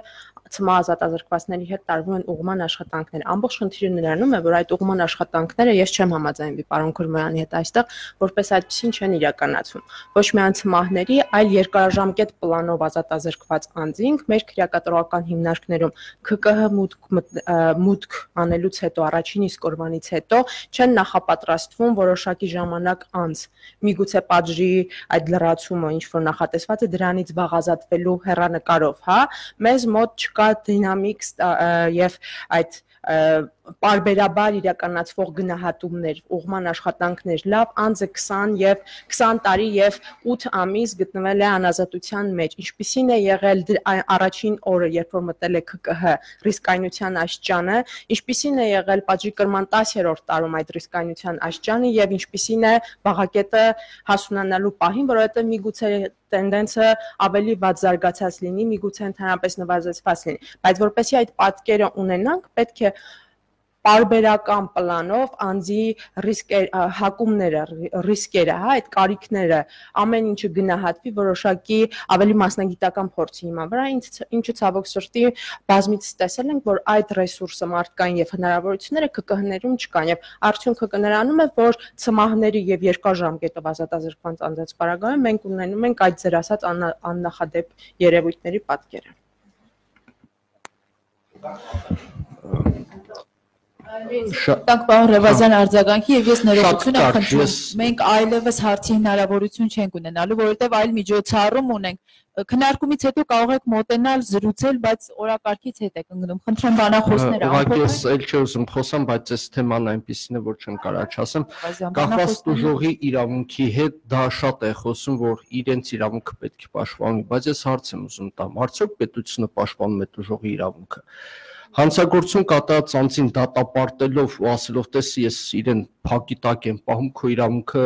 ՑՄ ազատազրկվածների հետ տարվում են ուղղման աշխատանքներ։ Ամբողջ խնդիրը նրանում է, որ այդ ուղղման աշխատանքները ես չեմ համաձայնվի պարոն Քուրմոյանի հետ այստեղ, որպես այդպեսին չեն իրականացվում։ Ոչ միայն ՑՄՀ-ների, այլ երկարաժամկետ պլանով ազատազրկված անձինք մեր քրեակատարողական հիմնարկներում ՔԿՀ մուտք անելուց հետո, առաջին իսկ օրվանից հետո չեն նախապատրաստվում որոշակի ժամանակ անց։ Միգուցե պատժի այդ լրացումը, ինչ որ նախատեսված է, դրանից վաղ ազատվելու հեռանկարով, հա, մեզ մոտ կա դինամիկ եւ այդ պարբերաբար իրականացվող գնահատումներ, ուղղման աշխատանքներ, լավ անձը 20 տարի եւ 8 ամիս գտնվել է անազատության մեջ, ինչպիսին է եղել առաջին օրը, երբ որ մտել է ՔԿՀ ռիսկայնության աստիճանը, ինչպիսին է եղել պատժի կրման 10-րդ տարում այդ ռիսկայնության աստիճանը եւ ինչպիսին է վաղակետը հասունանալու պահին, որովհետեւ միգուցե տենդենսը ավելի վատ զարգացած լինի, միգուցե ընդհանրապես նվազեցված լինի, բայց որպեսզի այդ պատկերը ունենանք, պետք է պարբերական պլանով անձի հակումները, ռիսկերը, հա, այդ կարիքները, ամեն ինչը գնահատվի որոշակի ավելի մասնագիտական փորձի հիման վրա, ինչը ցավոք սրտի բազմիցս տեսել ենք, որ այդ ռեսուրսը մարդկային եւ հնարավորությունները ՔԿՀ-ներում չկան եւ արդյունքը կներանում է, որ ՑՄՀ-ների եւ երկար ժամկետով ազատազրկված անձանց պարագայում մենք ունենում ենք այդ ձեր ասած աննախադեպ երևույթների պատկերը։ Տանք պարոն Ռևազյան արձագանքի եւ ես ներողություն եմ խնդրում։ Մենք այլևս հարցի հնարավորություն չենք ունենալու, որովհետեւ այլ միջոցառում ունենք։ Քննարկումից հետո կարող եք մոտենալ, զրուցել, բայց օրակարգից հետ եք ընկնում։ Խնդրեմ բանախոսները ուղղակի ես էլ չի ուզում խոսամ, բայց այս թեման այնպեսին է, որ չեմ կարող չասեմ։ Կախված դժողի իրավունքի հետ դա շատ է խոսում, որ իրենց իրավունքը պետք է պաշտպանի, բայց ես հարց եմ ուզում տամ, արդյոք պետությունը պաշտպանում է դժողի իրավունքը։ Հանցագործություն կատարած անձին դատապարտելով ու ասելով, տեսի ես իրեն փակի տակ եմ պահում, քո իրավունքը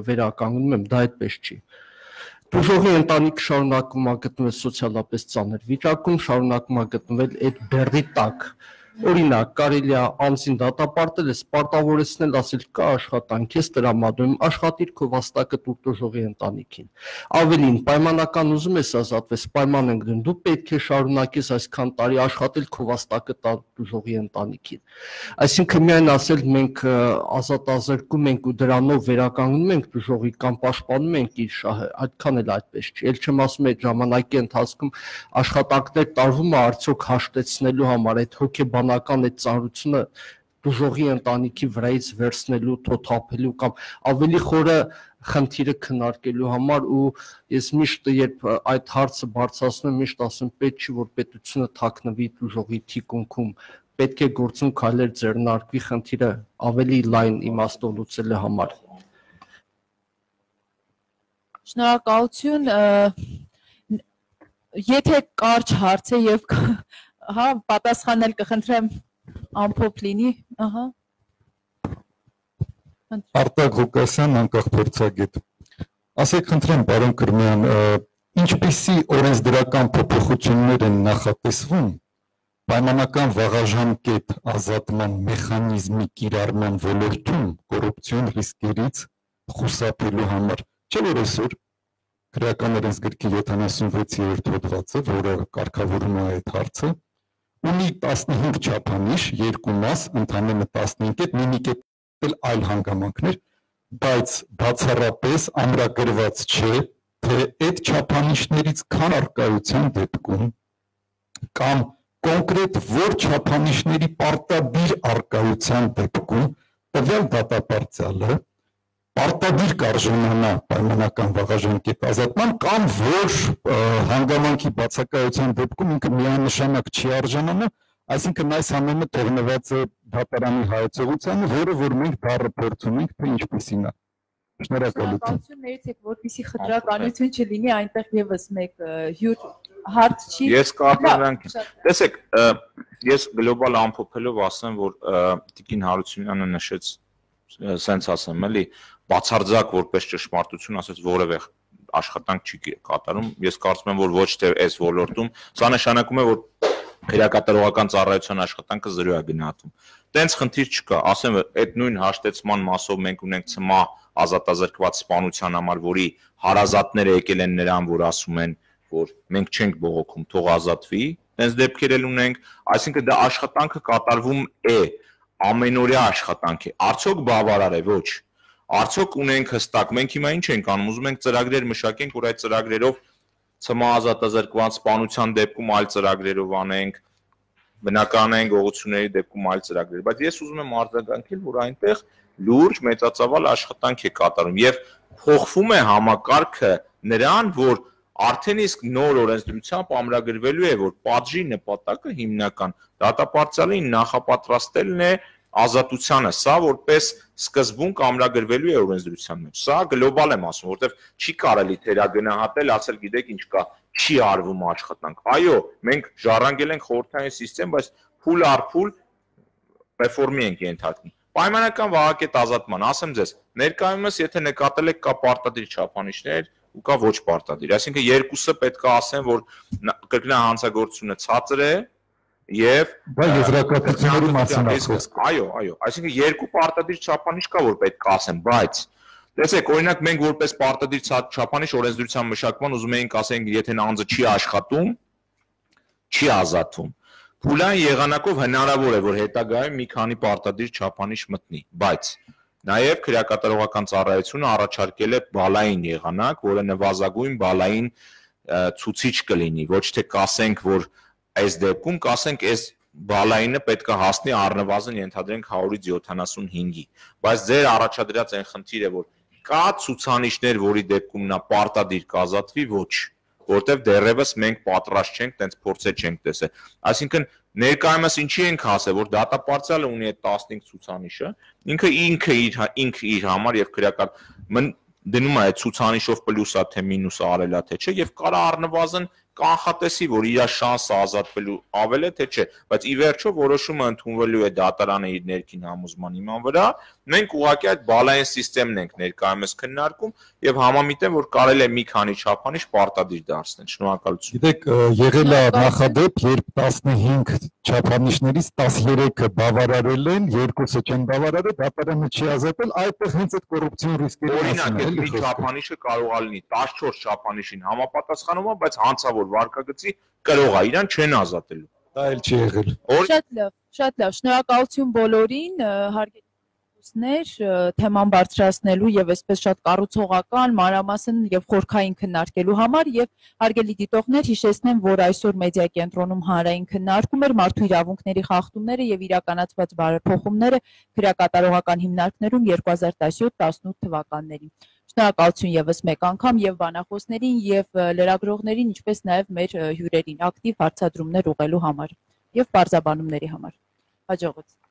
վերականգնում եմ, դա այդպես չի։ Դժողի ընտանիքը շարունակում է գտնվել սոցիալապես ծանր վիճակում, շարունակում է գտնվել այդ բեռի տակ։ Օրինակ, կարելի է անձին դատապարտել, պարտավորեցնել, ասել կա աշխատանք, ես տրամադրում, աշխատիր քո վաստակը տուր դժողի ընտանիքին։ Ավելին, պայմանական ուզում ես ազատվես, պայման ենք դնում, դու պետք է շարունակես այսքան տարի աշխատել քո վաստակը տալ դժողի ընտանիքին։ Այսինքն միայն ասել մենք ազատազրկում ենք ու դրանով վերականգնում ենք դժողի կամ պաշտպանում ենք իր շահը, այդքան էլ այդպես չի։ Էլ չեմ ասում այդ ժամանակի ընթացքում աշխատանքներ տարվում է արդյոք հաշտեցնելու համար այդ հոգեբանական այդ ծանրությունը դժողի ընտանիքի վրայից վերցնելու, թոթափելու կամ ավելի խորը խնդիրը քննարկելու համար ու ես միշտ երբ այդ հարցը բարձրացնում եմ միշտ ասում պետք չի որ պետությունը թաքնվի դժողի թիկունքում պետք է գործուն քայլեր ձեռնարկվի խնդիրը ավելի լայն իմաստով լուծելու համար։ Շնորհակալություն, եթե կարճ հարց է եւ հա պատասխանել կխնդրեմ ամփոփ լինի, ահա Արտակ Ղուկասյան, անկախ փորձագետ։ Ասեք խնդրեմ, պարոն Կրմյան, ինչպիսի օրենսդրական փոփոխություններ են նախատեսվում պայմանական վաղաժամկետ ազատման մեխանիզմի կիրառման ոլորտում կոռուպցիոն ռիսկերից խուսափելու համար։ Չէ՞ որ այսօր Քրեական օրենսգրքի 76-րդ հոդվածը, որը կարգավորում է այդ հարցը, ունի 15 չափանիշ, երկու մաս, ընդամենը 15 կետ, մի կետ այլ հանգամանքներ, բայց բացառապես ամրագրված չէ, թե այդ չափանիշներից քան առկայության դեպքում կամ կոնկրետ որ չափանիշների պարտադիր առկայության դեպքում տվյալ դատապարտյալը պարտադիր կարժանանա պայմանական վաղաժամկետ ազատման կամ որ հանգամանքի բացակայության դեպքում ինքը միանշանակ չի արժանանա, այսինքն այս ամենը թողնված է դատարանի հայեցողությանը, որը որ մենք դառը փորձում ենք, թե ինչպիսին է։ Շնորհակալություն։ Ներեցեք, որպեսզի խտրականություն չլինի, այնտեղ եւս մեկ հյուր հարց չի։ Ես կապանանք։ Տեսեք, ես գլոբալ ամփոփելով ասեմ, որ Տիկին Հարությունյանը նշեց, սենց ասեմ, էլի, բացարձակ որպես ճշմարտություն ասած որևէ աշխատանք չի կատարում, ես կարծում եմ, որ ոչ թե այս ոլորտում, սա նշանակում է, որ քրեակատարողական ծառայության աշխատանքը զրո է գնահատվում։ Տենց խնդիր չկա, ասեմ, այդ նույն հաշտեցման մասով մենք ունենք ՑՄԱ ազատազրկված սպանության համար, որի հարազատները եկել են նրան, որ ասում են, որ մենք չենք բողոքում, թող ազատվի, տենց դեպքեր էլ ունենք, այսինքն դա աշխատանքը կատարվում է, ամենօրյա աշխատանք է, արդյոք բավարար է, ոչ։ Արդյոք ունենք հստակ, մենք հիմա ինչ ենք անում, ուզում ենք ծրագրեր մշակենք, որ այդ ծրագրերով ՑՄԱ ազատազրկված սպանության դեպքում այլ ծրագրերով անենք, բնականային գողությունների դեպքում այլ ծրագրեր, բայց ես ուզում եմ արձագանքել, որ այնտեղ լուրջ մեծածավալ աշխատանք է կատարում եւ փոխվում է համակարգը նրան, որ արդեն իսկ նոր օրենսդրությամբ ամրագրվելու է, որ պատժի նպատակը հիմնական դատապարտյալին նախապատրաստելն է ազատությանը, սա որպես սկզբունք ամրագրվելու է օրենսդրության մեջ։ Սա գլոբալ եմ ասում, որովհետև չի կարելի թերագնահատել, ասել գիտեք ինչ կա, չի արվում աշխատանք։ Այո, մենք ժառանգել ենք խորհրդային համակարգ, բայց փուլ առ փուլ ռեֆորմի ենք ենթարկվում։ Պայմանական վաղակետ ազատման, ասեմ ձեզ, ներկայումս եթե նկատել եք կա պարտադիր չափանիշներ ու կա ոչ պարտադիր, այսինքն երկուսը պետք է ասեն, որ կրկնահանցագործությունը ցածր է եւ եզրակացությունների մասին ասում։ Այո, այսինքն երկու պարտադիր չափանիշ կա, որ պետք է ասեն, բայց տեսեք, օրինակ մենք որպես պարտադիր չափանիշ օրենսդրության մշակման ուզում էինք ասենք, եթե անձը չի աշխատում, չի ազատվում։ Փուլային եղանակով հնարավոր է, որ հետագայում մի քանի պարտադիր չափանիշ մտնի, բայց նաև քրեակատարողական ծառայությունը առաջարկել է բալային եղանակ, որը նվազագույն բալային ցուցիչ կլինի, ոչ թե կասենք, որ այս դեպքում կասենք, այս բալայինը պետք է հասնի առնվազն ենթադրենք 100-ից 75-ի, բայց ձեր առաջադրած այն խնդիրը, որ կա ցուցանիշներ, որի դեպքում նա պարտադիր կազատվի, ոչ, որտեվ դեռևս մենք պատրաստ չենք, տենց փորձեր չենք տեսել։ Այսինքն ներկայումս ինչի ենք ասել, որ դատապարտյալը ունի այդ 15 ցուցանիշը, ինքը իր համար եւ քրեական դնում է այդ ցուցանիշով պլյուսա թե մինուսա արելա թե չէ եւ կարա առնվազն կանխատեսի, որ իր շանսը ազատվելու ավել է թե չէ, բայց ի վերջո որոշումը ընդունվելու է դատարանը իր ներքին համոզման հիման վրա, մենք ուղղակի այդ բալային համակարգն ենք ներկայումս քննարկում եւ համամիտ եմ, որ կարելի է մի քանի չափանիշ պարտադիր դարձնել։ Շնորհակալություն։ Գիտեք, եղել է նախադեպ, երբ 15 չափանիշներից 13-ը բավարարել են, 2-ը չեն բավարարել, դատարանը չի ազատել, այդտեղ հենց այդ կոռուպցիոն ռիսկերի օրինակ, մի չափանիշը կարող է լինի 14 չափանիշին համապատասխանում է, բայց հանցավոր վարկագծի կրող է, իրան չեն ազատելու։ Դա էլ չի եղել։ Շատ լավ, շնորհակալություն բոլորին, հարգելի թեման բարձրացնելու եւ այսպես շատ կառուցողական, մանրամասն եւ խորքային քննարկելու համար եւ հարգելի դիտողներ, հիշեցնեմ, որ այսօր մեդիա կենտրոնում հանրային քննարկում էր մարդու իրավունքների խախտումները եւ իրականացված բարեփոխումները քրեակատարողական հիմնարկներում 2017-18 թվականներին։ Շնորհակալություն եւս մեկ անգամ եւ բանախոսներին եւ լրագրողներին, ինչպես նաեւ մեր հյուրերին ակտիվ հարցադրումներ ուղղելու համար եւ բարձաբանումների համար։ Հաջողություն։